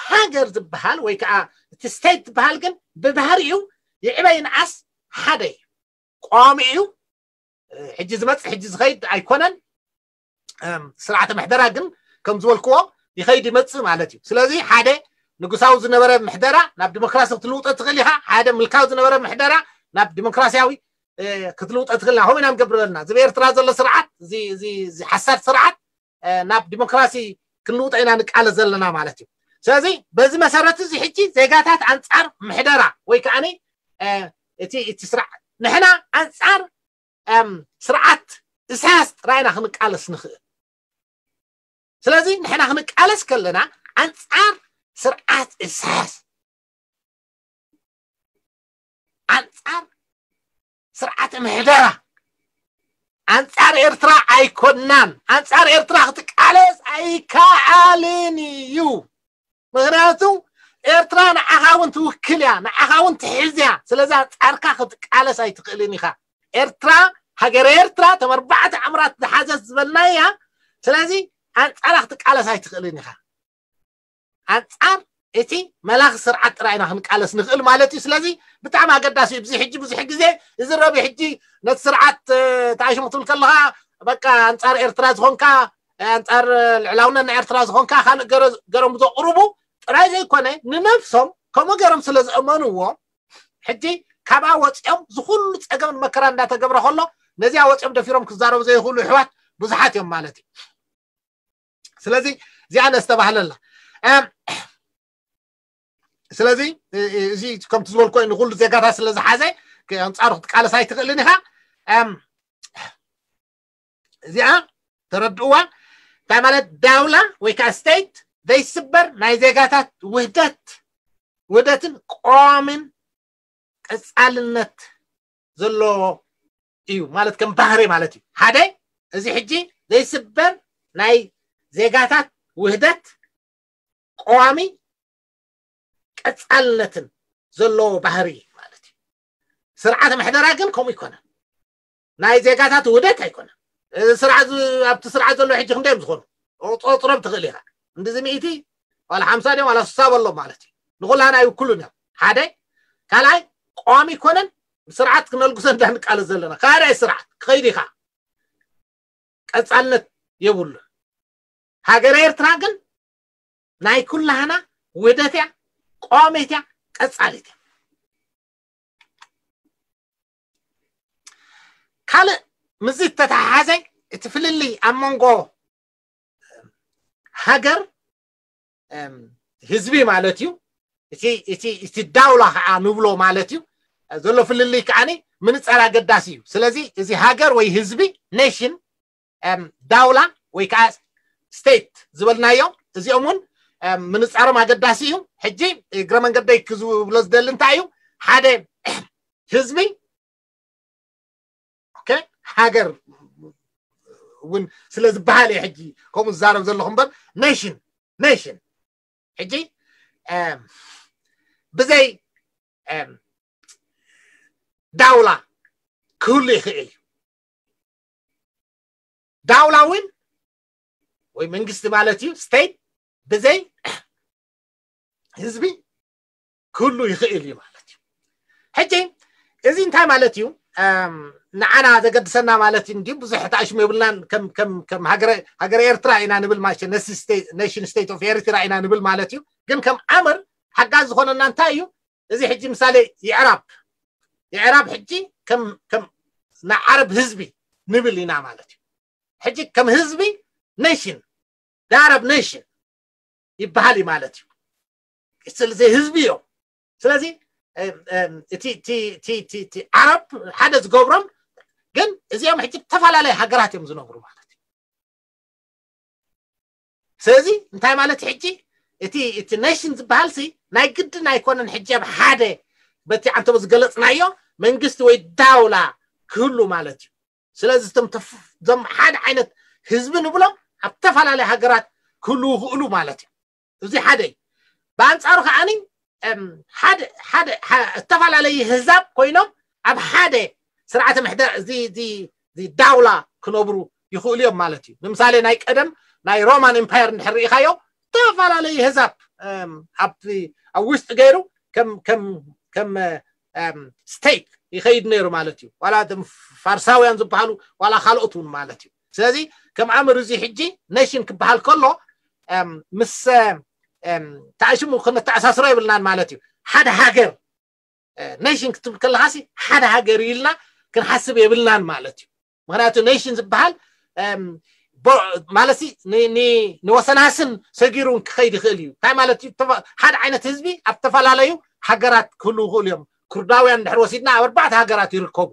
ሃገር ዝበሃል ወይ ከዓ እቲ ስቴት ዝበሃል ግን ብባህሪኡ ይዕበ ይንኣስ ሓደ እዩ። ቀዋሚ እዩ። ሕጂ ዝመፅእ ሕጂ ዝኸይድ ኣይኮነን። ስርዓተ ምሕደራ ግን ከም ዝበልክዎ ይኸይድ ይመፅእ ማለት እዩ። ስለዚ ሓደ ንጉሳዊ ዝነበረ ምሕደራ ናብ ዲሞክራሲ ክትልውጦ ትኽእል ኢኻ። ሓደ ምልካዊ ዝነበረ ምሕደራ ናብ ዲሞክራሲያዊ ክትልውጦ ትኽእል ኢና። ከምኡ ኢና ንገብር ዘለና። እዚ ብኤርትራ ዘሎ ስርዓት፣ እዚ ሓሳድ ስርዓት ናብ ዲሞክራሲ ክንልውጦ ኢና ንቃለ ዘለና ማለት እዩ። ስለዚ በዚ መሰረት እዚ ሕጂ ዜጋታት ኣንፃር ምሕደራ ወይ ከዓ እቲ እቲ ስርዓት ንሕና ኣንፃር ስርዓት ኢሳያስ ጥራይና ክንቃለስ ንኽእል። ስለዚ ንሕና ክንቃለስ ከለና ኣንፃር ስርዓት ኢሳያስ ኣንፃር ስርዓተ ምሕደራ ኣንፃር ኤርትራ ኣይኮናን። ኣንፃር ኤርትራ ክትቃለስ ኣይከኣልን እዩ። ምኽንያቱ ኤርትራ ንዓኻ እውን ትውክል እያ፣ ንዓኻ እውን ትሕዝ እያ። ስለዚ ኣንፃርካ ክትቃለስ ኣይትኽእልን ኢኻ። ኤርትራ ሃገረ ኤርትራ ተም ኣርባዕተ ዕምራት ዝሓዘት ዝበልናያ። ስለዚ ኣንፃራ ክትቃለስ ኣይትኽእልን ኢኻ። ኣንፃር እቲ መላኺ ስርዓት ጥራይ ኢና ክንቃለስ ንኽእል ማለት እዩ። ስለዚ ብጣዕሚ ኣገዳሲ እዩ። ብዙ ሕጂ ብዙሕ ግዜ ዝረብ ሕጂ ነቲ ስርዓት ተኣሽሙ ክትብል ከለኻ በቃ ኣንፃር ኤርትራ ዝኾንካ ኣንፃር ልዕላውነት ናይ ኤርትራ ዝኾንካ ካልእ ገሮም ዘቕርቡ ጥራይ ዘይኮነ ንነብሶም ከምኡ ገሮም ስለ ዝእመንዎ ሕጂ ካብኣ ወፂኦም ዝኩሉ ፀገም መከራ እንዳተገብረ ከሎ ነዚኣ ወፂኦም ደፊሮም ክዛረቡ ዘይኽእሉ ኣሕዋት ብዙሓት እዮም ማለት እዩ። ስለዚ እዚኣ ነስተባህለላ። እም፣ ስለዚ እዚ ከምቲ ዝበልኮ ንኩሉ ዜጋታት ስለ ዝሓዘ ኣንፃሩ ክትቃለስ ኣይትኽእልን ኢኻ። እዚኣ ተረድእዋ። እንታይ ማለት ዳውላ ወይ ከዓ ስቴት ዘይስበር ናይ ዜጋታት ውህደት ውህደትን ቀዋምን ቀፃልነት ዘለዎ እዩ ማለት ከም ባህሪ ማለት እዩ። ሓደ እዚ ሕጂ ዘይስበር ናይ ዜጋታት ውህደት ቀዋሚ ቀፃልነትን ዘለዎ ባህሪ ማለት እዩ። ስርዓተ ምሕደራ ግን ከምኡ ይኮነን። ናይ ዜጋታት ውህደት ኣይኮነን። እዚ ስርዓት ዝ- ኣብቲ ስርዓት ዘሎ ሕጂ ክንደዮም ዝኾኑ ቆፅሮም ትኽእል ኢኻ። እንድዚ ሚእቲ ዋላ ሓምሳ ድዮም ዋላ ስሳ በሎም ማለት እዩ። ንኩላና ኣይውክሉን እዮም። ሓደ ካልኣይ ቀዋሚ ይኮነን። ስርዓት ክነልጉሰ እንዳንቃለስ ዘለና ካልኣይ ስርዓት ክኸይድ ኢኻ። ቀፃልነት የብሉ። ሃገረ ኤርትራ ግን ናይ ኩላህና ውህደት እያ፣ ቀዋሚት እያ፣ ቀፃሊት እያ። ካልእ ምዚ ተተሓሓዘ እቲ ፍልልይ ኣብ መንጎ ሃገር ህዝቢ ማለት እዩ። እቲ ዳውላ ከዓ ንብሎ ማለት እዩ ዘሎ ፍልልይ ከዓ ምንፃር ኣገዳሲ እዩ። ስለዚ እዚ ሃገር ወይ ህዝቢ ኔሽን ዳውላ ወይ ከዓ ስቴት ዝበልናዮ እዚኦም እውን ምንፃሮም ኣገዳሲ እዩ። ሕጂ እግረ መንገደይ ክዝብሎ ዝደሊ እንታይ እዩ ሓደ ህዝቢ ሃገር እውን ስለ ዝበሃል እየ ሕጂ ከምኡ ዝዛረብ ዘለኹ እምበር ኔሽን ኔሽን ሕጂ ብዘይ ዳውላ ክህሉ ይኽእል እዩ። ዳውላ እውን ወይ መንግስቲ ማለት እዩ ስቴት ብዘይ ህዝቢ ክህሉ ይኽእል እዩ ማለት እዩ። ሕጂ እዚ እንታይ ማለት እዩ? ንዓና ዘገድሰና ማለት እዩ እንዲ ብዙሕ ተኣሽሙ የብልናን። ከም ኤርትራ ኢና ንብል ማለት ነሽን ስቴት ኦፍ ኤርትራ ኢና ንብል ማለት እዩ። ግን ከም ኣምር ሓጋዝ ዝኾነና እንታይ እዩ? እዚ ሕጂ ምሳሌ የዕራብ የዕራብ ሕጂ ከም ናይ ዓረብ ህዝቢ ንብል ኢና ማለት እዩ። ሕጂ ከም ህዝቢ ኔሽን ዳረብ ኔሽን ይበሃል እዩ ማለት እዩ። ስለዚ ህዝቢ እዮም። ስለዚ እቲ ዓረብ ሓደ ዝገብሮም ግን እዚኦም ሕጂ ዝተፈላለየ ሃገራት እዮም ዝነብሩ ማለት እዩ። ስለዚ እንታይ ማለት ሕጂ እቲ እቲ ኔሽን ዝበሃል ሲ ናይ ግድን ኣይኮነን። ሕጂ ኣብ ሓደ በቲ ዓንተቦ ዝገለፅናዮ መንግስቲ ወይ ዳውላ ክህሉ ማለት እዩ። ስለዚ እቶም ሓደ ዓይነት ህዝቢ ንብሎም ኣብ ተፈላለየ ሃገራት ክህሉ ይኽእሉ ማለት እዩ። እዚ ሓደ እዩ። ብኣንፃሩ ከዓኒ ሓደ ዝተፈላለየ ህዛብ ኮይኖም ኣብ ሓደ ስርዓተ ምሕደር እዚ ዳውላ ክነብሩ ይኽእሉ እዮም ማለት እዩ። ንምሳሌ ናይ ቀደም ናይ ሮማን ኤምፓየር እንድሕር ርኢኻዮ ዝተፈላለየ ህዛብ ኣብ ውሽጢ ገይሩ ከም ስቴት ይኸይድ ነይሩ ማለት እዩ። ዋላ ፋርሳውያን ዝበሃሉ ዋላ ካልኦት እውን ማለት እዩ። ስለዚ ከም ኣምር እዚ ሕጂ ኔሽን ክበሃል ከሎ ምስ ተኣሽሙ ክነተኣሳስሮ የብልናን ማለት እዩ። ሓደ ሃገር ኔሽን ክትብል ከለካ ሓደ ሃገር ኢልና ክንሓስብ የብልናን ማለት እዩ። ምክንያቱ ኔሽን ዝበሃል ማለት ንወሰናስን ሰጊሩ ክኸይድ ይኽእል እዩ። እንታይ ማለት እዩ? ሓደ ዓይነት ህዝቢ ኣብ ዝተፈላለዩ ሃገራት ክህሉ ይኽእሉ እዮም። ኩርዳውያን እንድሕር ወሲድና ኣብ ኣርባዕተ ሃገራት ይርከቡ።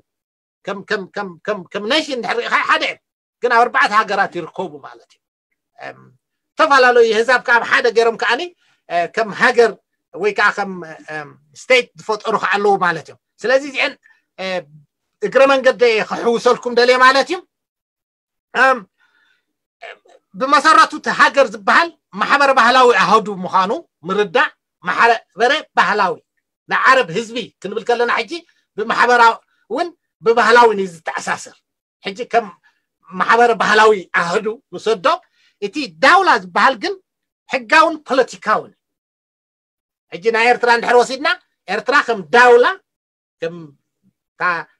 ከም ኔሽን እንድሕር ርኢኻ ሓደ እዮም፣ ግን ኣብ ኣርባዕተ ሃገራት ይርከቡ ማለት እዩ። ዝተፈላለዩ ህዛብ ከዓ ኣብ ሓደ ገይሮም ከዓኒ ከም ሃገር ወይ ከዓ ከም ስቴት ዝፈጠሩ ከዓ ኣለዉ ማለት እዮም። ስለዚ እዚአን እግረ መንገደ ክሕውሰልኩም ደልየ ማለት እዩ። ብመሰረቱ እቲ ሃገር ዝበሃል ማሕበረ ባህላዊ ኣሃዱ ምዃኑ ምርዳእ። ማሕበረ ባህላዊ ንዓረብ ህዝቢ ክንብል ከለና ሕጂ ብማሕበራዊ እውን ብባህላዊ እዩ ዝተኣሳሰር። ሕጂ ከም ማሕበረ ባህላዊ ኣህዱ ንሰዶ እቲ ዳውላ ዝበሃል ግን ሕጋውን ፖለቲካውን። ሕጂ ናይ ኤርትራ እንድሕር ወሲድና ኤርትራ ከም ዳውላ ከም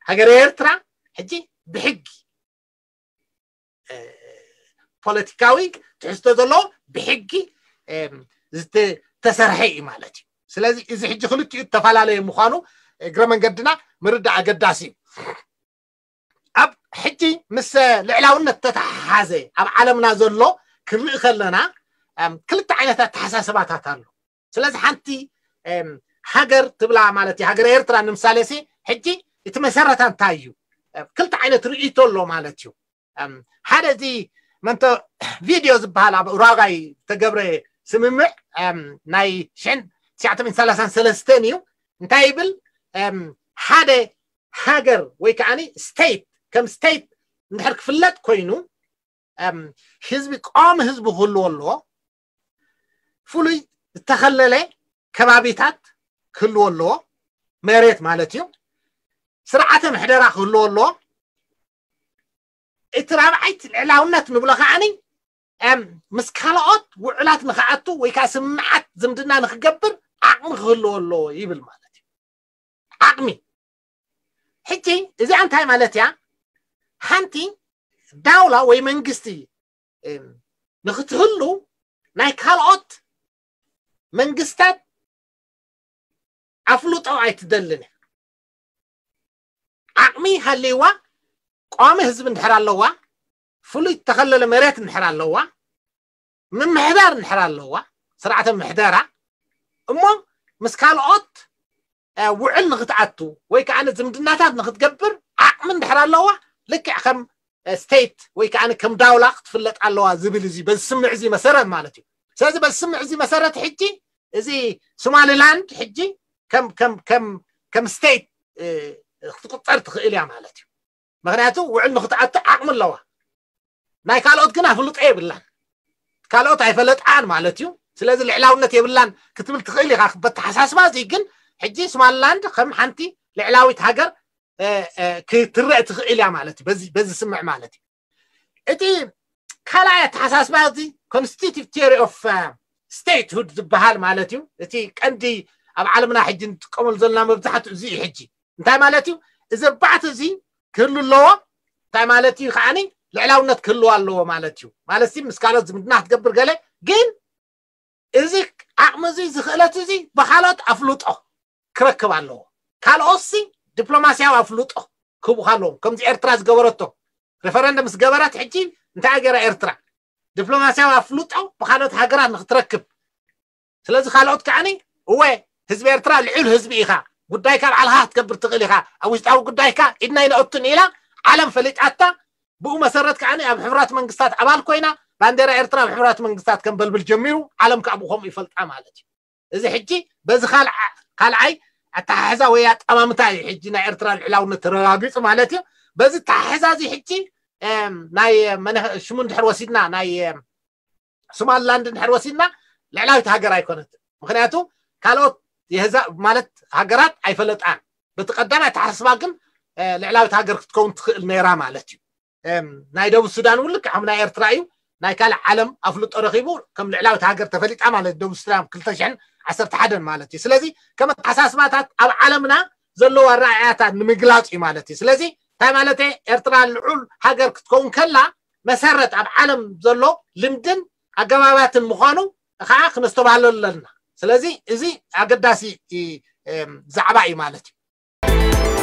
ሃገረ ኤርትራ ሕጂ ብሕጊ ፖለቲካዊ ትሕዝቶ ዘለዎ ብሕጊ ዝተሰርሐ እዩ ማለት እዩ። ስለዚ እዚ ሕጂ ክልቲኡ ዝተፈላለየ ምዃኑ እግረ መንገድና ምርዳእ ኣገዳሲ እዩ። ኣብ ሕጂ ምስ ልዕላውነት ተተሓሓዘ ኣብ ዓለምና ዘሎ ክንርኢ ከለና ክልተ ዓይነት ኣተሓሳስባታት ኣሎ። ስለዚ ሓንቲ ሃገር ትብላ ማለት እዩ። ሃገር ኤርትራ ንምሳሌ ሲ ሕጂ እቲ መሰረታ እንታይ እዩ? ክልተ ዓይነት ርእይቶ ኣሎ ማለት እዩ። ሓደ እዚ መንቶ ቪድዮ ዝበሃል ኣብ ኡራጋይ ዝተገብረ ስምምዕ ናይ ሽሕን ትሽዓተ ሚእትን ሰላሳን ሰለስተን እዩ። እንታይ ይብል? ሓደ ሃገር ወይ ከዓ ስቴት ከም ስቴት እንድሕር ክፍለጥ ኮይኑ ህዝቢ፣ ቀዋሚ ህዝቢ ክህልዎ ኣለዎ። ፍሉይ ዝተኸለለ ከባቢታት ክህልዎ ኣለዎ፣ መሬት ማለት እዩ። ስርዓተ ምሕደራ ክህልዎ ኣለዎ። እቲ ራብዓይቲ ልዕላውነት ንብሎ ከዓኒ ምስ ካልኦት ውዕላት ንክኣቱ ወይ ከዓ ስምምዓት ዝምድና ንክገብር ዓቕሚ ክህልዎ ኣለዎ ይብል ማለት እዩ። ዓቕሚ። ሕጂ እዚኣ እንታይ ማለት እያ? ሓንቲ ዳውላ ወይ መንግስቲ ንክትህሉ ናይ ካልኦት መንግስታት ኣፍልጦ ኣይትደልን እያ። ዓቕሚ ሃልይዋ፣ ቀዋሚ ህዝቢ እንድሕር ኣለዋ፣ ፍሉይ ዝተኸለለ መሬት እንድሕር ኣለዋ፣ ምምሕዳር እንድሕር ኣለዋ፣ ስርዓተ ምሕደራ እሞ ምስ ካልኦት ውዕል ንክትኣቱ ወይ ከዓ ዝምድናታት ንክትገብር ዓቕሚ እንድሕር ኣለዋ፣ ልክዕ ከም ስቴት ወይ ከዓ ከም ዳውላ ክትፍለጥ ኣለዋ ዝብል እዚ በዚ ስምዕ እዚ መሰረት ማለት እዩ። ስለዚ በዚ ስምዕ እዚ መሰረት ሕጂ እዚ ሶማሊላንድ ሕጂ ከም ከም ከም ከም ስቴት ክትቁፀር ትኽእል እያ ማለት እዩ። ምክንያቱ ውዕል ንክትኣቱ ዓቕሚ ኣለዋ። ናይ ካልኦት ግን ኣፍልጦ የብላን፣ ካልኦት ኣይፈለጣን ማለት እዩ። ስለዚ ልዕላውነት የብላን ክትብል ትኽእል ኢኻ። በተሓሳስባ እዚ ግን ሕጂ ሶማሊላንድ ከም ሓንቲ ልዕላዊት ሃገር ክትረእ ትኽእል እያ ማለት እዩ። በዚ ስምዕ ማለት እዩ። እቲ ካልኣይ ኣተሓሳስባ እዚ ኮንስቲቱቲቭ ቲዮሪ ኦፍ ስቴትሁድ ዝበሃል ማለት እዩ። እቲ ቀንዲ ኣብ ዓለምና ሕጂ ንጥቀመሉ ዘለና መብዛሕትኡ እዚ እዩ። ሕጂ እንታይ ማለት እዩ? እዚ ኣርባዕተ እዚ ክህሉ ኣለዎ። እንታይ ማለት እዩ? ከዓኒ ልዕላውነት ክህልዎ ኣለዎ ማለት እዩ። ማለት ሲ ምስ ካልኦት ዝምድና ክትገብር ገለ፣ ግን እዚ ዓቕሚ እዚ፣ እዚ ክእለት እዚ ብካልኦት ኣፍልጦ ክረክብ ኣለዎ። ካልኦትሲ ዲፕሎማስያዊ ኣፍልጦ ክህቡካ ኣለዎም። ከምዚ ኤርትራ ዝገበረቶ፣ ሬፈረንደም ዝገበረት ሕጂ እንታይ ገይራ ኤርትራ? ዲፕሎማስያዊ ኣፍልጦ ብካልኦት ሃገራት ንክትረክብ። ስለዚ ካልኦት ከዓኒ እወ ህዝቢ ኤርትራ ልዑል ህዝቢ ኢኻ፣ ጉዳይካ ባዕልኻ ክትገብር ትኽእል ኢኻ፣ ኣብ ውሽጣዊ ጉዳይካ ኢድና ይነእቱን ኢላ ዓለም ፈሊጣታ። ብኡ መሰረት ከዓኒ ኣብ ሕቡራት መንግስታት ኣባል ኮይና ባንዴራ ኤርትራ ኣብ ሕቡራት መንግስታት ከም በልብል ጀሚሩ፣ ዓለም ከዓ ብኡ ከምኡ ይፈልጣ ማለት እዩ። እዚ ሕጂ በዚ ካልዓ-፣ ካልዓይ ኣተሓሕዛ ወይ ኣጠማምታ እዩ ሕጂ ናይ ኤርትራ ልዕላውነት ተረጋጊጹ ማለት እዩ። በዚ ኣተሓሕዛ እዚ ሕጂ ናይ መነ-፣ ሽሙ እንድሕር ወሲድና ናይ ሶማሊላንድ እንድሕር ወሲድና ልዕላዊት ሃገር ኣይኮነትን። ምክንያቱ ካልኦት የህዛ-፣ ማለት ሃገራት ኣይፈለጣን። በቲ ቀዳማይ ኣተሓሳስባ ግን ልዕላዊት ሃገር ክትከውን ትኽእል ነይራ ማለት እዩ። ናይ ደቡብ ሱዳን እውን ልክዕ ከም ናይ ኤርትራ እዩ። ናይ ካልእ ዓለም ኣፍልጦ ረኺቡ ከም ልዕላዊት ሃገር ተፈሊጣ ማለት ደቡብ ሱዳን ክልተ ሽሕን ዓሰርተ ሓደን ማለት እዩ። ስለዚ ከም ኣተሓሳስባታት ኣብ ዓለምና ዘለዎ ኣረኣእያታት ንምግላፅ እዩ ማለት እዩ። ስለዚ እንታይ ማለት ኤርትራ ልዑል ሃገር ክትከውን ከላ መሰረት ኣብ ዓለም ዘሎ ልምድን ኣገባባትን ምዃኑ ከዓ ክነስተባህለሉ ኣለና። ስለዚ እዚ ኣገዳሲ ዛዕባ እዩ ማለት እዩ።